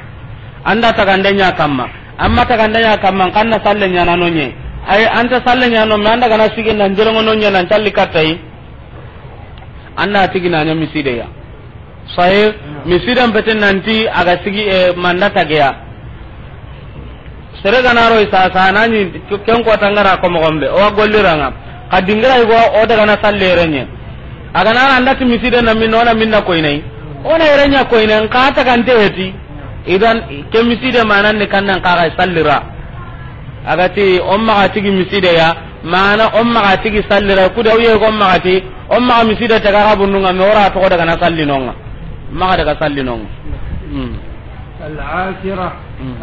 An da tagande ɲa kamma. Amma tagande ɲa kamma, kan na salle ɲaana no ɲe. Ayi, an ta salle ɲaana no, me an daga na sigi nan jerengo no ɲe nan calli kattayi. An da tigi na ɲa miside ya. Sahe, misiden pete nanti a ga sigi, e, manda tageya. Sere ga na ro i sasa, na ɲi ken ko tangara ko moxon be, o wa golliran ŋa. Ka dingira i go, o daga na salle renye. A ga na an da ti miside na min, o na minna koyinai. O na renye koyinai, ka tagante heti. Idan, ke miside manan ni kan nan kaga sallira. A ga ti, o maxa tigi miside ya, mana o maxa tigi sallira, kuda uye ko maxa ti, o maxa miside taga kaburun ŋa, me o ra toxo daga na sallinon ŋa. Maxa daga sallinon ŋa. Hmm. العاشرة،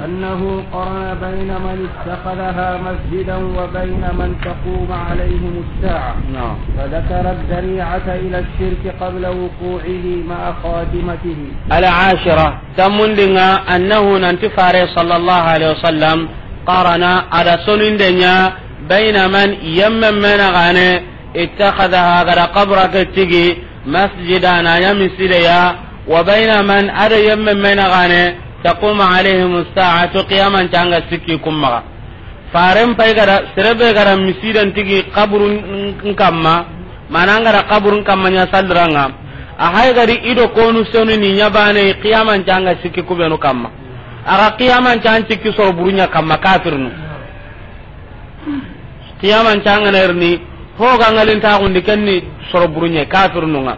أنه قرن بين من اتخذها مسجدا وبين من تقوم عليهم الساعة، نعم. فذكر الذريعة إلى الشرك قبل وقوعه مع خاتمته. العاشرة، Tammundin ŋa, annahu, nanti fare sallallahu alaihi wasallam, qarana, a da soninde ɲa, bayna man, yemme mena gane, ittakhadhaha, a ga da kabura ke tigi, masjida, na ɲa miside ya, wa bayna man, a da yemme mena gane, taqumu alaihim as-sa'atu, qiyaman canga sikki kummaga. Faren pay ga da, sere be ga da misiden tigi kaburun kamma, mana an ga da kaburun kamma ɲa salliran ŋa. A hay ga di i do konu sonu ni ɲa bane, qiyaman canga sikki kubenu kamma. A ga qiyaman can sikki soro burunya kamma kafirnu. Qiyaman canga nerni, ho ga ngalin ta gundi kenni soro burunya kafirnu ŋa.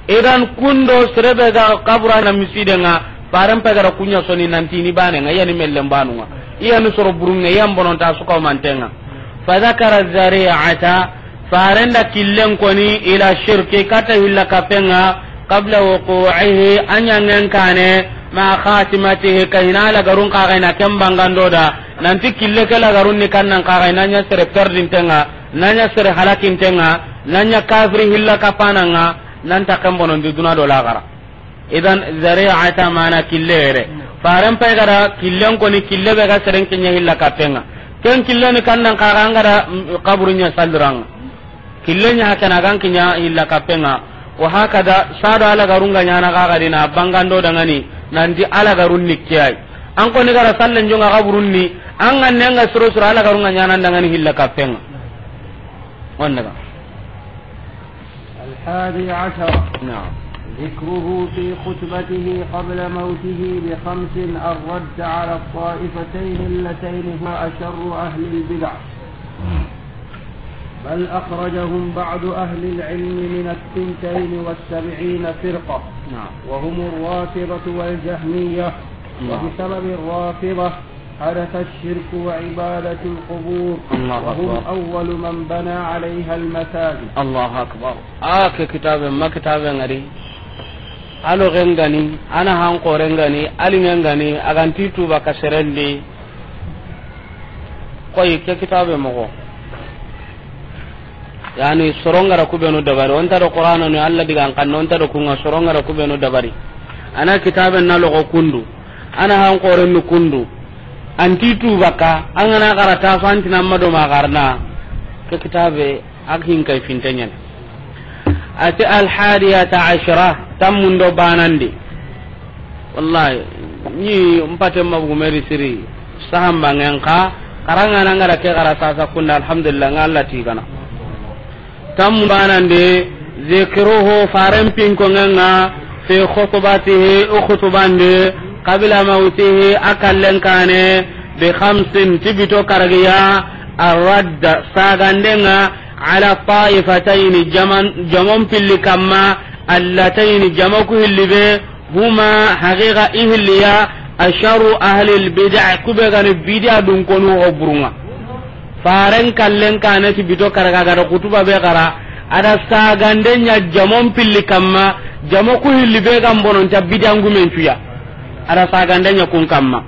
Idan kundo sere be ga kabura na miside ŋa, faren pay ga da ku ɲa soni nanti ni bane ŋa, yani mellen banu ŋa. Iya ni soro burun ŋa, yan bonon ta su ko manten ŋa. Fa dhakara zari'ata, faren da killen koni ila shirki kata hilla kapen ŋa, qabla wuqu'ihi, a ɲangen kane, ma khatimatihi, ka hina lagarun kaga ina ken bangando da, nanti kille ke lagarun ni kan nan kaga na ɲa sere perdinten ŋa, na ɲa sere halakinten ŋa, na ɲa kafiri hilla kapanan ŋa, nan ta ken bonondi duna do laxara. Idan, zari'ata mana kille yere. Faren pay ga da killen koni, kille be ga seren kiɲa hilla kapen ŋa. Ken kille ni kan nan kaga an ga da, mm, kaburu ɲa salliran ŋa. Kille ɲa hakana gan kiɲa hilla kapen ŋa. Wa hakada, sado alagarun ga ɲana kaga dina bangando dangani, nanti alagarun ni kiyai. An koni ga da sallen jonga kaburun ni, an ga nenga suro suro alagarun ga ɲana dangani hilla kapen ŋa. On daga. الحادي عشر. نعم. ذكره في خطبته قبل موته بخمس الرد على الطائفتين اللتين هما أشر أهل البدع. بل أخرجهم بعض أهل العلم من الثنتين والسبعين فرقة، نعم. وهم الرافضة والجهمية. نعم. وبسبب الرافضة حدث الشرك وعبادة القبور، الله أكبر. وهم أول من بنى عليها المساجد. الله أكبر. A ke kitabe, ma kitabe ŋa di. Alo gengani, ana han kore ngani, ali ngengani, a ga nti tuba ka serendi. Koy ke kitabe moxo. Yani, sorongara kubenu dabari. Onta do Qur'ano ni Allah digan kan, onta do kunga sorongara kubenu dabari. Ana kitabe na logo kundu. Ana han qoren ni kundu. Anti tu baka, an ga na gara ta so anti na ma do ma garna. Ke kitabe, ak hin kay fintenyen. Ati al hadiyata ashra, tammundo banandi. Wallahi, ni mpate mabugu meri siri, sahamba ngen ka, karanga na ngara ke gara sasa kunda, alhamdulillah, nga Allah ti gana. Tammu banande, Zikruhu, faren pinkonŋen ŋa, fi khutbatihi, o khutbandi, qabla mawtihi, a kallen kaane, bi khamsin, ti bito karagi ya, arradd, saganden ŋa, ala ta'ifatayni, jaman, jamon pilli kamma, allatayni, jama ku hilli be, huma, haqiqa i hilli ya, asharru ahlil bid'a, ku be ga ni bid'a dunkonu ho burun ŋa. Faren kallen kaane ti bito karagi a ga da xutuba be xara, a da saganden ɲa jamon pilli kamma, jama ku hilli be ga n bono nta bidangumen cu ya. A da saganden ɲa kun kamma.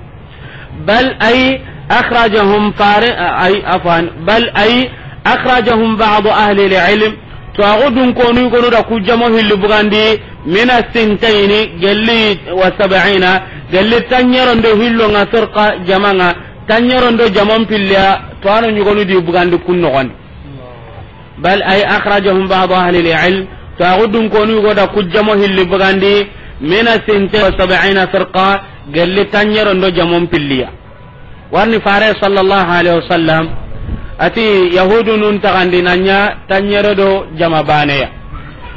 Bal ay akhrajahum fare-, ay, afwan, bal ay akhrajahum ba'du ahli al-ilm, to a go dunkonu gonu da ku jama hilli bugandi, mina sintayni, gelli wa sab'ina, gelli tanɲeron do hillo ŋa, firqa, jama ŋa, tanɲeron do jamon pilli ya, to a na ɲugonu di bugandi kun noxondi. Bal ay akhrajahum ba'du ahli al-ilm, to a go dunkonu go da ku jama hilli bugandi, mina sintayni wa sab'ina firqa, gelli tanɲeron do jamon pilli ya. Warni fare sallallahu alaihi wasallam, a ti yahudu nun taxandi na ɲa tanɲere do jama baane ya.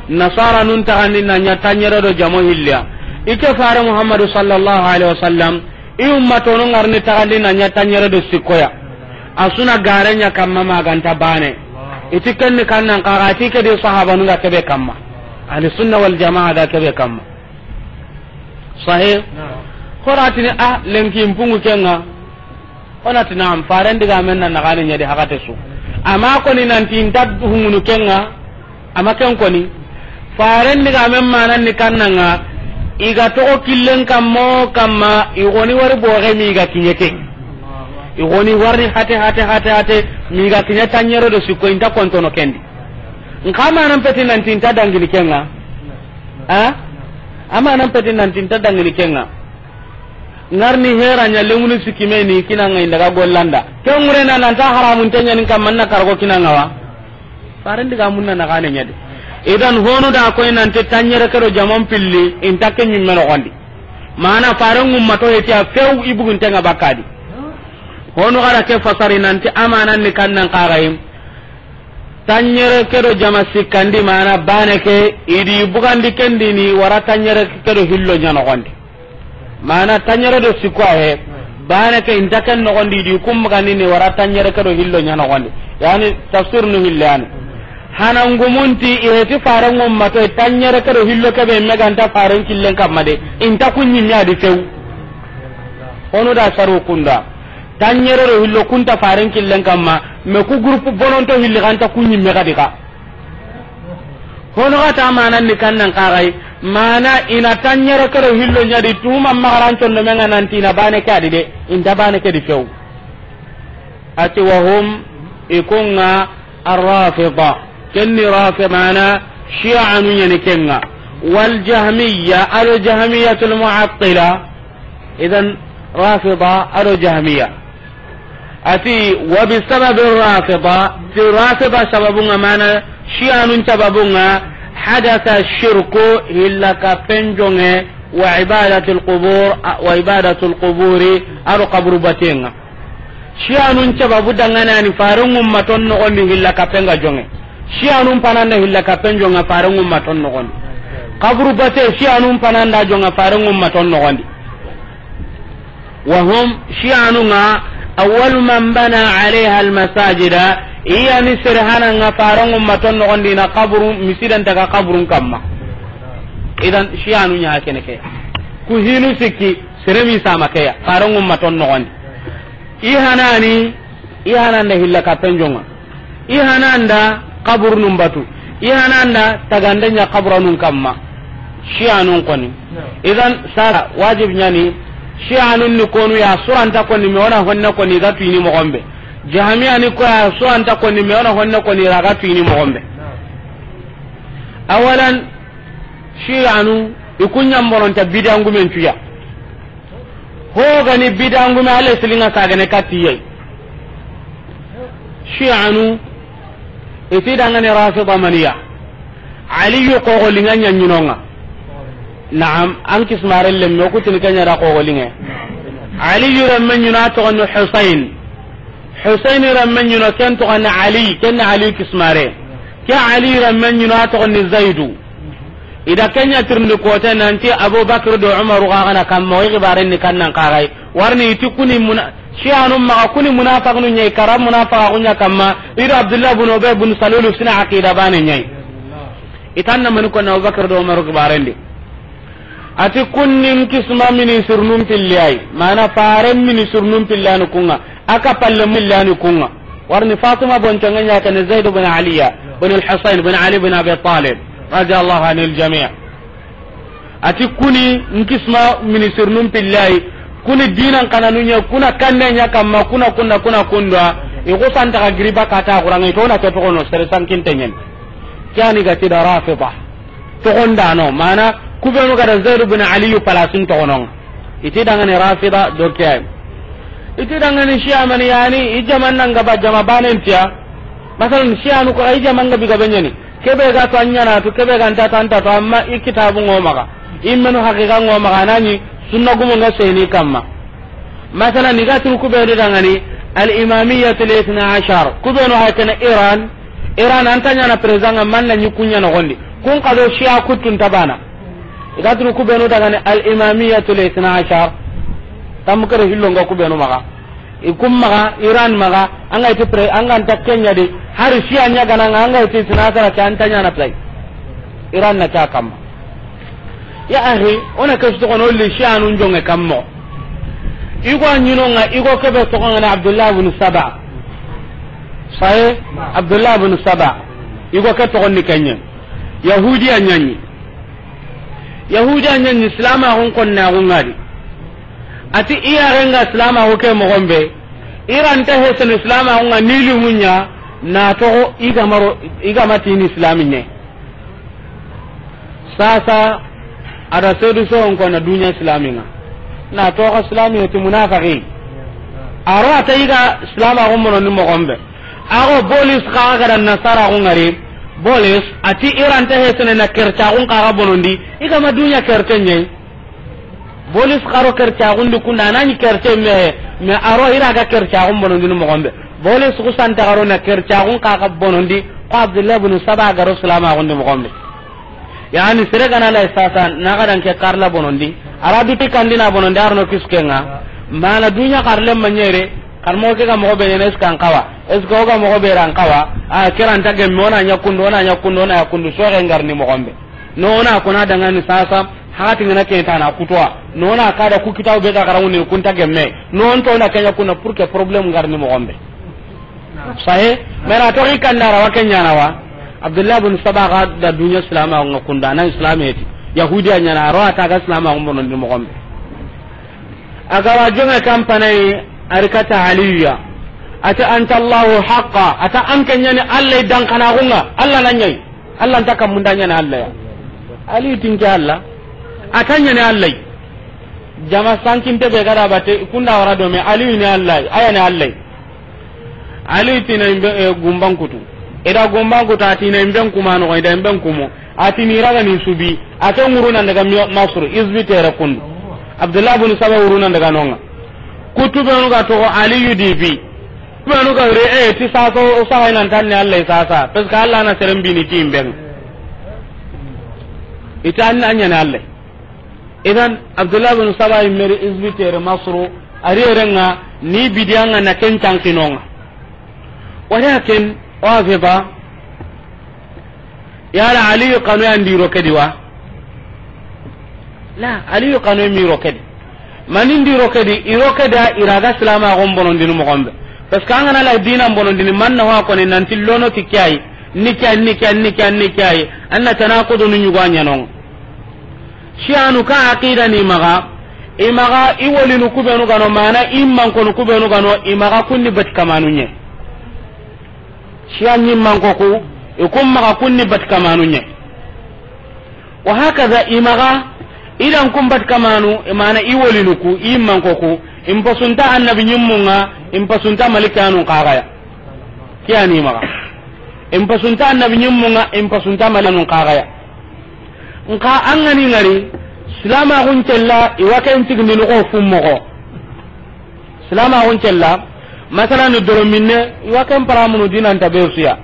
Nasara nun taxandi na ɲa tanɲere do jama hilli ya. I ke fare Muhammadu sallallahu alaihi wasallam, i ummatonu ŋa ri ni taxandi na ɲa tanɲere do sikko ya. A su na gare ɲa kamma ma ga nta baane. I ti ken ni kannan xaxa, a ti ke di sahabanu ga ke be kamma. Ahli sunna wal jamaa ga ke be kamma. Sahih. Naam. Xo ra ti ni a lenki mpungu ken ŋa. O na ti naam, faren digamen na naxaane ɲa di haxate su. Amma koni nanti nta hungunu ken ŋa, amma ken koni. Faren digamen manan ni kannan ŋa, i ga toxo killen kamma o kamma, i goni wari boxe mi ga kiɲe ke. I goni wari hate, hate, hate, hate, mi ga kiɲe tanɲere do sikko, i nta kontono ken di. Nxa manan peti nanti nta dangini ken ŋa. A? A manan peti nanti nta dangini ken ŋa. Ŋa ri ni hera ɲa lemunu sikki me ni kina ŋa i n daga gollanda. Ken ŋure na nan ta haramun te ɲa ni kamma na karago kina ŋa wa. Faren digamun na naxaane ɲa di. Idan honu da koy nanti tanɲere ke do jamon pilli, i nta ke ɲimme noxondi. Mana faren ŋummato heti ya few i bugunte ŋa bakka di. Honu ga da ke fasari nanti a manan ni kannan xaxayi. Tanɲere ke do jama sikkandi mana baane ke, i di bugandi ken di ni wara tanɲere ke do hillo ɲa noxondi. Mana tanɲere do sikko a he, baane ke i nta ken noxondi, i di kun bugandi ni wara tanɲere ke do hillo ɲa noxondi. Yani tafsir nu hille yani. Hana ngumun ti i heti faren ŋummato tanɲere ke do hillo ke be me ga nta faren killen kamma de, i nta kun ɲimme a di few. Honu da saru kunda. Tanɲere do hillo ku nta faren killen kamma, me ku groupe bononto hilli ga nta ku ɲimme ga di ka. Hono ga ta manan ni kannan xaxayi, mana i na tanɲere ke do hillo ɲa di tuma ma ga ra n condo me ŋa nanti i na baane ke a di de, i nta baane ke di few. A ti wa hum, i kun ŋa, Ar-Rafida, ken ni Rafida, mana Shi'anu ɲa ni ken ŋa. Wal Jahmiyya, ado Jahmiyyatul Mu'attila. Idan Rafida ado Jahmiyya. A ti, wa bi sababi Rafida, ti Rafida sababun ŋa, mana Shi'anun sababun ŋa, hadatha shirku, hilla kappen joŋe, wa ibadatul qubur, wa ibadatul quburi, ado qaburu baten ŋa. Shi'anun sababu dangana ni faren ŋummaton noxondi hilla kappen ga joŋe. Shi'anun pananda hilla kappen joŋa faren ŋummaton noxondi. Qaburu bate Shi'anun pananda joŋa faren ŋummaton noxondi. Wa hum, Shi'anu ŋa, awwalu man bana alayha al-masajida, i ya ni sere hana ŋa faren ŋummaton noxondi na qaburu, misidan taga qaburun kamma. Idan Shi'anu ɲa kene ke. Ku hinu sikki, sere mi sama ke ya, faren ŋummaton noxondi. I hanani, i hananda hilla kappen joŋa. I hananda kaburunun batu. I hananda tagande ɲa kaburanun kamma. Shi'anun koni. Idan sara wajib ɲa ni, Shi'anun ni konu ya suranta koni me o na honne koni ga tuyini moxon be. Jahmiya ni ko ya suranta koni me o na honne koni ra ga tuyini moxon be. Awalan, Shi'anu, i kun ɲa n bononta bidangumen cu ya. Ho ga ni bidangume, ale silinga sagane katiye. Shi'anu, i ti dangane Rafida maniya. Aliyu xoxolinga ɲa ɲinonga. Naam, an kismare lemme, o kutini ke ɲa da xoxolinge. Aliyu remme ɲino a toxoni Husayn. Husayn remme ɲino ken toxoni Ali, ken ni Aliyu kismare. Ke Ali renmen ɲi no, a toxon ni Zaidu. I da ken ɲa tirindi kote nanti Abubakar do Umaru xa ga na kamma, o yi xibaren ni kannan xa ga yi. Warni i ti kuni muna-, Shi'anu maxa kuni munafaqinu ɲa yi, kara munafaqaxu ɲa kamma, i do Abdullah bin Ubay bin Salulu sina aqida bane ɲa yi. I tan na mani ko na Abubakar do Umaru xibaren di. A ti kunni n kisma ministre nun pilli ya yi, mana faren ministre nun pilli ya ni kun ŋa, a ka palle pilli ya ni kun ŋa. Warni Fatima bonconge ɲa kene Zaid bin Aliya bin al-Husayn bin Ali bin Abi Talib radiyallahu anil jami'. A ti kuni n kisma ministre nun pilli ya yi, kuni dinan kananu ɲa, kuna kanne ɲa kamma, kuna kunna, kuna kunda, i ku santa ga giriba kata Qur'an, i to na ke toxo no, sere sankinte ɲen. Ke yani ga ti da Rafida. Toxondano, mana, kubenu ga da Zaid bin Aliyu palasin toxonon. I ti dangani Rafida do ke ya yi. I ti dangani Shia mani yani, i jaman nan ga ba jama banen tiya. Masalan, Shi'anu ko i jaman ga bi ga be ɲa ni. Kebe ga to a ɲa na to, kebe ga nta ta nta to, amma i kitabu ŋo maxa. I menu haqiqa ŋo maxa, nani sunna gumo ŋa seni kamma. Masalan, i ga tunu kubenu dangani al-Imamiyyatu al-Ithna Ashar. Kubenu ha kene Iran, Iran an ta ɲa na président ŋa, man na ɲi kun ɲa noxon di. Kun xa do Shia kuttun ta bana. I ga tunu kubenu dangani al-Imamiyyatu al-Ithna Ashar. Tam kare hillo ŋa kubenu maxa. I kun maxa, Iran maxa, an ga i ti pré-, an ga nta ke ɲa di. Hari Shia ɲa ga na ŋa, an ga i ti Ithna Ashar ke an ta ɲa na play. Iran na ke ya kamma. Ya ahi, o na ke su toxono li Shi'anun jonge kammo. I go a ɲi no ŋa, i go kebe toxo ŋa na Abdullah bin Saba. Sahe, Abdullah bin Saba. I go ke toxon ni ke ɲa. Yahudiya ɲa ni. Yahudiya ɲa ni, silamaxun konnaxu ŋa di. A ti i yaren ga silamaxu ke moxon be. Iran ta hesenu silamaxu ŋa ni limu ɲa, na toxo i ga ma ro, i ga ma tini silami ɲa. Sasa, a da sedu so on ko na dunya islami ŋa. Na toxo silami ti munafaqi. A ro a ta i ga silamaxu bonondi moxon be. A go bolis xa ga da nasaraxu ŋari. Bolis, a ti Iran ta hesene na kercaxun xa ga bonondi. I ga ma dunya kerte ɲa yi. Bolis xa ro kercaxun di kunda, a na ɲi kerte me, me a ro i ra ga kercaxun bonondini moxon be. Bolis ku santa xa ro na kercaxun xa ga bonondi, ko Abdullah bin Saba ga ro silamaxun di moxon be. Yani, sere ga na lay sasa, na ga dan ke karla bonondi, a ra duti kandina bonondi, a ro no kiskenga, mana dunya karle maɲere, kar mo ke ga moxo be ne, est-ce que an xawa, est-ce que o ga moxo be ran xawa, a kiran ta gemme, o na ɲa kundu, o na ɲa kundu, o na ɲa kundu, so ga ngarni moxon be. No na ko na dangani sasa, hati ngana ke ta na kutuwa. No na ka da ku kitabu be ga garangu ne kunta gemme. No on to na kenya kuna pour que problème ngarni moxon be. Sahe, mera to i kandara wa kenya na wa. Abdullah bin Saba ga da dunya silamaxu ŋa kunda, na islameti. Yahudiya ɲa na, a ro a ta ga silamaxu bonondi moxon be. A ga wa jonge kampanai, a ri kata Aliyu ya. A ti anta Allahu haqqa, a ta an ke ɲa ni Allah i dankanaxu ŋa, Allah na ɲa yi. Allah nta kamunda ɲa ni Allah ya. Aliyu ti n ke Allah. A ta ɲa ni Allah yi. Jama sankinte be ga da bate, kunda wara do me, Aliyu ni Allah yi, a ya ni Allah yi. Ali ti na imbe, eh, gumban kutu. I da gumban kutu, a ti na imben kuma no, i da imben kumo. A ti ni raga ni subi. A ke ŋuru nan daga mi-, Masru, izbi tere kundu. Abdullah bin Saba ŋuru nan daga no ŋa. Kutu benu ga toxo Aliyu di bi. Benu ga re, eh, ti sasa o saga nan tan ni Allah sasa. Parce que Allah na seren bini ti imben. I ta an ɲa ni Allah. Idan, Abdullah bin Saba i meri izbi tere Masru, a ri ere ŋa ni bidiya ŋa na ken tanki no ŋa. Walakin, o a fe ba, yala Aliyu kanu ya ndi ro ke di wa? La, Aliyu kanu ya mi ro ke di. Mani ndi ro ke di, i ro ke da i ra ga silamaxun bonondini moxon be. Parce que an ga na la dinan bonondini, man na wa ko ni nanti lono ti ke ya yi, ni ke ya yi, ni ke ya yi, ni ke ya yi, ni ke ya yi, an na tanakudu ni ɲugo a ɲa no ŋa. Shiyanu ka aqida ni maxa, i maxa i wolinu kubenu ga no, mana i mankonu kubenu ga no, i maxa kunni bati kamanu ɲa. Shiya ɲi manko ku, i kun maxa kunni bati kamanu ɲa. Wa hakaza i maxa, i dan kun bati kamanu, mana i wolinu ku, i manko ku, i mpasunta annabi ɲimmu ŋa, i mpasunta malikanu xa ga ya. Ke ya ni maxa. I mpasunta annabi ɲimmu ŋa, i mpasunta malikanu xa ga ya. Nka an ga ni ŋari, silamaxun cella, i wa ken tigindini xo fu moxo. Silamaxun cella, masalan, doro minne, i wa ken paramunu dinan ta be su ya.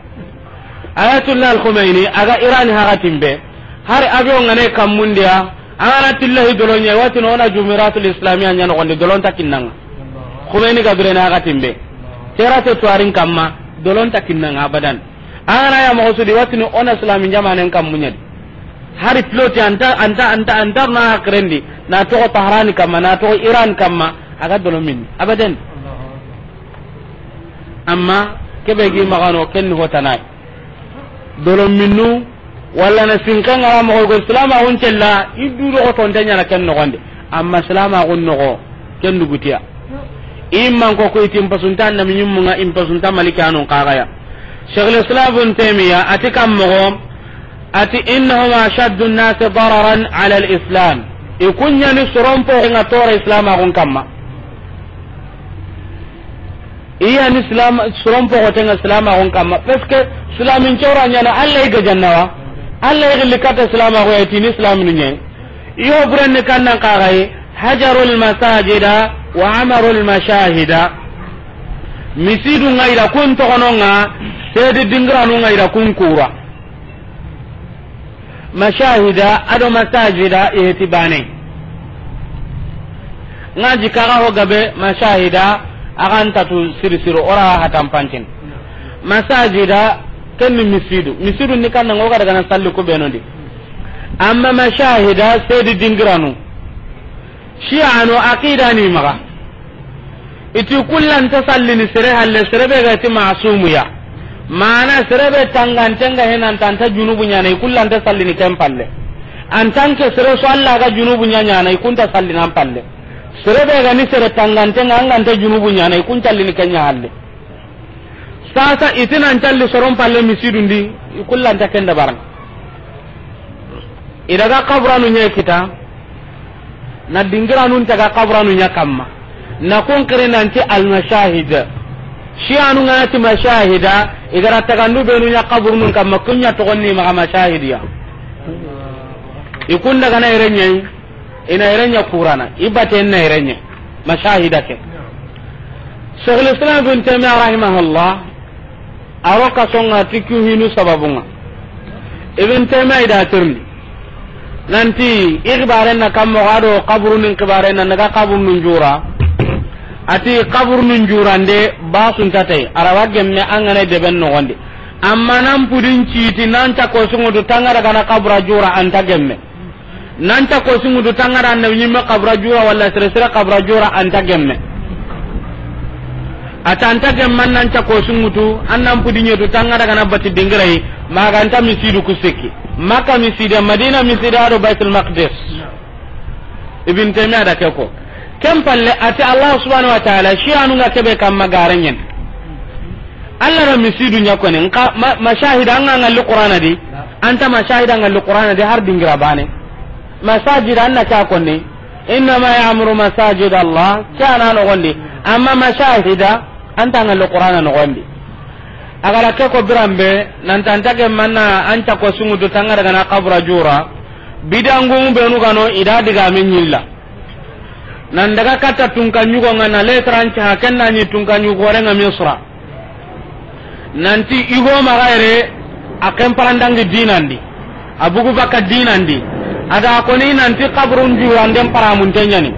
Ayatullah Al-Khomeini, a ga Iran haxatin be, hari avion ŋa ne kammundiya, a ga na tillahi dolo ɲa, i wa tini o na Jumhuriyatul Islamiyya ɲa noxondi, dolon ta kinnanga. Khomeini ga birene haxatin be, terate tuwarin kamma, dolon ta kinnanga abadan. A ga na ya moxo su di, i wa tini o na Islami jamanen kammuɲadi. Hari pilote anta, anta, anta, anta na hakirendi, na toxo Tahrani kamma, na toxo Iran kamma, a ga dolo minni. Abadan. Amma kebe gi maxano ken ni hotanai. Dolo minnu, walla na sinka ngara moxo go silamaxun cella, i du do xotonte ɲana ken noxondi. Amma silamaxun noxo, ken dugutiya. I manko ko i ti n pasunta Annabi ɲimmunga, i n pasunta Maliki anun kaxaya. Cheikhul Islam Ibn Taymiya, a ti kam moxo, a ti, "Innahum ashaddu nnasi dararan ala al-Islam." I kuɲani soron poxo nga tora silamaxun kamma. I ya ni silam, soron poxo tenga silamaxun kamma. Parce que silamin cora ɲana, Allah i ga jannawa. Allah i gilli kata silamaxu ya tini silaminu ɲe. Iyo burenni kannan kaxayi, "Hajarul masajida wa amarul mashahida." Misidu nga ida kun toxononga, sedi dingiranu nga ida kun kura. Mashahida ado masajida iheti bane. Nga jikaga ho gabe mashahida, a ga ntatu siri siri, ora hatan pancin. Masajida, ken ni misidu. Misidu ni kanna ngo ga daga na salli ku benondi. Amma mashahida, sedi dingiranu. Shi'anu aqida ni maga. I ti kullanta sallini sere halle, sere be ga ti masumu ya. Mana sere be tangantenga henan tanta junubu ɲana, i kullanta sallini ken palle. En tant que sere so Allah ga junubu ɲa ɲana, i kunta sallini an palle. Sere be ga ni sere tangantenga, an ganta junubu ɲana, i kun callini ken ɲa halle. Sasa i ti nan calli soron palle misidundi, i kullanta ken dabaran. I daga kaburanu ɲe kita, na dingiranun taga kaburanu ɲa kamma. Na kun kiri nanti al-mashahid. Shi'anu nga na ti mashahida, i gara tagandu benu ɲa kaburunun kamma, kun ɲa toxon ni maga mashahidiya. I kun daga na ire ɲa yi, i na ire ɲa kurana, i baten na ire ɲa, mashahida ke. Cheikhul Islam Ibn Taymiyyah rahimahullah, a ro kasonga ti ku hinu sababunga. Ibn Taymiyyah i da tirni. Nanti, i xibaren na kammo ga do kaburunin xibaren na, naga kaburunun jura. A ti kaburunun jurande, basunta tay, a ra wa gemme an ga na deben noxondi. Amma nan pudin citi, nan cako sungutu tanga daga na kabura jura anta gemme. Nan cako sungutu tanga da Annabi ɲimme kabura jura walla sere sere kabura jura anta gemme. A ta anta gemman nan cako sungutu, an nan pudi ɲetu tanga daga na bati dingirai, maganta misidu ku sikki. Makka miside, Madina miside, ado Baitul Maqdis. Ibn Taymiyyah da ke ko. Ken palle a ti Allah subhanahu wa ta'ala, Shi'anu nga kebe kamma gare ɲen. Allah na misidu ɲa koni, nka ma-, mashahida nga ngalli Qur'ana di, anta mashahida ngalli Qur'ana di har dingira bane. Masajid anna ka konni, "Innama ya'muru masajid Allah," ke ana noxondi, amma mashahida anta ngalli Qur'ana noxondi. A gara ke ko biranbe, nan tanta gemmanna an cako sungutu tanga daga na kabura jura, bidangu benu gano i da digame ɲilla. Nan daga katta tunka ɲugo nga na lettre an caha, ken na ɲi tunka ɲugo renga Misra. Nanti igo maxa yere, a ken parandangi dinandi, a bugu baka dinandi. A da koni nanti kaburun juranden paramunte ɲani.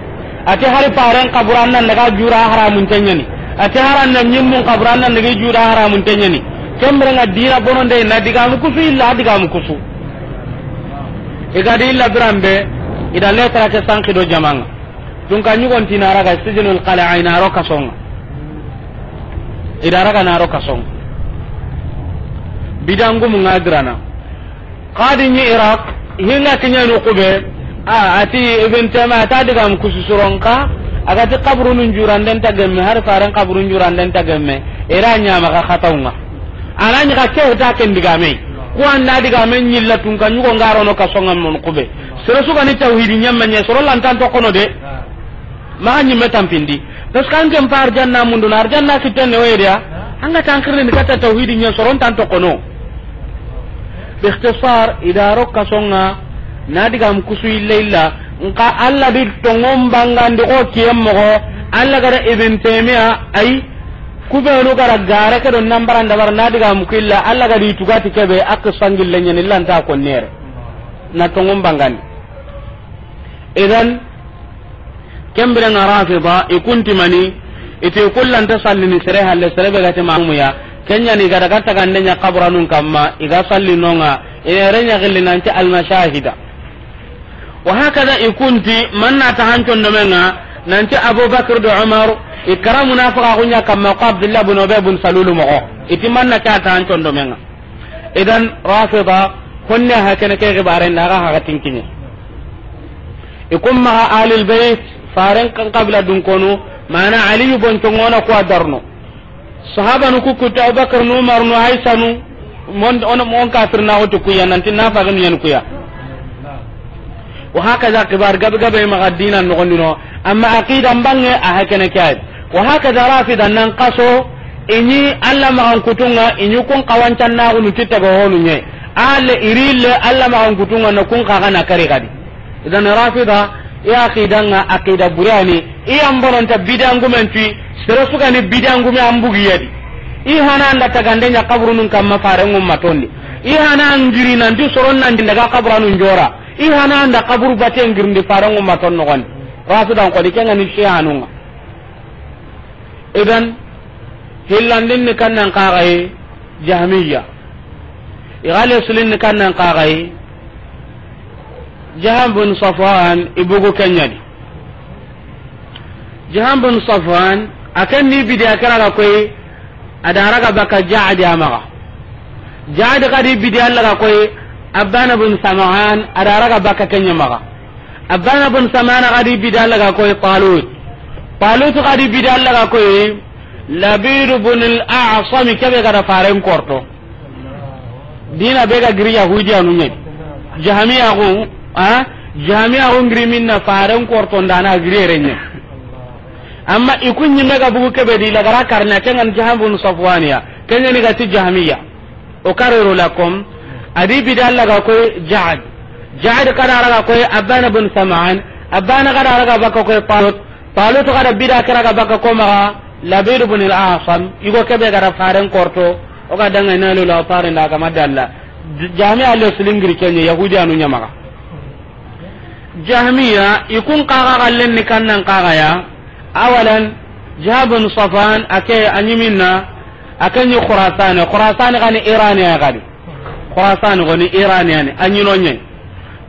A ti hari paren kaburan nan daga jura haramunte ɲani. A ti haran na ɲimmun kaburan nan daga jura haramunte ɲani. Kembere nga dina bononde na digamu kusu illa digamu kusu. I ga di illa biranbe, i da lettre ke sanki do jamanga. Tunka ɲugon ti na raga sijinul qala, a i na ro kasonga. I da raga na ro kasonga. Bidangumu nga girana. Qadi ɲi Iraq, hinga kiɲanu kube, a, a ti Ibn Taymiyyah, a ta digam kusu suronka, a ga ti kaburunun juranden ta gemme, har faren kaburun juranden ta gemme, era ɲama ka xatawnga. Ana ɲi ka ke ta ken digame. Ku anda digame ɲilla tunka ɲugo nga rono kasonga mon kube. Sere su ga ni tawhidi ɲamme ɲe, soro lantan to kono de. Maxa ɲimme tampindi. Parce que an ken pa arjanna munduna, arjanna kitten ne woyediya. An ga tankirni ni katta tawhidi ɲa soron tan to kono. Bi ikhtisar, i da ro kasonga, na digam kusu illa illa. Nka Allah di tongon bangandi ko kiyem moxo, Allah gara Ibn Taymiyyah, ay, Ku be nu ga ra gare ke do nan bara nda bara na diga mu killa, Alla ga di tugati ke be, a ke sangille ɲa ni lanta ko nere. Na tongun bangandi. Idan, ken biren ŋa Rafida, i kunti mani, i ti kullanta sallini sere halle, sere be ga ti mamuya. Ken ɲa ni ga daga tagande ɲa kaburanun kamma, i ga salli no ŋa, i na yere ɲa gilli nanti almashahida. Wa hakada i kunti, man na ta hancondomen ŋa, nanti Abubakar do Umar, i kara munafiqaxu ɲa kamma ko Abdullah bun Ubay bun Salulu moxo. I ti man na ke a ta hancondomen ŋa. Idan, Rafida, honne ha kene ke xibaren da ga haga tinkiɲe. I kun maxa Alil Bayt, faren kan qabila dun konu, mana Aliyu bonconŋo na ku a darno. Sahabanu ku kutu Abubakar nu, Umar nu, Aisha nu, mon, on, on kafir na wutu kuya, nanti na faga nu yan kuya. Wa hakaza kibar gabe gabe maxa dina noxondi no, amma aqida mbange a ha kene ke ay. Wa hakaza Rafida nan kaso, i ɲi Alla maxan kutunŋa, i ɲi kun xawancannaxunu ti taga honu ɲe. Alle i ri le Alla maxan kutunŋa na kun xaxa na kari gadi. Idan Rafida, i aqidan ŋa aqida burani, i yan bononta bidangumen tu, sere su ga ni bidangume an bugi ya di. I hana an da tagande ɲa kaburunun kamma faren ŋumma tondi. I hana an giri nanti soron nan daga kaburanun jora. I hana an da kaburu baten girindi faren ŋumma ton noxondi. Rafidan xoni ken ŋa ni Shi'anun ŋa. Idan, hillandin ni kannan kaxayi Jahmiya. I ga lesulin ni kannan kaxayi Jaham bin Safwan, i bugu ken ɲa di. Jaham bin Safwan, a ken ni bidi a kira ga koyi, a da raga baka Ja'di a maxa. Ja'di ga di bidi Alla ga koyi, Abana bin Sam'an, a da raga baka ken ɲa maxa. Abana bin Sam'an ga di bidi Alla ga koyi Talut. Talut ga di bidi Alla ga koyi Labid bin al-A'sam, kebe ga da faren korto. Dina be ga giri Yahudiyanu ɲa. Jahmiya xo, a? Jahmiya xo ngiri minna faren korto ndana giri yere ɲa. Amma i kun ɲi me ga bugu kebe di la ga ra karna ken ŋa ni Jaham bin Safwaniya. Ken ɲa ni ga ti Jahmiya. O karero la kom, a di bidi Alla ga koyi Ja'd. Ja'd ga da raga koyi Abana bin Sam'an. Abana ga da raga baka koyi Talut. Talut ga da bidi a kira ga baka ko maxa Labid bin al-A'sam. I go kebe ga da faren korto. O ga danga na lo la faren da ga ma dalla. J-, Jahmiya lesulin giri ken ɲa Yahudiyanu ɲa maxa. Jahmiya, i kun kaxa xallen ni kannan kaxaya. Awalan, Jaham bin Safwan, a ke a ɲi minna, a ke ɲi Khurasani. Khurasani ga ni Iraniya ga di. Khurasani ga ni Iraniya ni, a ɲi no ɲa.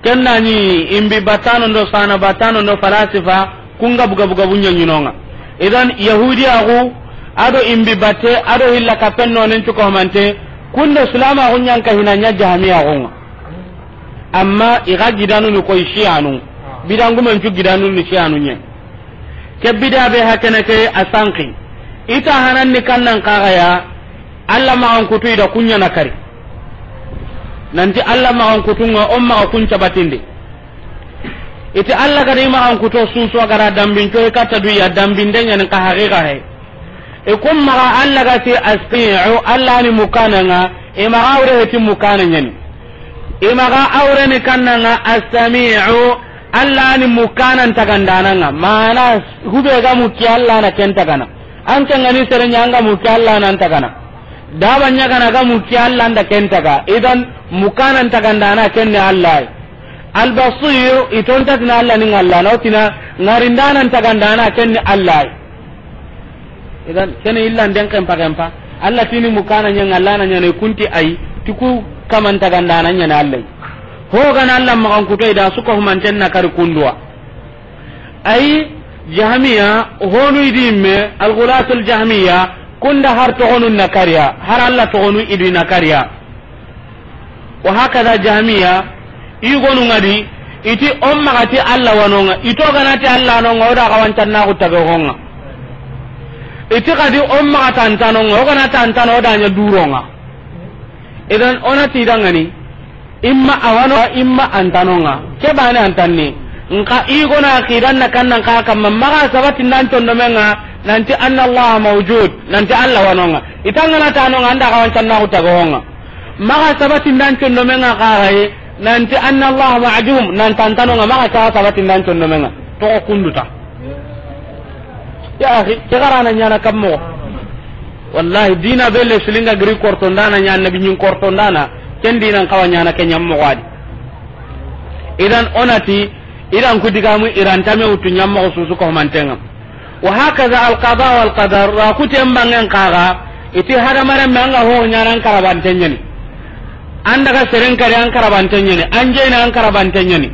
Ken na ɲi imbi batano ndo sana batano ndo falasifa, kun ga buga buga bunya ɲi no ŋa. Idan, Yahudiya xo, a do imbi batte, a do hilla kapen no nen cuko mante, kun do Islama xo ɲa n ka hina ɲa Jahmiya xo ŋa. Amma i ga gidanu ni koy Shi'anu. Bidangumen cu gidanu ni Shi'anu ɲa. Ke bida be ha kene ke a sanki. I ta hanan ni kannan kaxaya, Alla maxan kutu i da kun ɲa na kari. Nanti Alla maxan kutunŋa, o maxa kun cabatindi. I ti Alla ga da i maxan kuto susu a ga da dambin coy katta du ya dambinde ɲa ni ka haqiqa he. I kun maxa Alla ga ti As-Sami'u, Alla ni mukana ŋa, i maxa awre he ti mukana ɲa ni. I maxa awre ni kanna ŋa As-Sami'u, Alla ni mukana n tagandana ŋa. Mana hube ga muki Alla na ken tagana. An ke ŋa ni sere ɲa an ga muki Alla na n tagana. Daba ɲa ga na ga muki Alla n da ken taga. Idan mukana n tagandana ken ni Alla. Al-Basir, i tonta tina Alla ni ŋa Alla na, o tina ŋarindana n tagandana ken ni Alla. Idan, kene illa nden kempa kempa. Alla tini mukana ɲa ŋa Alla na ɲa ne kunti ay, ti ku kaman tagandana ɲa ne Alla. Ho ga na Alla maxan kuto i da su ko humanten na kari kunduwa. Ay, Jahmiya, honu i di me, al-Ghulatul Jahmiya, kunda har toxonu na kariya, har Alla toxonu i di na kariya. Wa hakada Jahmiya, i gonu ŋa di, i ti o maxa ti Alla wa no ŋa, i to ga na ti Alla no ŋa, o da xawancannaxu taga ho ŋa. I ti xa di o maxa tantano ŋa, o ga na tantano, o da ɲa duro ŋa. Idan o na ti dangani, imma a wa no, imma antano ŋa. Ke bane antanni. Nka i gona aqidan na kannan ka kamma, maxa sabati nan condomen ŋa, nanti anna Allah mawjud, nanti Alla wa no ŋa. I ta ga na ta no ŋa, an da xawancannaxu taga ho ŋa. Maxa sabati nan condomen ŋa xaxaye, nanti anna Allah ma'dum, nan tantano ŋa, maxa ka sabati nan condomen ŋa. Toxo kunduta. Ya akhi, ke garana ɲana kammo. Wallahi, dina be le silinga giri kortondana ɲa, annabi ɲin kortondana, ken dinan kawa ɲana ke ɲammoxo adi. Idan onati, idan ku digamu irantame wutu ɲammoxo susu ko mantenga. Wa hakaza al qada wal qadar, ra kuten bangen kaga, iti hadamaren me anga ho ɲana an karabante ɲani. An daga seren kari an karabante ɲani, an jeyna an karabante ɲani.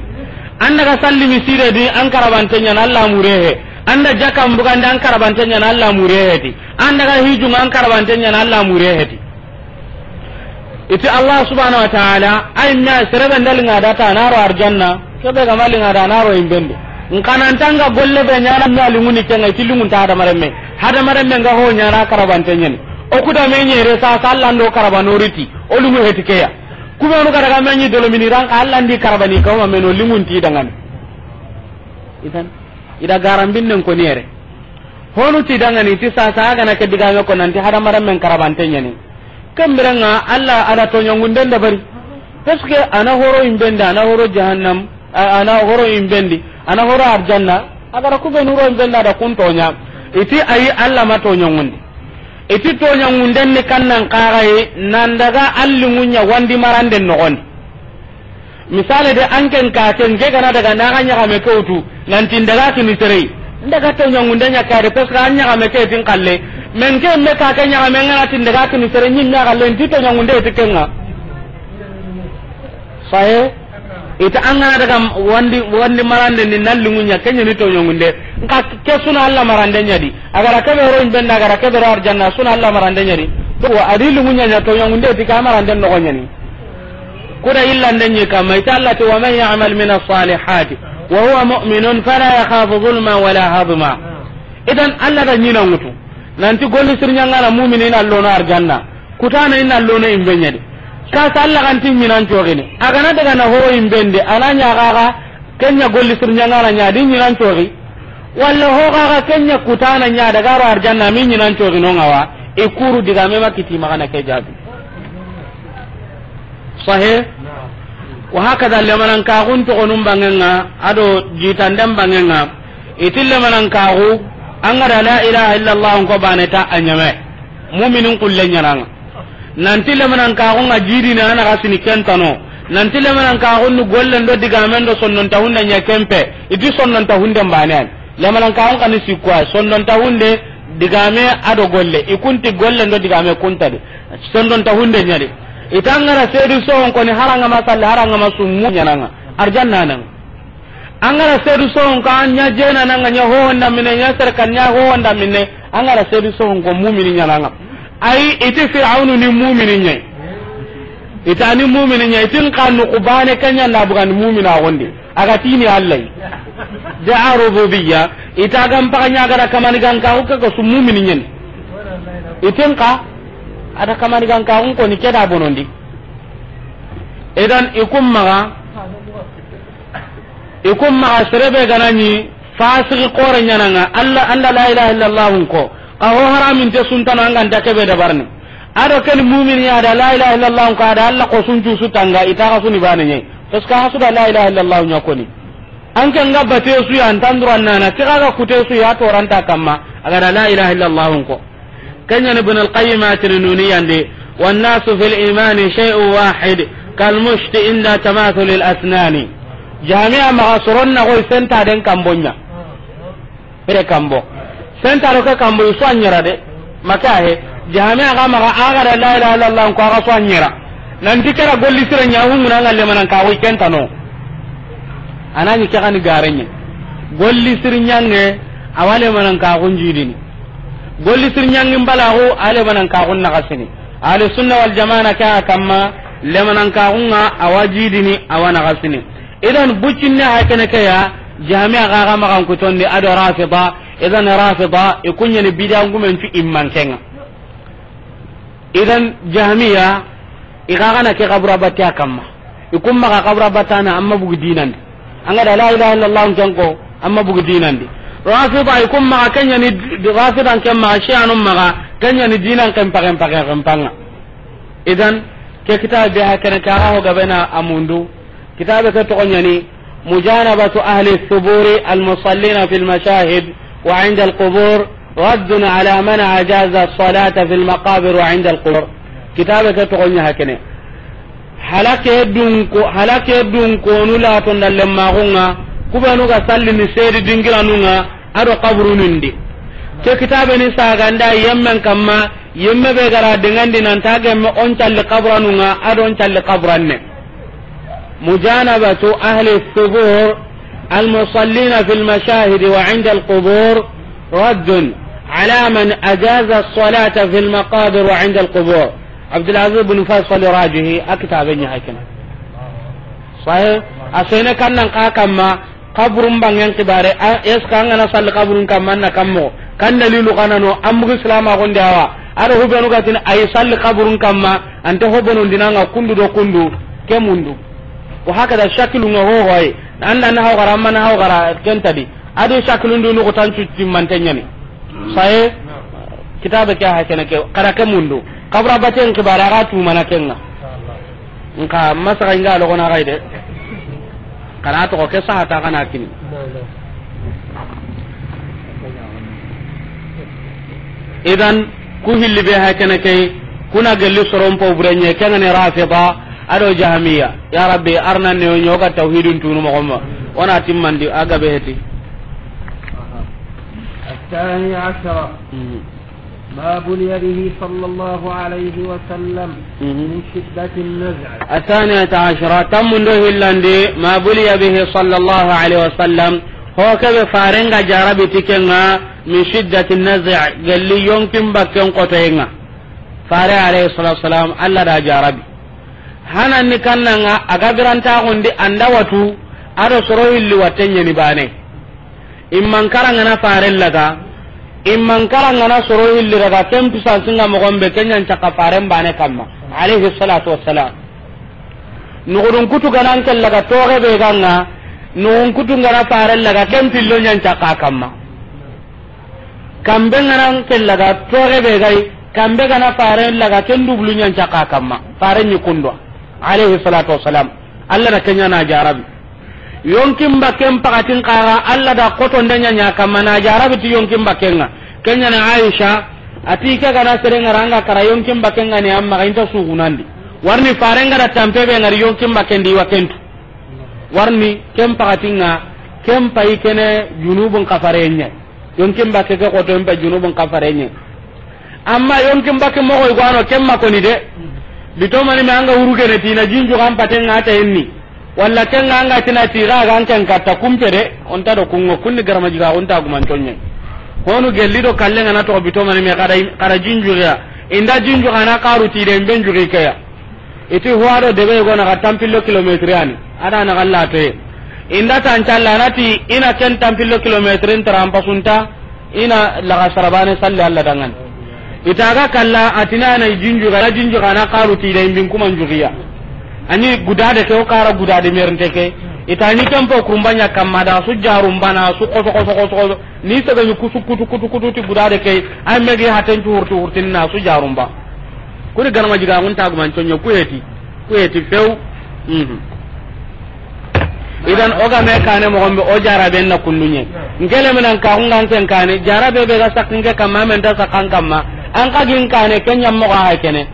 An daga salli misire di an karabante ɲani, Allah murehe. An da jakam bugande an karabante ɲani, Allah murehe di. An daga hijunga an karabante ɲani, Allah murehe di. Iti Allah subhanahu wa ta'ala, ay na serebe ndalinga data naro arjanna, kebe ga malinga da naro imbendi. Nkanantanga golle be ɲana me alinguni kenga iti lingun ta hadamaren me. Hadamaren me nga ho ɲana karabante ɲani. O kuda me ɲere sa sallando karabanoriti, o lingu hetikeya. Kumenu ga daga me ɲi dolo mini ranka Allah ndi karabani kawma meno lingun ti dangani. Idan, ida garambinnen ko niyere. Honu ti dangani ti sasa agana ke digame ko nanti hadamaren men karabante ɲani. Kembirenga Allah ada toɲangunden dabari. Parce que ana horo imbendi, ana horo jahannam, a-, ana horo imbendi, ana horo arjanna, agara kubenu horo imbendi ada kun toɲa. Iti ayi Allah ma toɲangundi. Iti toɲangunden ni kannan kagaye nan daga allingunya wandi maranden noxondi. Misale de, an ken ka ken ke gana daga naga ɲagame ke wutu, nanti ndaga kini serei. Ndaga toɲangunde ɲa kare, parce que an ɲagame ke tin kalle. Men ke me ka ke ɲagame ngana tin ndaga kini serei, ɲin me kalle, nti toɲangunde ti kenga. Sahe, ita an gana daga wandi, wandi marande ni nallingu ɲa, kenya ni toɲangunde. Nka ke suna Allah marande ɲadi. Agara kebe ro imbenda, agara kebe ro arjanna, suna Allah marande ɲadi. To, adi lingu ɲa ɲa toɲangunde ti ka marande noxo ɲani. Kuda illande ɲi kamma, ita Allah ti, "Wa man ya'mal min as-salihati wa huwa mu'minun fala yakhafu zulma wala hadma." Idan Allah da ɲina ŋutu. Nanti golli sirɲangana mumini na lono arjanna. Kutana ina lono imbe ɲadi. Kasa Allah ganti ɲinan cogini. Agana daga na horo imbende, ana ɲa gaga, kenya golli sirɲangana ɲadi ɲinan cogi. Walla ho gaga kenya kutana ɲa daga ro arjanna mi ɲinan cogi no ngawa. Ikuru diga me makiti magana ke jabi. Sahe. Wa hakada lemanan kaxun toxonun bangenga, ado jitanden bangenga. Iti lemanan kaxu, an ga da la ilaha illallah ko bane ta a ɲame. Muminin kulle ɲananga. Nanti lemanan kaxun ga jidini ana ga sini kentano. Nanti lemanan kaxun ni gollen do digamen do sonnon ta hunde ɲa kempe. Iti sonnon ta hunde mbane. Lemanan kaxun kani sikkuwa, sondon ta hunde, digame ado golle. Ikunti golle ndo digame kuntadi. Sondon ta hunde ɲadi. Itangara sedu sohon koni haranga masalle, haranga masummu ɲananga. Arjanna nanga. Angara sedu sohon ka ɲa jena nanga ɲa ho honda mine, ɲa serkan ɲa ho honda mine. Angara sedu sohon ko mumini ɲananga. Ayi, iti Fir'aunu ni mumini ɲai. Itani mumini ɲai, itin kanu kubane kanya na bugan mumina gondi. Aga tini Allah yi. Da rububiyya, ita gam paga ɲa ga da kamani gan ka ko ko su mumini ɲen. Iten ka, ada kamani gan ka ko ni keda bonondi. Idan ikum maga, ikum maga serebe ganani fasiki kore ɲananga, Allah, anda la ilaha illallah ko. Ka ho haramin te suntana anga nta kebe dabarni. Ado ken mumini ya da la ilaha illallah ko ada Allah ko sunju sutanga ita ga suni bane ɲai. Parce que hasu da la ilaha illallah ɲa koni. An ke nga bate su ya antandura nana, ke ga kute su ya toranta kamma, aga da la ilaha illallah ko. Kenya ni Ibn al-Qayyim atini nuni yande, "Wan nasu fil imani shay'un wahid, kal mushti inda tamathul al asnani." Jami'a maga soron na goy senta den kambonya. Pere kambo. Senta ro ke kambo isu anyara de. Maka he. Jami'a ga maga aga da la ilaha illallah ko aga su anyara. Nanti kera golli sira ɲa hu muna ngalle manan ka goy kentano. Anani ke gani garenye. Golli sir ɲange awale manan ka gunjidini. Golli sir ɲange mbalagu ale manan ka gun nagasini. Ahli sunna wal jamaa ka kamma le manan ka gunga awajidini awa nagasini. Idan bucinne ha kene ke ya, Jahmiya ga ga magan kutondi ado Rafida. Idan Rafida i kunyani bidan gumen tu imman kenga. Idan Jahmiya i ga gana ke kabura batte a kamma. I kun maga kabura battana amma bugu dinandi. An ga da la ilaha illallah ken ko amma bugu dinandi. Rafida i kun maga kenyani Rafidan ken maga Shi'anun maga kenyani dinan ken pagen pagen ken panga. Idan ke kitabe ha kene ka ga ho gabena amundu. Kitabe ke toxo ɲani, Mujanabatu ahli thuburi al musallina fil mashahid wa inda al qubur رد على من أجاز الصلاة في المقابر وعند القبور. Kitabe ke toxo ɲa hakene. Halake dun ko, halake dun konu la to ndalle maxunga, kubenu ga salli ni sedi dingiranunga, ado kaburunun di. Ke kitabe ni saganda yemmen kamma, yemme be gara dengandi nan ta gemme on calli kaburanunga, ado on calli kaburanne. مجانبة أهل الثبور المصلين في المشاهد وعند القبور رد على من أجاز الصلاة في المقابر وعند القبور. عبد العزيز بن فيصل راجحي أكتب هكذا. Sahe, a sene kannan ka kamma, kaburun bangen kibare, a, est-ce que an gana salli kaburun kamma, an na kammo, kan dalilu kanano, an bugu silama gonde awa, ado hubenu gatin ay salli kaburun kamma, ante hobonon dinanga kundu do kundu, ke mundu. Wa hakada shakilu nga ho hoy, anda na hawgara, amma na hawgara, kentadi, ado shakilun du nukutan cutti mantenyani. Sahe, kitabe ke ha kene ke, kara ke mundu, kabura baten kibare, aga tu mana kenga. Nka masaka inga logo na gaide. Kana to ke sahata kana kini. Idan ku hilli be ha kene kay, kuna gelli soron po burenye kengane rafida ado jahmiya. Ya Rabbi, arna ne o nyoga tawhidun tunu mo gomma. Ona timmandi aga be heti. الثاني عشر. ما بلي به صلى الله عليه وسلم من شدة النزع. الثانية عشرة, tammundo hillandi, ما بلي به صلى الله عليه وسلم, ho kebe farenga jarabi tikenga, من شدة النزع, gelli yonkin bakken kotoyenga. Fare alayhi salatu wasalam, Allah da jarabi. Hananni kannanga, aga biranta gondi anda watu, ado soro hilli watten yani bane. Imman karangana faren laga, imman karangana soro hilli raga, ken pisansinga mogon be, kenyan caka faren bane kamma, alayhi salatu wassalam. Nugudun kutu ganan ken laga toge be ganga, nugun kutu gana faren laga, ken pillo nyan caka kamma. Kambe ganan ken laga toge be gai, kambe gana faren laga, ken dublu nyan caka kamma. Faren ni kundwa, alayhi salatu wassalam. Allah na kenya na jarabi. Yonkin bakken pakatin kaga, Allah da kotonde ɲa ɲa kamma na jarabi ti yonkin bakkenga. Kenya na Aisha, ati ke gana sere ngara anga kara yonkin bakkenga ni amma ga inta sugunandi. Warni farenga da tampe be ngari yonkin bakken di wakentu. Warni ken pakatinga, ken payi kene junubun kafarenya. Yonkin bakke ke koto en pa junubun kafarenya. Amma yonkin bakke moxo i gwano ken ma koni de. Bitomani me anga wuru gene tina jinju kan patenga ta enni. Walla kenga anga tina tira ga an ken katta kumpe de. Onta do kungo kunni garama jiga onta guman tonye. Honu gelli do kallenga na to bitomani me kada kada jinju ya. Inda jinju kana karu ti de ben jugi kaya. Iti huwa do debe go na ga tampillo kilometre ani. Ada na galla te. Inda tan calla nati ina ken tampillo kilometre in tarampasunta. Ina laga sarabane salli Allah dangan. Itaga kalla atina na jinju ga jinju ga na karu ti da imbin kuma jugiya. Ani gudade ke o kara gudade mernte ke. Itani kempo kurumbanya kamma da su jarumbana su koso koso koso koso. Ni sega ni kusu kutu kutu kutu ti gudade ke. Ay megi haten tu hurtu hurtin na su jarumba. Kuri garma jiga mun tagu man tonyo kuyeti. Kuyeti few. Mhm. Idan o ga me kane moxon be o jarabe na kundunye. Ngele menan ka hungan ken kane jarabe be ga sakinge kamma men ta sakan kamma. An ka gin kane kenya moxo ha kene.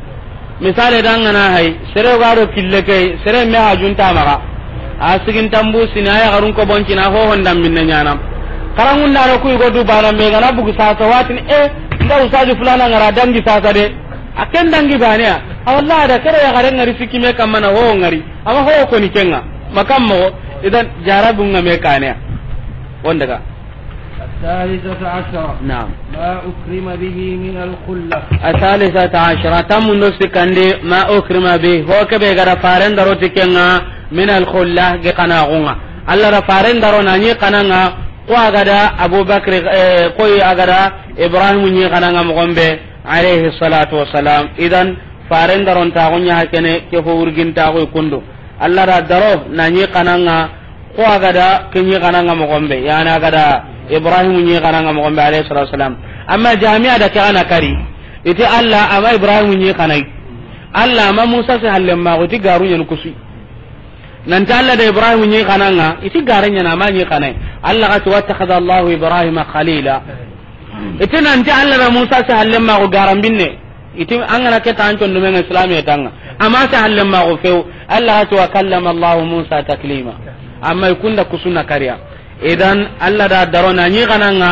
Misale dangana hay sere ga do kille kay sere me ha junta maga. A sigin tambu sina ya garun ko boncina ho honda minna nyana. Karangun da ro ku go du bana me gana bugu sasa watin e nda usadi fulana ngara dangi sasa de. A ken dangi bane ya. A wallahi da kere ya gare ngari sikki me kamma na ho ngari. Ama ho ko ni kenga. Makam mo idan jarabun nga me kane ya. Wondaga. الثالثة عشرة. نعم. ما أكرم به من الخلة. الثالثة عشرة. Tammundo sikandi ma ukrima bi. Ho kebe gada faren daro tikenga min al khulla ge kana gunga. Allah da faren daro nani kananga ko agada Abu Bakr, eh, ko agada Ibrahim ni kananga mogombe. Alayhi salatu wassalam. Idan faren daron taxu ɲa hakene ke fo wurgin taxu kundu. Allah da daro na ɲi kananga ko agada ke ɲi kananga mogombe. Yani agada Ibrahim ɲi kananga mogombe alayhi salatu wassalam. Amma jami'a da ke ana kari. Iti Allah ama Ibrahim ɲi kanai. Allah ama Musa se halle ma ko ti garu ɲan kusi. Nanta Allah da Ibrahim ɲi kananga, iti gare ɲana ma ɲi kanai. Allah ga ti wattakhadha Allahu Ibrahima khalila. Iti nanti Allah da Musa sahallen ma ko garambinne. Iti an ga na ke ta an condomen ŋa Islam ya tanga. Amma sahallen ma ko few. Allah ya ce: "Wa kallama Allahu Musa taklima." Amma i kunda kusu na kariya. Idan Allah da daro na ɲi xananga,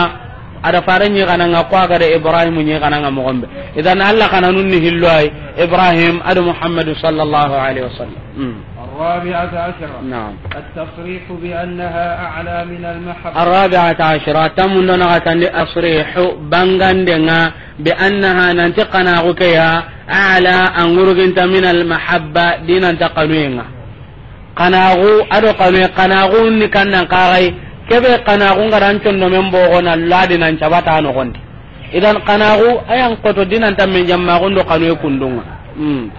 a da fare ɲi xananga, ko a ga da Ibrahim ɲi xananga moxo be. Idan Allah xananun ni hillo ay, Ibrahim a do Muhammadu sallallahu alaihi wasallam. Hmm. الرابعة عشرة. نعم. التصريح بأنها أعلى من المحبة. الرابعة عشرة، tammundo na gatandi tasrihu, bangandenga, bi annaha, nanti xanaxu ke ya, a'la, a ŋuruginta, min al mahabba, dinanta xanuyenga. Xanaxu a do xanuye, xanaxu ni kannan xaxay, kebe xanaxu nga dan condomen boxo na ladi nan cabata noxondi. Idan xanaxu a yan xoto dinanta men jammaxun do xanuye kundunga. Hmm.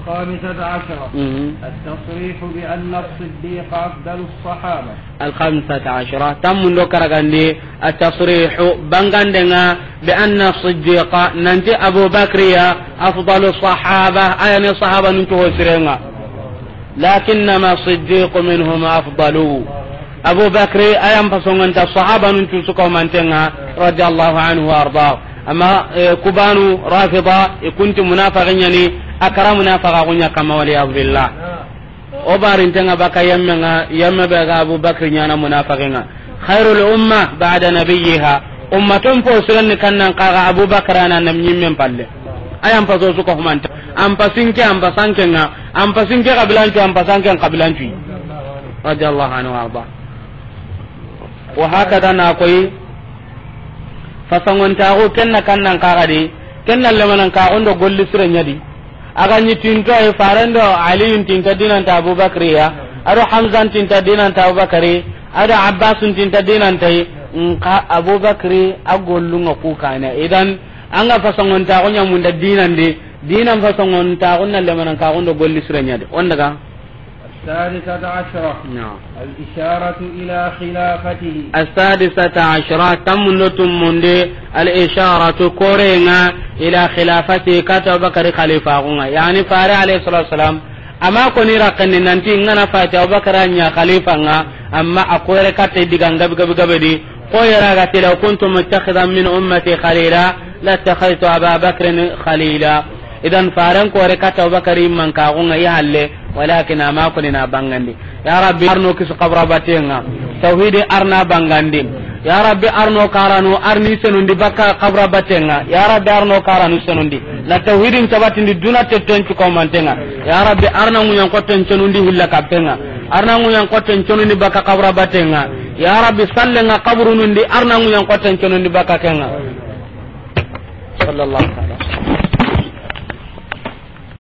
الخامسة عشرة. Mhm. التصريح بأن الصديق أفضل الصحابة. الخامسة عشرة، tammundo karagandi, التصريح, bangandenga, بأن الصديق, nanti Abu Bakri ya, أفضل الصحابة, a yani sahaba nun cuho sirenga. لكنما الصديق منهم أفضل. Abu Bakri, a yan pasongonta sahaba nun cusu ko mantenga, radiyallahu anhu wa arda. Amma, eh, kubanu Rafida, i kunti munafiqin yani, a kara munafiqa kunya kama, wal iyad billah. O barintenga baka yammenga, yamme be ga Abu Bakri nyana munafiqinga. Khairul umma ba'da nabiyyiha. Ummaton po sirenni kannan xaga Abu Bakri ana nam nyimmen palle. A yan paso su ko humanta. An pasinke, an pasankenga, an pasinke kabilancu, an pasanken kabilancu. Radiyallahu anhu wa arda. Wa hakada na koyi, fasangontaxu kenna kannan xaxadi, kenna lemanan kaxundo golli sire ñadi. A ga ñi tinto ay farendo Aliyun tinta dinanta Abubakari ya, ado Hamzan tinta dinanta Abubakari, ado Abbasun tinta dinanta yi, nka Abubakari a gollunga ku kane. Idan, anga fasangontaxu ñamunda dinandi, dinan fasangontaxu na lemanan kaxundo golli sire ñadi. On daga? السادسة عشرة. نعم. الإشارة إلى خلافته. السادسة عشرة، tammundo tummunde, الإشارة, korenga, إلى خلافته, kata Abubakari khalifaxunga. Yani, fare alayhi salatu wasalam, ama koni rakandi nanti ngana fati Abubakari a ña khalifanga, amma a kore kata diga gabe gabe gabe di, ko yera ga ti: لو كنت متخذا من أمتي خليلا لاتخذت أبا بكر خليلا. Idan, faren kore kata Abubakari mankaxunga i halle, walakin ama koni na bangandi. Ya Rabbi, arno kisu kabura batenga. Tawhidi arna bangandi. Ya Rabbi, arno karanu, arni senundi baka kabura batenga. Ya Rabbi, arno karanu senundi. Na tawhidin cabatindi duna tetten cukomantenga. Ya Rabbi, arna nguñan kotten cenundi hilla kappenga. Arna nguñan kotten cenundi baka kabura batenga. Ya Rabbi, sallenga kaburunundi, arna nguñan kotten cenundi baka kenga. صلى الله عليه وسلم.